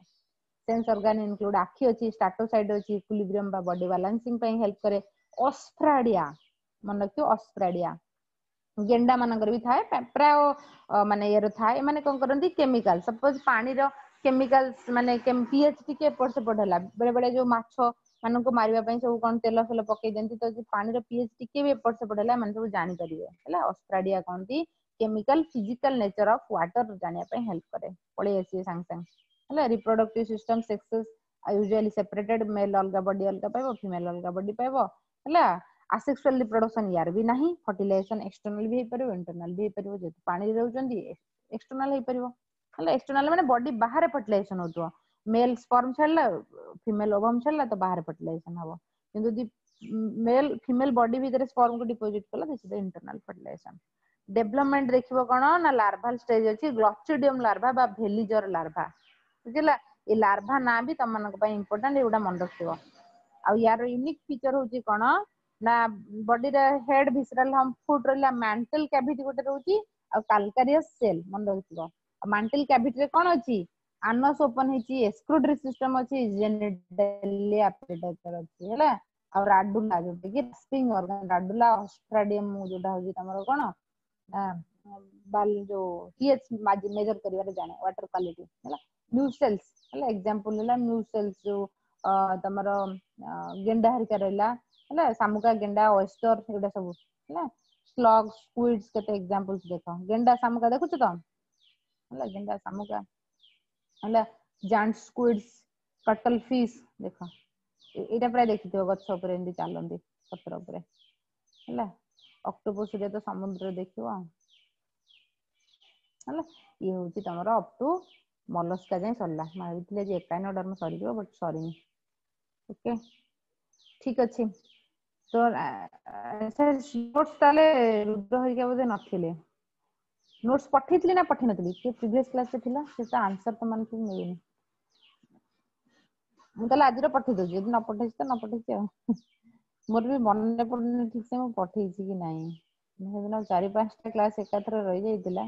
ସେନ୍ସ ଅର୍ଗାନ ଇନକ୍ଲୁଡ ଆଖି ଅଛି ଷ୍ଟାଟୋସାଇଟ ଅଛି ଇକ୍ୱିଲିବ୍ରିୟମ ବା ବଡି ବାଲାନ୍ସିଂ ପାଇଁ ହେଲ୍ପ କରେ ଅସ୍ଫ୍ରାଡିଆ ମନେ ରଖିବ ଅସ୍ଫ୍ରାଡିଆ ଗେଣ୍ଡା ମାନଙ୍କର ବି ଥାଏ ପ୍ରାୟ ମାନେ ଇଏର ଥାଏ ଏମାନେ କଣ କରନ୍ତି କେମିକାଲ ସପୋଜ ପାଣିର କେମିକାଲ ମାନେ ପିଏଚ ଟିକେ ଏପଟ ସେପଟ ହେଲା ବେଳେ ବେଳେ ଯୋଉ ମାଛ ମାନଙ୍କୁ ମାରିବା ପାଇଁ ସବୁ କଣ ତେଲ ଫେଲ ପକେଇ ଦିଅନ୍ତି ତ ପାଣିର ପିଏଚ ଟିକେ ବି ଏପଟ ସେପଟ ହେଲା ଏମାନେ ସବୁ ଜାଣିପାରିବେ ହେଲା ଅସ୍ଫ୍ରାଡିଆ କହନ୍ତି chemical physical nature of water ଜାଣିବା ପାଇଁ ହେଲ୍ପ କରେ ପଳେଇ ଆସିବେ ସାଙ୍ଗେ ସାଙ୍ଗେ ହେଲା reproductive system sexes usually separated male ଅଲଗା ବଡି ଅଲଗା ପାଇବ ଫିମେଲ ଅଲଗା ବଡି ପାଇବ ହେଲା ଆସେକ୍ସୁଆଲ ରିପ୍ରଡକ୍ସନ ୟାର ବି ନାହିଁ ଫର୍ଟିଲାଇଜେସନ ଏକ୍ସଟର୍ନାଲ ବି ହେଇପାରିବ ଇଣ୍ଟରନାଲ ବି ହେଇପାରିବ ଯେହେତୁ ପାଣିରେ ରହୁଛନ୍ତି ଏକ୍ସଟର୍ନାଲ ହେଇପାରିବ ହେଲା ଏକ୍ସଟର୍ନାଲ ମାନେ ବଡି ବାହାରେ ଫର୍ଟିଲାଇଜେସନ ହଉଥିବ ମେଲ ସ୍ପର୍ମ ଛାଡିଲା ଫିମେଲ ଓଭମ ଛାଡିଲା ତ ବାହାରେ ଫର୍ଟିଲାଇଜେସନ ହବ କିନ୍ତୁ ଯଦି ମେଲ ଫିମେଲ ବଡି ଭିତରେ ସ୍ପର୍ମ କୁ ଡିପୋଜିଟ କଲା this is internal fertilization development ଦେଖିବ କଣ ନା ଲାର୍ଭାଲ ଷ୍ଟେଜ ଅଛି ଗ୍ଲୋଚିଡିୟମ ଲାର୍ଭା ବା ଭେଲିଜର ଲାର୍ଭା ବୁଝିଲା ଏ ଲାର୍ଭା ନାଁ ବି ତମମାନଙ୍କ ପାଇଁ ଇମ୍ପୋର୍ଟାଣ୍ଟ ଏଗୁଡା ମନେ ରଖିଥିବ ଆଉ ୟାର ୟୁନିକ ଫିଚର ହଉଛି କଣ ନା ବଡିର ହେଡ ଭିସରାଲ ହମ୍ପ ଫୁଟ ରହିଲା ମ୍ୟାଣ୍ଟଲ କ୍ୟାଭିଟି ଗୋଟେ ରହୁଛି ଆଉ କାଲକାରିୟସ ସେଲ ମନେ ରଖିଥିବ ଆଉ ମାଣ୍ଟଲ କ୍ୟାଭିଟିରେ କଣ ଅଛି ଆନସ ଓପନ ହେଇଛି ଏକ୍ସକ୍ରିଟୋରୀ ସିଷ୍ଟମ ଅଛି ଜେନିଟାଲିଆ ଅଛି ହେଲା ଆଉ ରାଡୁଲା ଯୋଉଟା କି ରାସ୍ପିଙ୍ଗ ଅର୍ଗାନ ରାଡୁଲା ଅସ୍ଫ୍ରାଡିୟମ ଯୋଉଟା ହଉଛି ତମର କଣ ନା ବାଲ ଯୋଉ ପିଏଚ ମେଜର କରିବାରେ ଜାଣେ ୱାଟର କ୍ୱାଲିଟି ହେଲା ମ୍ୟୁସେଲ୍ସ ହେଲା ଏକ୍ସାମ୍ପଲ ହେଲା ମ୍ୟୁସେଲ୍ସ ଯୋଉ ତମର ଗେଣ୍ଡା ହରିକା ରହିଲା ହେଲା ଶାମୁକା ଗେଣ୍ଡା ଅଏଷ୍ଟର ଏଗୁଡା ସବୁ ହେଲା ସ୍ଲଗ ସ୍କୁଇଡ୍ସ କେତେ ଏକ୍ସାମ୍ପଲ୍ସ ଦେଖ ଗେଣ୍ଡା ଶାମୁକା ଦେଖୁଛ ତ ହେଲା ଗେଣ୍ଡା ଶାମୁକା ହେଲା ଜାଏଣ୍ଟ ସ୍କୁଇଡ୍ସ କଟଲ ଫିସ୍ ଦେଖ ଏଇଟା ପ୍ରାୟ ଦେଖିଥିବ ଗଛ ଉପରେ ଏମିତି ଚାଲନ୍ତି ପତ୍ର ଉପରେ ହେଲା ଅକ୍ଟୋପସ ତ ସମୁଦ୍ରରେ ଦେଖିବ ହେଲା ଇଏ ହଉଛି ତମର ଅପ୍ ଟୁ ମଲସ୍କା ଯାଏଁ ସରିଲା ମୁଁ ଭାବିଥିଲି ଆଜି ଏକାଇନୋଡର୍ମ ସରିଯିବ ବଟ୍ ସରିନି ଓକେ ଠିକ ଅଛି ତ ନୋଟ୍ସ ତାହେଲେ ରୁଦ୍ର ହରିକା ବୋଧେ ନଥିଲେ ନୋଟ୍ସ ପଠେଇଥିଲି ନା ପଠେଇ ନଥିଲି କିଏ ପ୍ରିଭିୟସ କ୍ଲାସରେ ଥିଲା ସେ ତ ଆନ୍ସର ତମାନଙ୍କୁ ମିଳୁନି ମୁଁ ତାହେଲେ ଆଜିର ପଠେଇ ଦଉଛି ଯଦି ନ ପଠେଇଛି ତ ନ ପଠେଇଛି ଆଉ ମୋର ବି ମନେ ପଡୁନି ଠିକ ସେ ମୁଁ ପଠେଇଛି କି ନାହିଁ ସେଦିନ ଚାରି ପାଞ୍ଚଟା କ୍ଲାସ ଏକାଥରେ ରହିଯାଇଥିଲା